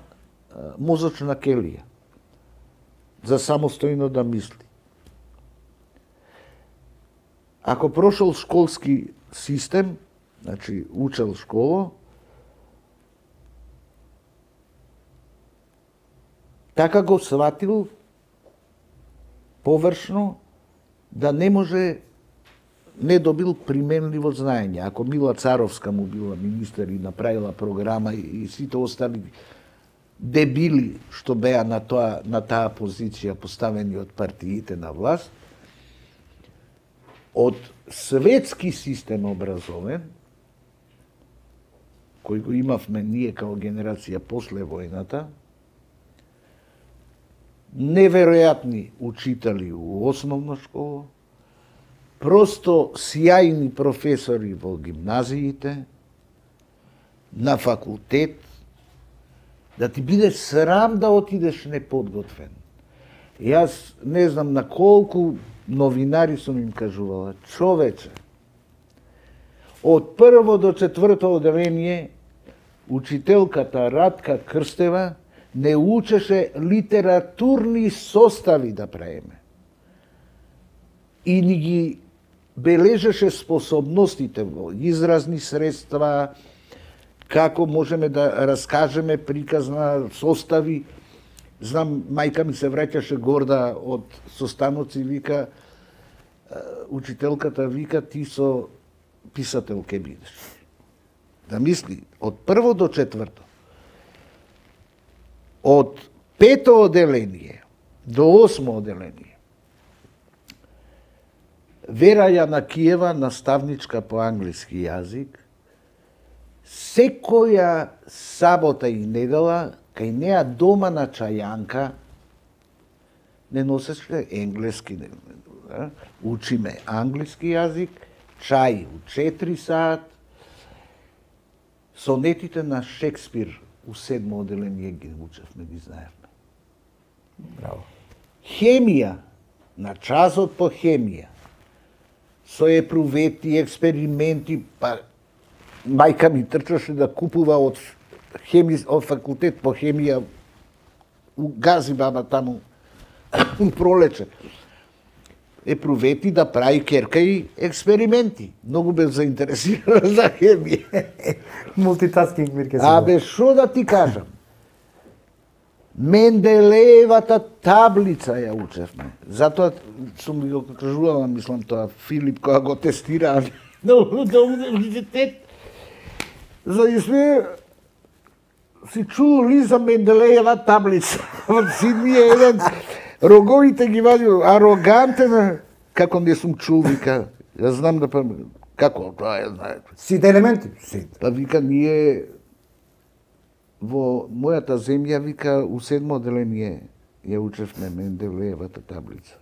мозочна келија за самостојно да мисли. Ако прошол школски систем, значи учел школа, така го сватил површно да не може не добил применливо знаење. Ако Мила Царовска му била министер и направила програма и, и сите остали дебили што беа на тоа на таа позиција поставени од партиите на власт, од светски систем образовен, кој го имавме ние као генерација после војната, неверојатни учители у основна школа, просто сјајни професори во гимназиите, на факултет, да ти биде срам да отидеш неподготвен. Јас не знам на колку новинари сум им кажувала, човече, од прво до четврто одделение, учителката Радка Крстева не учеше литературни состави да правиме. И ни ги бележеше способностите во изразни средства, како можеме да раскажеме приказна состави. Знам, мајка ми се враќаше горда од состаноци, вика, учителката вика, ти со писател ке бидеш. Да мисли, од прво до четврто. Од пето одделение до осмо одделение. Вера Јанакиева, наставничка по англиски јазик, секоја сабота и недела, кај неа дома на чајанка, не носеше енглески, да? Учиме англиски јазик, чај у четири саат, сонетите на Шекспир у седмо одделение ги учевме, ги знаевме. Браво. Хемија, на часот по хемија, со епрувети, експерименти, па мајка ми трчаше да купува од хеми, од факултет по хемија у Гази баба таму пролече. Епрувети да прави керка и експерименти. Многу бе заинтересирана за хемија. Мултитаскинг, Мирке. Абе, шо да ти кажам? Менделеевата таблица ја учевме. Затоа сум го кажувала, мислам тоа, Филип, кога го тестира на универзитет, за да сме си чули за Менделеева таблица. Сидни е еден, роговите ги вади, арогантен, како не сум чул, вика, ја знам да па, како, тоа е, знаете. Сите елементи? Сите. Па вика, ние во мојата земја, вика, у седмо одделение ја учевме Менделеевата таблица.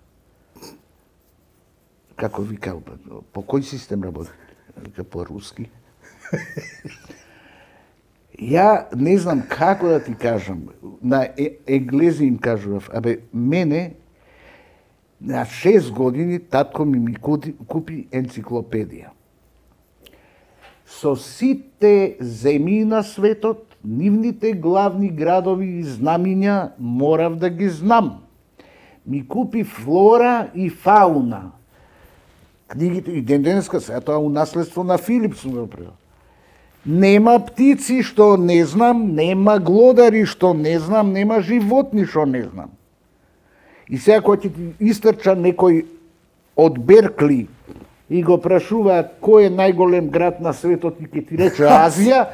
Како вика, по кој систем работи? Вика, по руски. Ја не знам како да ти кажам, на енглези им кажував, абе, мене на шест години татко ми ми купи енциклопедија. Со сите земји на светот, нивните главни градови и знамиња морав да ги знам. Ми купи флора и фауна. Книгите и ден денеска се тоа у наследство на Филип сум го предал. Нема птици што не знам, нема глодари што не знам, нема животни што не знам. И сега кога ќе ти истрча некој од Беркли и го прашуваат кој е најголем град на светот и ќе ти рече Азија,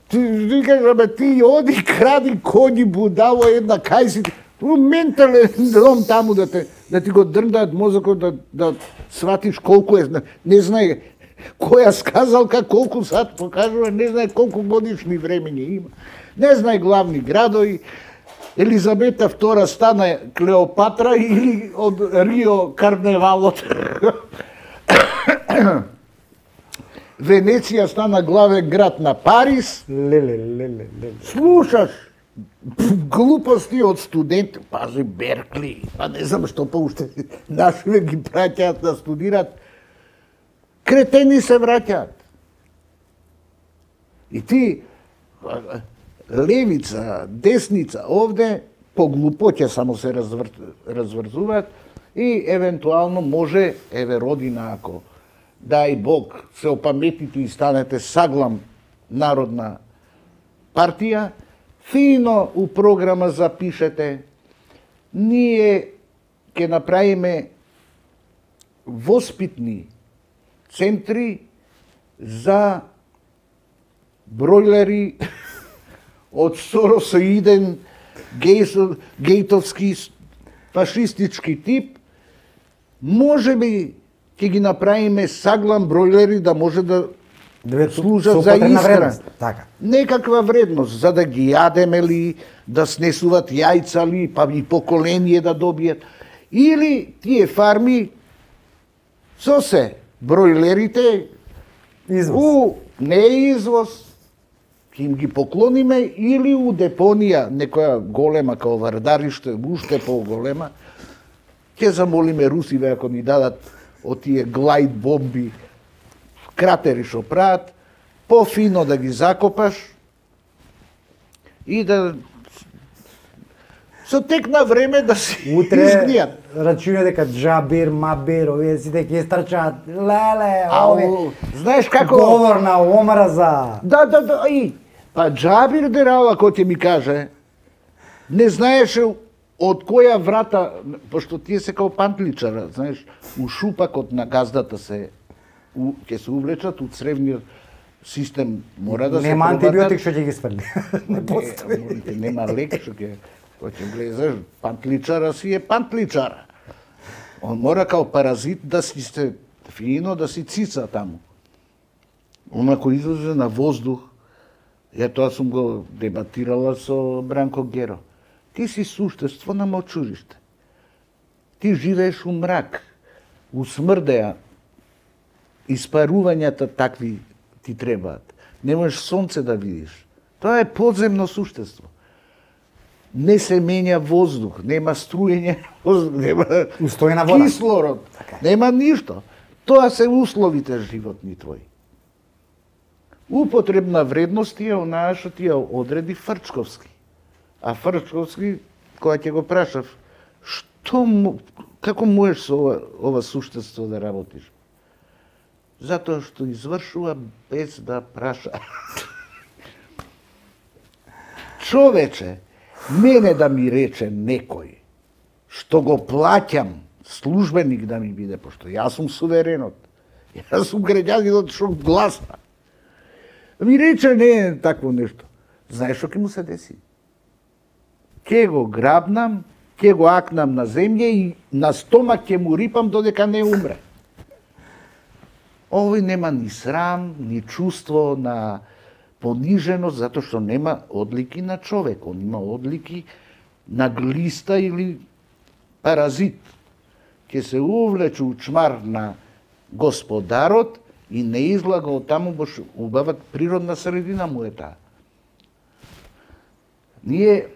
ти викаш, абе ти оди кради коњи будало една кај си, ментален дом таму да те да ти го дрндаат мозокот да да сватиш колку е, не знае која сказалка колку сат покажува, не знае колку годишни времења има. Не знае главни градови. Елизабета втора стана Клеопатра или од Рио карневалот. Венеција стана главен град на Париз. Леле, леле, леле. Слушаш глупости од студенти, пази Беркли, па не знам што поуште нашиве ги праќаат да студираат. Кретени се враќаат. И ти левица, десница, овде по глупоќе само се развр... разврзуваат и евентуално може, еве родина, ако дај Бог се опаметите и станете Саглам народна партија, фино у програма запишете, ние ќе направиме воспитни центри за бројлери од соросоиден гейтовски фашистички тип, може би ќе ги направиме Саглам бројлери да може да служат за исхрана. Така. Некаква вредност, за да ги јадеме ли, да снесуват јајца ли, па и поколение да добијат. Или тие фарми со се бројлерите Извоз. у не извоз, ќе им ги поклониме, или у депонија, некоја голема као Вардариште, уште по-голема, ќе замолиме русиве ако ни дадат од тие глајд бомби, кратери што прават, пофино да ги закопаш и да со тек на време да си Утре изгнијат. рачуна дека Джабир, Мабир, овие сите ќе страчаат. Леле, Ау, овие. знаеш како? Говор на омраза. Да, да, да, и па Джабир Дерала кој ќе ми каже, не знаеше од која врата, пошто тие се као пантличара, знаеш, у шупакот на газдата се у, ќе се увлечат у цревниот систем, мора да се Нема пробатат. антибиотик што ќе ги сврли. Не Не, постои. не, нема лек што ќе кој ќе влезеш, пантличара си е пантличара. Он мора као паразит да си се фино да си цица таму. Она кој излезе на воздух, ја тоа сум го дебатирала со Бранко Геро. Ти си суштество на мочуриште. Ти живееш у мрак, у смрдеа, испарувањата такви ти требаат. Не можеш сонце да видиш. Тоа е подземно суштество. Не се менја воздух, нема струење воздух, нема Устојна вода. кислород, нема ништо. Тоа се условите животни твои. Употребна вредност е онаа што ти ја одреди Фрчковски. А Фрчковски, кога ќе го прашав, што му, како можеш со ова, ова суштество да работиш? Затоа што извршува без да праша. Човече, мене да ми рече некој, што го плаќам, службеник да ми биде, пошто јас сум суверенот, јас сум граѓанинот што гласна. Ми рече не е такво нешто. Знаеш што ќе му се деси? Ќе го грабнам, ќе го акнам на земја и на стомак ќе му рипам додека не умре. Овој нема ни срам, ни чувство на пониженост, затоа што нема одлики на човек, он има одлики на глиста или паразит. Ќе се увлече у чмар на господарот и не излага од таму, бош убава природна средина му е таа. Ние,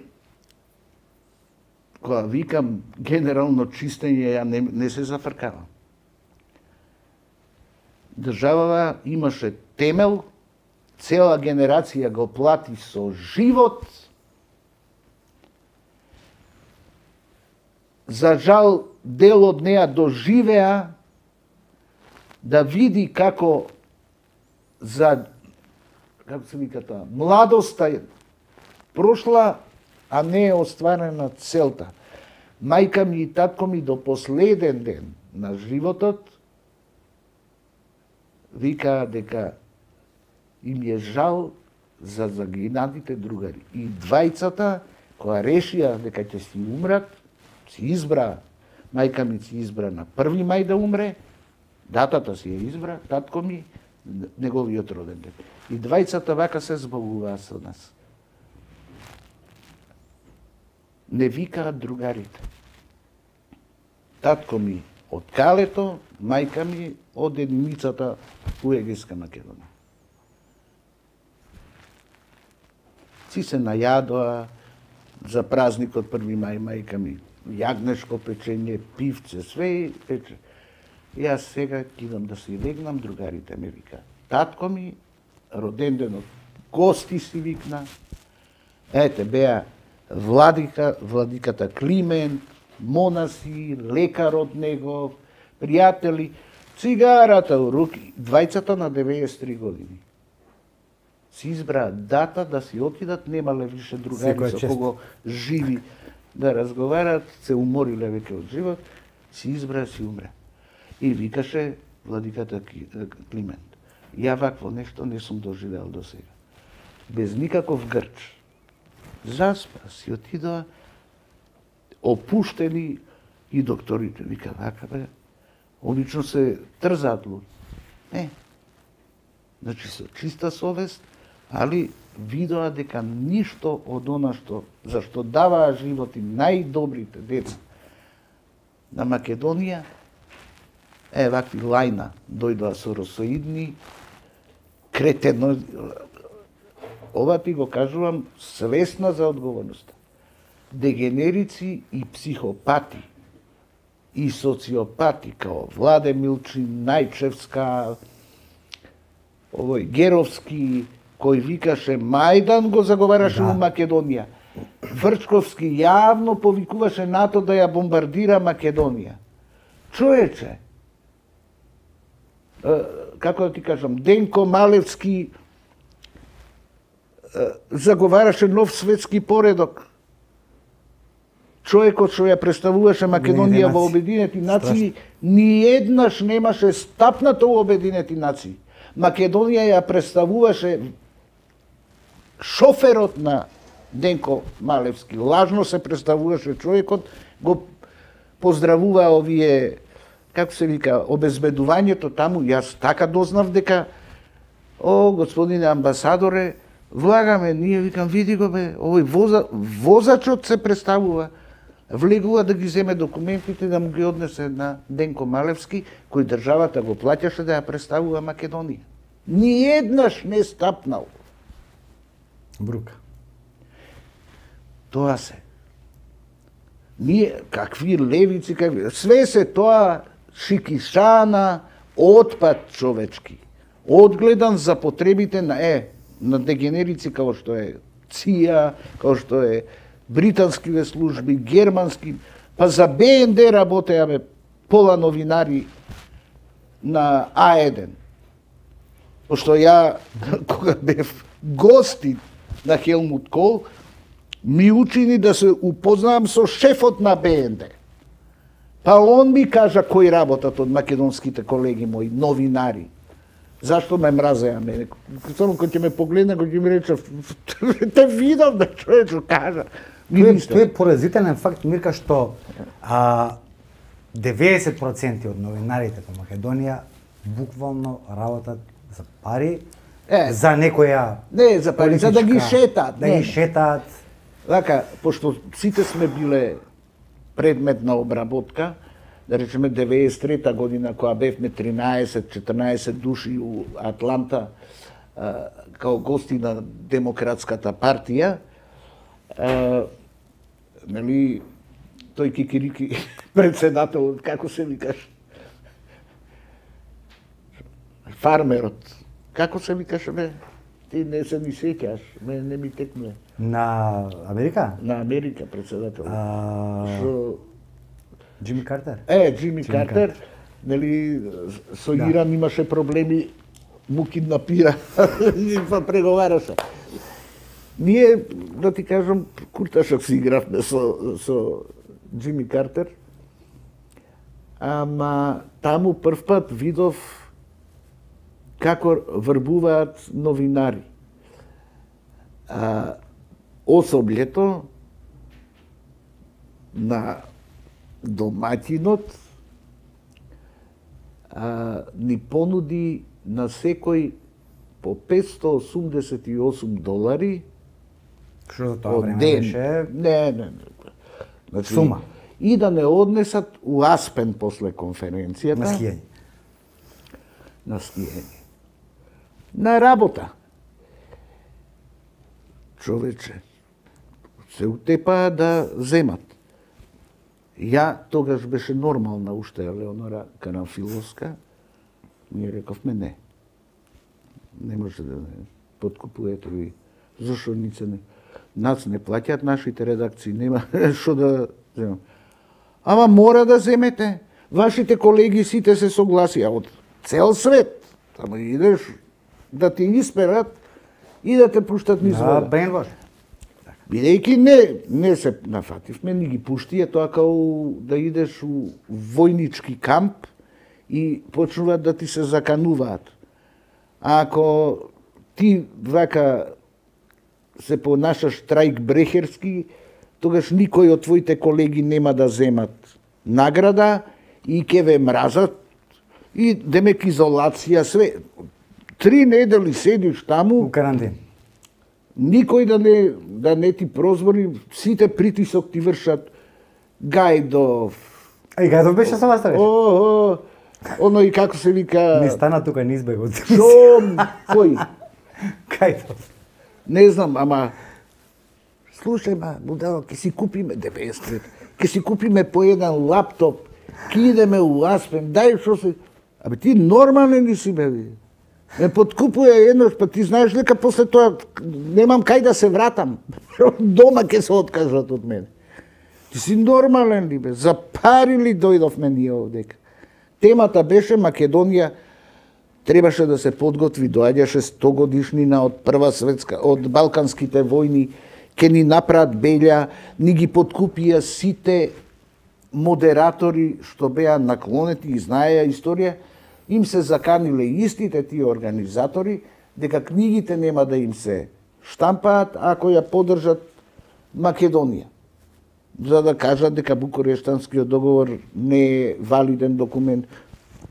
кога викам генерално чистење, ја не, не се зафркавам. Државава имаше темел, цела генерација го плати со живот. За жал, дел од неа доживеа да види како за, како се вика тоа, младоста прошла, а не е остварена целта. Мајка ми и татко ми до последен ден на животот викаа дека им е жал за загинатите другари. И двајцата, која решија дека ќе си умрат, си избра, мајка ми си избра на први мај да умре, датата си ја избра, татко ми, неговиот роден ден. И двајцата вака се збогуваа со нас. Не викаат другарите. Татко ми од Калето, мајка ми од единицата у Егејска Македонија. Си се најадоа за празникот први мај, мајка ми јагнешко печење, пивце, све пече. И јас сега идам да си легнам, другарите ме вика. Татко ми, роден денот, гости си викна. Ете, беа владика, владиката Климент, монаси, лекарот негов, пријатели, цигарата у руки, двајцата на деветдесет и три години. Си избраа дата да си отидат, немале више другари со кого живи да разговарат, се умориле веќе од живот, си избраа, си умре. И викаше владиката Климент. Ја вакво нешто не сум доживеал до сега. Без никаков грч. Заспа, си отидоа, опуштени и докторите. Вика, вака бе, обично се трзаат луѓе. Не. Значи, со чиста совест, али видоа дека ништо од она што, зашто даваа живот и најдобрите деца на Македонија, е, вакви лајна дојдоа со росоидни, кретено, ова ти го кажувам свесна за одговорноста. Дегенерици и психопати и социопати, као Владе Милчин, Најчевска, овој Геровски, кој викаше Мајдан го заговараше да. У Македонија. Врчковски јавно повикуваше НАТО да ја бомбардира Македонија. Човече, како да ти кажам, Денко Малевски заговараше нов светски поредок. Човекот што ја представуваше Македонија во Обединети нации, ни еднаш немаше стапнато во Обединети нации. Македонија ја представуваше шоферот на Денко Малевски. Лажно се представуваше човекот, го поздравуваа овие, како се вика, обезбедувањето таму. Јас така дознав дека, о, господине амбасадоре, влагаме, ние викам, види го бе, овој воза, возачот се представува, влегува да ги земе документите да му ги однесе на Денко Малевски, кој државата го плаќаше да ја представува Македонија. Ни еднаш не стапнал. Брука. Тоа се. Ние, какви левици, какви... Све се тоа шикишана, отпад човечки. Одгледан за потребите на е, на дегенерици као што е ЦИА, као што е британскиве служби, германски, па за Б Н Д работеа бе пола новинари на А еден. Пошто ја, кога бев гостин на Хелмут Кол, ми учини да се упознавам со шефот на Б Н Д. Па он ми кажа кои работат од македонските колеги мои, новинари. Зашто ме мразеа мене? Само кој ќе ме погледне, кој ќе ми рече, те видам да човечо кажа. Тој е поразителен факт, Мирка, што а, деветдесет проценти од новинарите во Македонија буквално работат за пари, е, за некоја не, за пари, за да ги шетаат. Да ги шетаат. Така, пошто сите сме биле предмет на обработка, да речеме деветдесет и трета година, кога бевме тринаесет-четрнаесет души у Атланта, а, као гости на Демократската партија, А, нели, тој Кикирики председател, како се викаш? Фармерот. Како се викаше, бе? Ти не се ни сеќаш, ме не ми текне. На Америка? На Америка председател. А... Шо... Джими Картер? Е, Джими Картер, нели, со Да. Иран имаше проблеми, му киднапира, па преговараше. Ние, да ти кажам, курташок си игравме со, со Джими Картер, ама таму прв пат видов како врбуваат новинари. А, особлето на домаќинот а, ни понуди на секој по петстотини осумдесет и осум долари Што за тоа од време ден. беше? Не, не, не. Значи, Сума. И да не однесат у Аспен после конференцијата. На скијање. На скијање. На работа. Човече, се утепаа да земат. Ја тогаш беше нормална уште Елеонора Карамфиловска. Ние рековме не. Не може да не подкупувате ви. Зошто нице не? Нас не плаќаат нашите редакции, нема што да земам. Ама мора да земете. Вашите колеги сите се согласија од цел свет. Тамо идеш да ти исперат и да те пуштат низ Да, вода. брейнвош. Бидејќи не, не се нафативме, ни ги пуштија тоа као да идеш у војнички камп и почнуваат да ти се закануваат. А ако ти вака се понашаш трајк брехерски, тогаш никој од твоите колеги нема да земат награда и ќе ве мразат и демек изолација све. Три недели седиш таму, У карантин. никој да не, да не ти прозвори, сите притисок ти вршат. Гајдов, А и Гајдов беше со вас о, тогаш? о, оно и како се вика... Не стана тука, не избега од Шо, кој? Гајдов. Не знам, ама... Слушај, ма, будало, ќе си купиме деветдесет, ќе си купиме по еден лаптоп, ќе идеме у Аспен, дај шо се... Абе, ти нормален ли си, бе? Ме подкупува еднош, па ти знаеш дека после тоа немам кај да се вратам. Дома ќе се откажат од мене. Ти си нормален ли, бе? За пари ли дојдовме ние овдека? Темата беше Македонија требаше да се подготви, доаѓаше сто годишнина од Прва светска, од Балканските војни, ке ни направат белја, ни ги подкупија сите модератори што беа наклонети и знаеа историја, им се заканиле истите тие организатори дека книгите нема да им се штампаат ако ја поддржат Македонија. За да кажат дека Букурештанскиот договор не е валиден документ.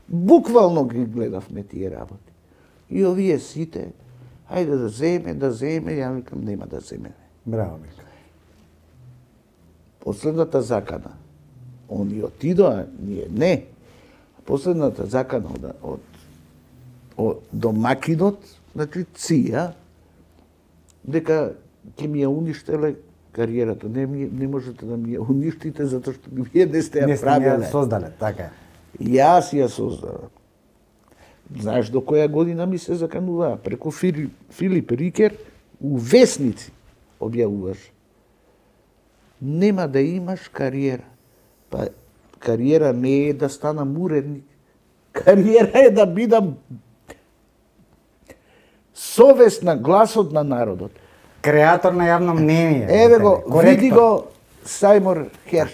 Буквално ги гледавме тие работи. И овие сите, ајде да земе, да земе, ја викам нема да земе. Браво, Мика. Последната закана, они отидоа, ние не. Последната закана од, од, од домакинот, значи Ција, дека ќе ми ја уништеле кариерата. Не, ми, не можете да ми ја уништите, затоа што вие не сте ја Не сте правиле. ја создале, така е. Јас ја создавам. Знаеш до која година ми се закануваа? Преку Филип, Филип Рикер у весници објавуваш. Нема да имаш кариера. Па кариера не е да станам уредник. Кариера е да бидам совест на гласот на народот. Креатор на јавно мнение. Еве го, Коректор. види го Сајмор Херш.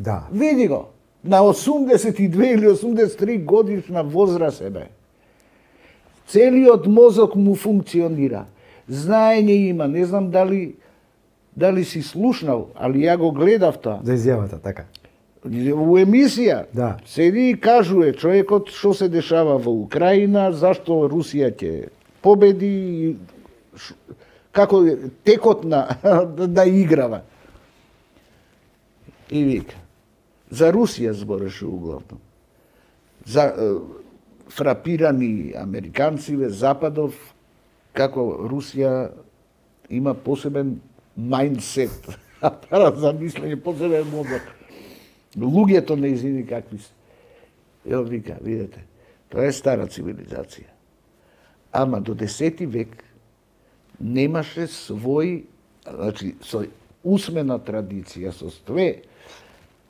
Да. Види го. На осумдесет и две или осумдесет и три годишна возраст е бе. Целиот мозок му функционира. Знаење има, не знам дали дали си слушнал, али ја го гледав тоа. За изјавата, така. У емисија Да. седи и кажува човекот што се дешава во Украина, зашто Русија ќе победи, ш- како е текот на да играва. И вика, за Русија збореше углавно. За е, фрапирани американциве, Западов, како Русија има посебен мајндсет, апарат за мислење, посебен мозок. Луѓето неизини какви се. Ево вика, видете, тоа е стара цивилизација. Ама до десети век немаше свој, значи, со усмена традиција, со све,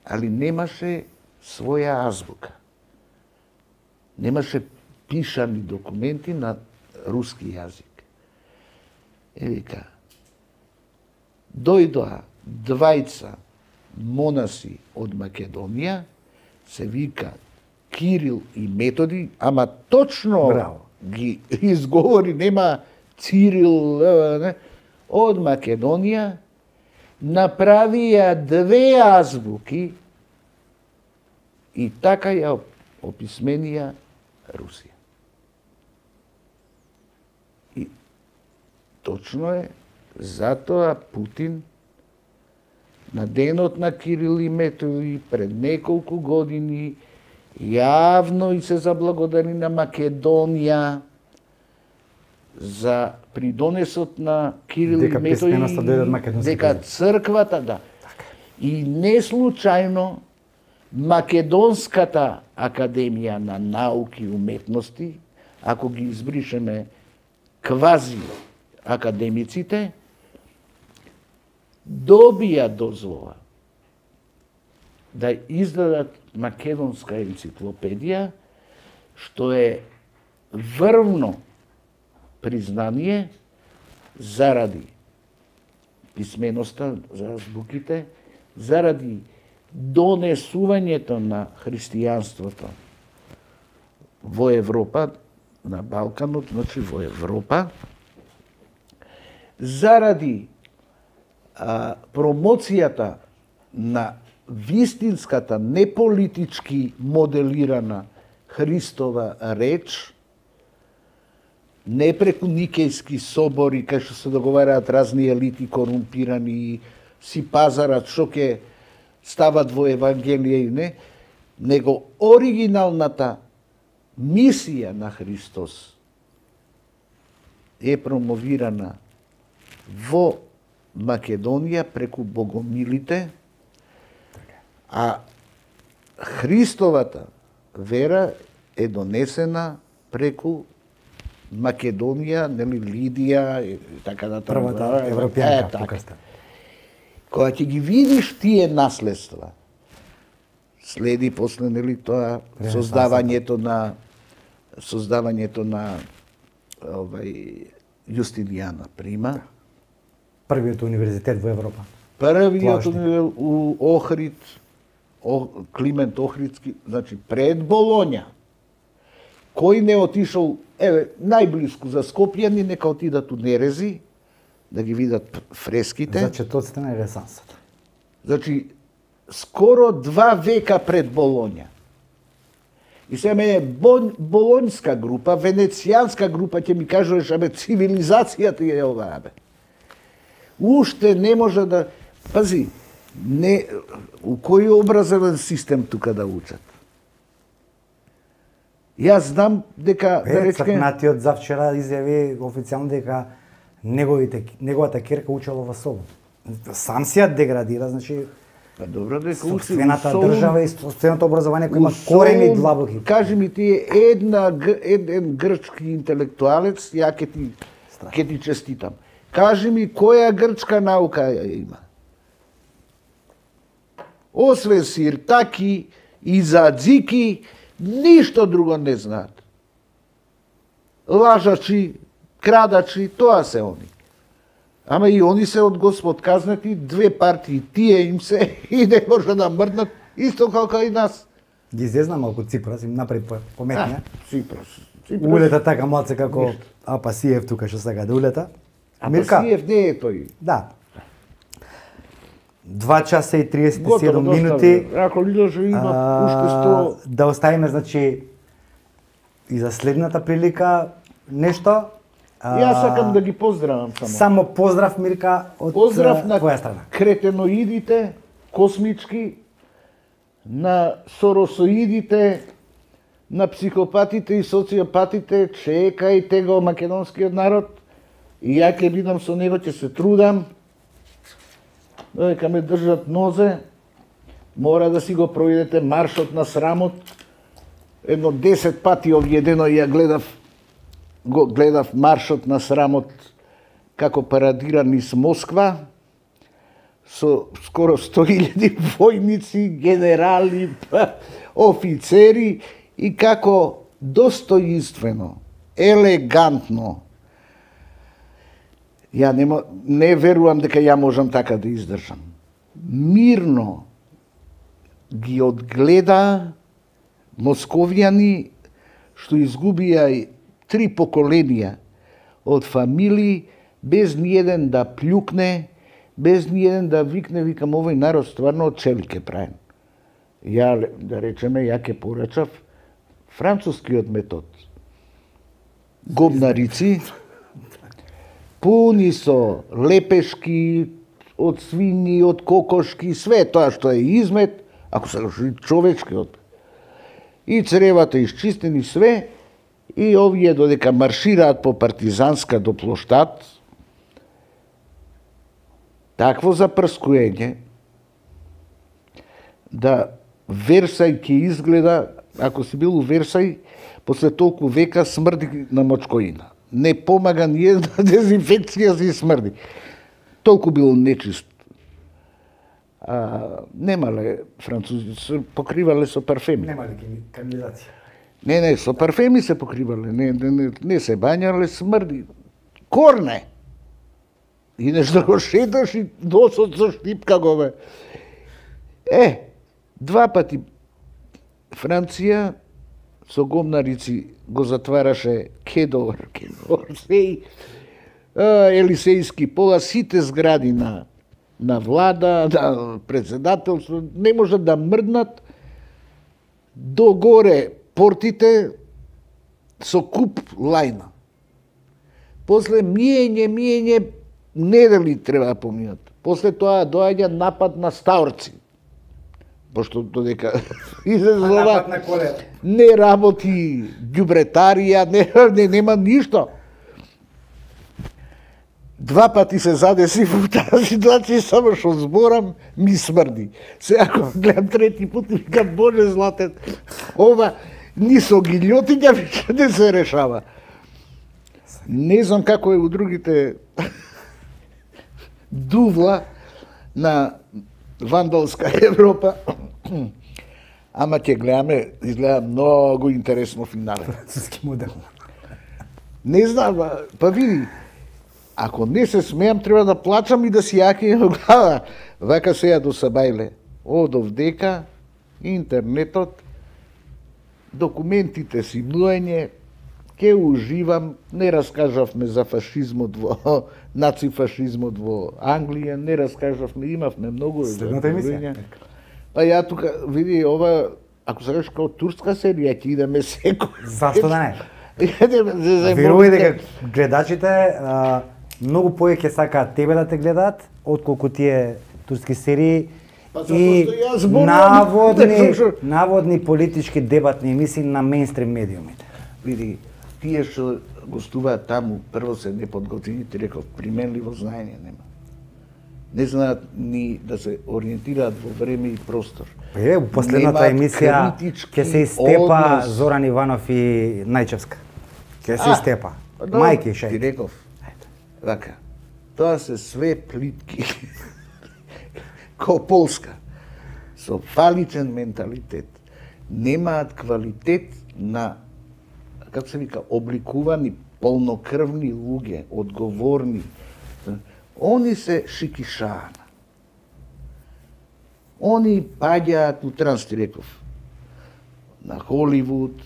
али немаше своја азбука. Немаше пишани документи на руски јазик. Е, вика, дојдоа двајца монаси од Македонија, се вика Кирил и Методи, ама точно Браво. ги изговори, нема Цирил, не, од Македонија, направија две азбуки и така ја описменија Русија. И точно е, затоа Путин на денот на Кирил и Методи пред неколку години јавно и се заблагодари на Македонија за придонесот на Кирил Дека и Методи, писменоста дојде од македонските дека езици. црквата, да. И не случајно Македонската академија на науки и уметности, ако ги избришеме квази академиците, добија дозвола да издадат македонска енциклопедија, што е врвно признание заради писменоста, за азбуките, заради донесувањето на христијанството во Европа, на Балканот, значи во Европа, заради а, промоцијата на вистинската, неполитички моделирана Христова реч, не преку никејски собори, кај што се договараат разни елити корумпирани, си пазарат што ќе стават во Евангелие и не, него оригиналната мисија на Христос е промовирана во Македонија преку богомилите, а Христовата вера е донесена преку Македонија, нели Лидија и така натаму. Првата европјанка покрста. Кога ќе ги видиш тие наследства, следи после нели тоа создавањето на создавањето на овај Јустинијана Прима, Првиот универзитет во Европа. првиот Плашни. у Охрид, О, Климент Охридски, значи пред Болоња. Кој не отишол, еве, најблиску за Скопјани, нека отидат у Нерези, да ги видат фреските. За четоците на Ренесансата. Значи, скоро два века пред Болоња. И сега мене болонјска група, венецијанска група, ќе ми кажуваш, абе, цивилизацијата е ова, абе. Уште не може да... Пази, не, у кој образовен систем тука да учат? Јас знам дека... Е, да речке, цркнатиот за вчера изјави официјално дека неговите, неговата керка учела во Солун. Сам си ја деградира, значи... Па добро дека учи Собствената Солун, држава и собственото образование кој у има корени Солун, длабоки. Кажи ми ти, една, г- еден грчки интелектуалец, ја ќе ти, ќе ти честитам. Кажи ми, која грчка наука ја има? Освен сиртаки и задзики, ништо друго не знаат. Лажачи, крадачи, тоа се они. Ама и они се од Господ казнати, две партии, тие им се и не може да мрднат, исто како и нас. Ги зезна малку Ципрас, им направи по- пометнија. Ципрас. Улета така малце како Апасиев тука што сака да улета. А Мирка, Пасиев не е тој. да. два часа и триесет и седум Готово, минути. доста, ако лидеше има уште сто... Да оставиме, значи, и за следната прилика нешто. А, Јас сакам да ги поздравам само. Само поздрав, Мирка, од Поздрав на твоја страна. кретеноидите, космички, на соросоидите, на психопатите и социопатите, чекајте го македонскиот народ, и ја ќе бидам со него, ќе се трудам додека ме држат нозе, мора да си го проидете маршот на срамот. Едно десет пати овие дено ја гледав, го гледав маршот на срамот како парадира низ Москва, со скоро сто илјади војници, генерали, офицери, и како достоинствено, елегантно. Ја не, не верувам дека ја можам така да издржам. Мирно ги одгледа московјани што изгубија три поколенија од фамилии, без ниеден да плюкне, без ниеден да викне, викам, овој народ стварно од чели ке правим. Ја, да речеме, ја ке порачав францускиот метод. Гобнарици, пуни со лепешки, од свињи, од кокошки, све тоа што е измет, ако се човечкиот. И цревата исчистени све, и овие додека маршираат по партизанска до плоштад, такво запрскуење, да Версај ќе изгледа, ако си бил у Версај, после толку века смрди на мочкоина. Не помага ни една дезинфекција, си смрди. Толку бил нечист. А, немале французи, се покривале со парфеми. Немале кандидати. Не, не, со парфеми се покривале, не, не, не, не се бањале, смрди. Корне! И нешто го шеташ и носот со штипка го бе. Е, два пати Франција со гомнарици го затвараше Кедор, Кедор, сеј, Елисејски пола, сите згради на, на влада, на председателство, не можат да мрднат, догоре портите со куп лајна. После миење, миење, недели треба да поминат. После тоа доаѓа напад на Стаорци. Пошто додека излезува не работи ѓубретарија, не, не нема ништо. Два пати се задеси во таа ситуација, само што зборам ми смрди. Се ако гледам трети пат, викам, Боже златен, ова ни со гилјотиња веќе не се решава. Не знам како е у другите дувла на вандалска Европа, ама ќе гледаме, изгледа многу интересно финале. Француски модел. Не знам, па види, ако не се смеам, треба да плачам и да си јаки во глава. Вака сега до Сабајле, одов дека, интернетот, документите си млоење, ке уживам, не раскажавме за фашизмот во, нацифашизмот во Англија, не раскажавме, имавме многу... Следната емисија. Па ја тука, види, ова, ако се кажеш као турска серија, ќе идеме секој. Зашто да не? Верувај дека гледачите а, многу повеќе сакаат тебе да те гледаат, отколку тие турски серии, па, и наводни, наводни политички дебатни емисии на мејнстрим медиумите. Види, тие што гостуваат таму, прво се неподготвени, ти реков, применливо знаење нема. Не знаат ни да се ориентираат во време и простор. Е, у последната емисија ќе се истепа однос. Зоран Иванов и Најчевска. Ќе се истепа. Мајки шеј. Ти реков, вака, тоа се све плитки. Ко Полска. Со фаличен менталитет. Немаат квалитет на, како се вика, обликувани, полнокрвни луѓе, одговорни. Они се шикишана. Они паѓаат у транс, ти реков, на Холивуд,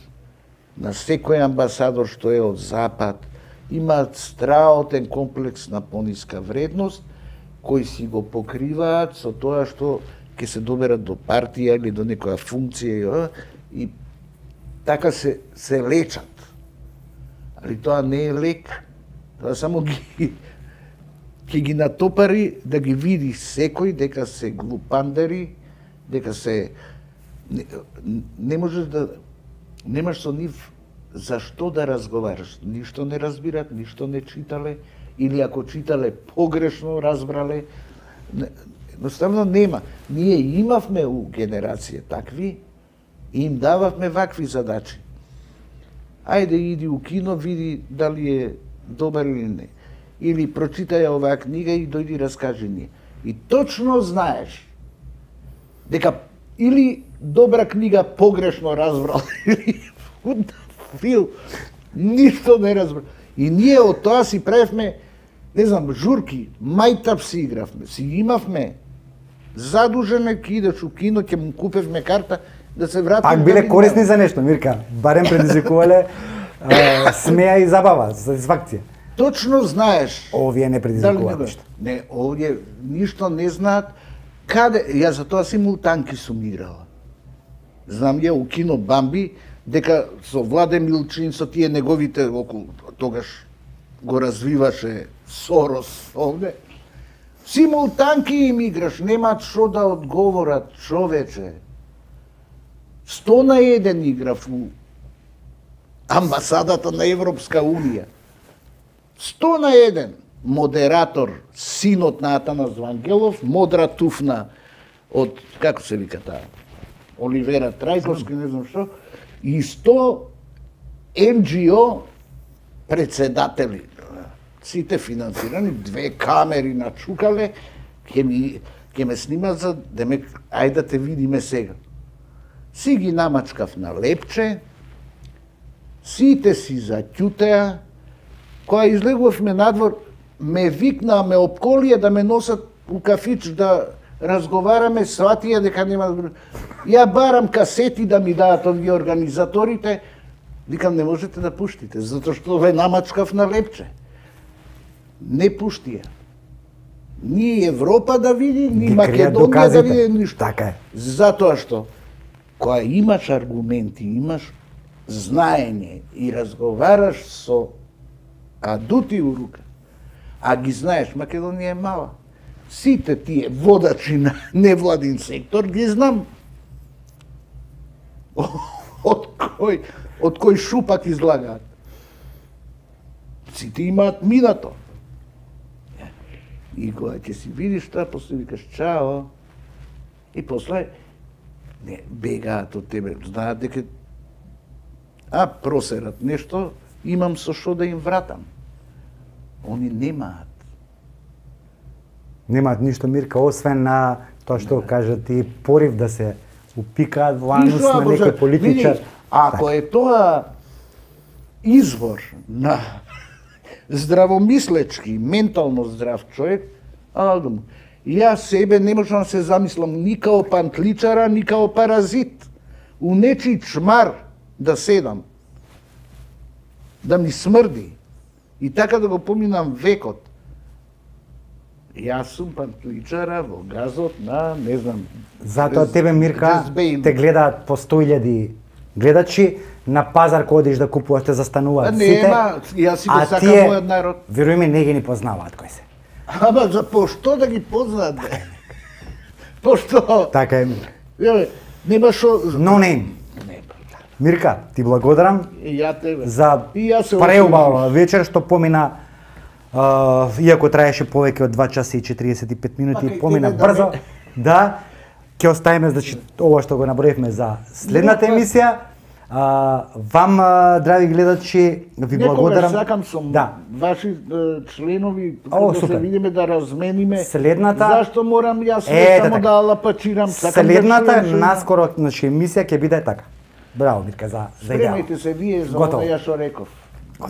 на секој амбасадор што е од Запад, имаат страотен комплекс на пониска вредност, кои си го покриваат со тоа што ќе се доберат до партија или до некоја функција и така се, се лечат. Али тоа не е лек, тоа само ги ќе ги натопари да ги види секој дека се глупандери, дека се не, не можеш да немаш со нив зашто да разговараш. Ништо не разбират, ништо не читале, или ако читале погрешно разбрале. Едноставно нема. Ние имавме у генерација такви и им дававме вакви задачи. Ајде иди у кино, види дали е добар или не. Или прочитај оваа книга и дојди раскажи ни. И точно знаеш дека или добра книга погрешно разбрал, или фил, ништо не разбрал. И ние од тоа си правевме, не знам, журки, мајтап си игравме, си имавме задужене, ки идеш у кино, ќе му купевме карта, да се вратиме. Пак биле корисни за нешто, Мирка. Барем предизвикувале смеа и забава, сатисфакција. Точно знаеш. Овие не предизвикуваат ништо. Не, овие ништо не знаат. Каде, јас за тоа симултанки сум играла. Знам ја у кино Бамби, дека со Владе Милчин, со тие неговите околу, тогаш го развиваше Сорос овде. Симултанки им играш, немаат шо да одговорат, човече. Сто на еден играв у амбасадата на Европска Унија. Сто на еден. Модератор, синот на Атанас Вангелов, Модра Туфна од, како се вика таа, Оливера Трајковски, не знам што, и сто Ем Џи О председатели. Сите финансирани, две камери начукале, ќе ми ќе ме снимат за демек ајде да те видиме сега. Си ги намачкав на лепче, сите си заќутеа, кога излегувавме надвор, ме викнаа, ме обколија да ме носат у кафич да разговараме, сватија дека нема... Ја барам касети да ми дадат овие организаторите, викам не можете да пуштите, затоа што ве намачкав на лепче. Не пуштија. Ни Европа да види, ни Македонија да види ништо. Така е. Затоа што кога имаш аргументи, имаш знаење и разговараш со адути у рука, а ги знаеш, Македонија е мала. Сите тие водачи на невладин сектор ги знам. Од кој, од кој шупак излагаат. Сите имаат минато. И кога ќе си видиш тоа, после викаш чао, и после не бегаат од тебе, знаат дека а просерат нешто, имам со што да им вратам. Они немаат. Немаат ништо, Мирка, освен на тоа што кажа ти, порив да се упикаат во анус на некој политичар. Ако е тоа извор на здравомислечки, ментално здрав човек, алдум. Јас себе не можам да се замислам ни као пантличара, ни као паразит. У нечи чмар да седам, да ми смрди и така да го поминам векот. Јас сум пантличара во газот на, не знам... Затоа тебе, Мирка, те гледаат по сто илјади гледачи, на пазар кој одиш да купуваш, те застануваат сите. Нема, јас си го сакам мојот народ. Веруј ми, не ги ни познаваат кој се. Ама за пошто да ги познаат, бе? Пошто? Така е. Нема шо... No name. Мирка, ти благодарам И ја тебе. за И јас се преубава вечер што помина, uh, иако траеше повеќе од два часа и четириесет и пет минути, Пака, помина да брзо. ме... Да, ќе оставиме, значи, ова што го наброивме за следната емисија. Uh, вам, uh, драги гледачи, ви благодарам. Некогаш сакам сум да. ваши uh, членови, О, да супер. се видиме, да размениме. Следната... Зашто морам јас Е, само така. да лапачирам? Сакам Следната, да чуем, наскоро, значи, емисија ќе биде така. Браво, Мирка, за, за идеал. Спремете се вие за Готово. ова ја што реков.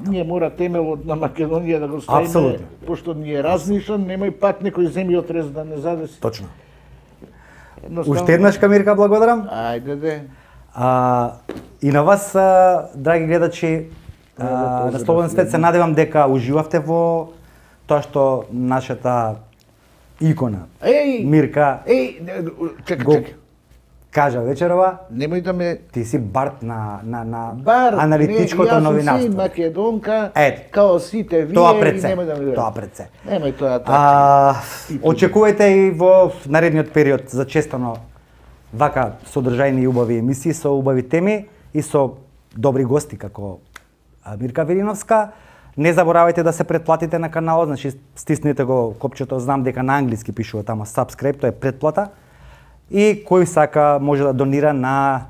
Ние мора темелот на Македонија да го ставиме, Апсолутно. пошто ни е разнишан, немај пак некој земји отрез да не задеси. Точно. Едноставно- Уште еднаш, Мирка, благодарам. Ајде де. А, и на вас, а, драги гледачи, а, на Слободен свет, се надевам дека уживавте во тоа што нашата икона, Еј, Мирка, еј, не, чекај, го чекај. кажа вечерова. Немој да ме Ти си барт на, на, на бар, аналитичкото не, новинарство. Јас сум си македонка, Ето. као сите вие Тоа пред и се. немој да ме Тоа пред се. Немој тоа така. А, очекувајте и во наредниот период за честано вака содржајни и убави емисии со убави теми и со добри гости како а, Мирка Велиновска. Не заборавајте да се претплатите на каналот, значи стиснете го копчето, знам дека на англиски пишува тама subscribe, тоа е претплата. И кој сака може да донира на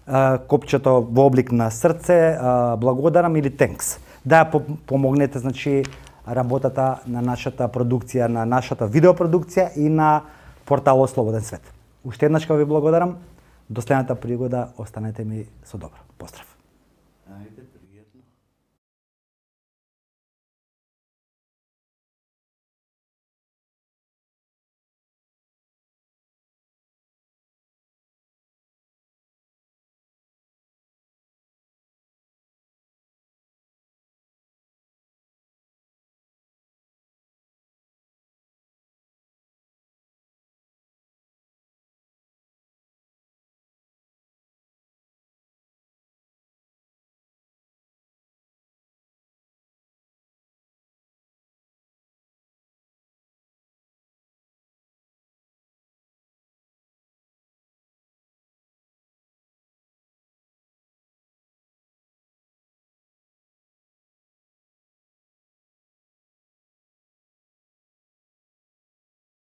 а, копчето во облик на срце, а, благодарам или thanks. Да помогнете, значи, работата на нашата продукција, на нашата видеопродукција и на порталот Слободен свет. Уште еднаш ви благодарам. До следната пригода, останете ми со добро. Поздрав.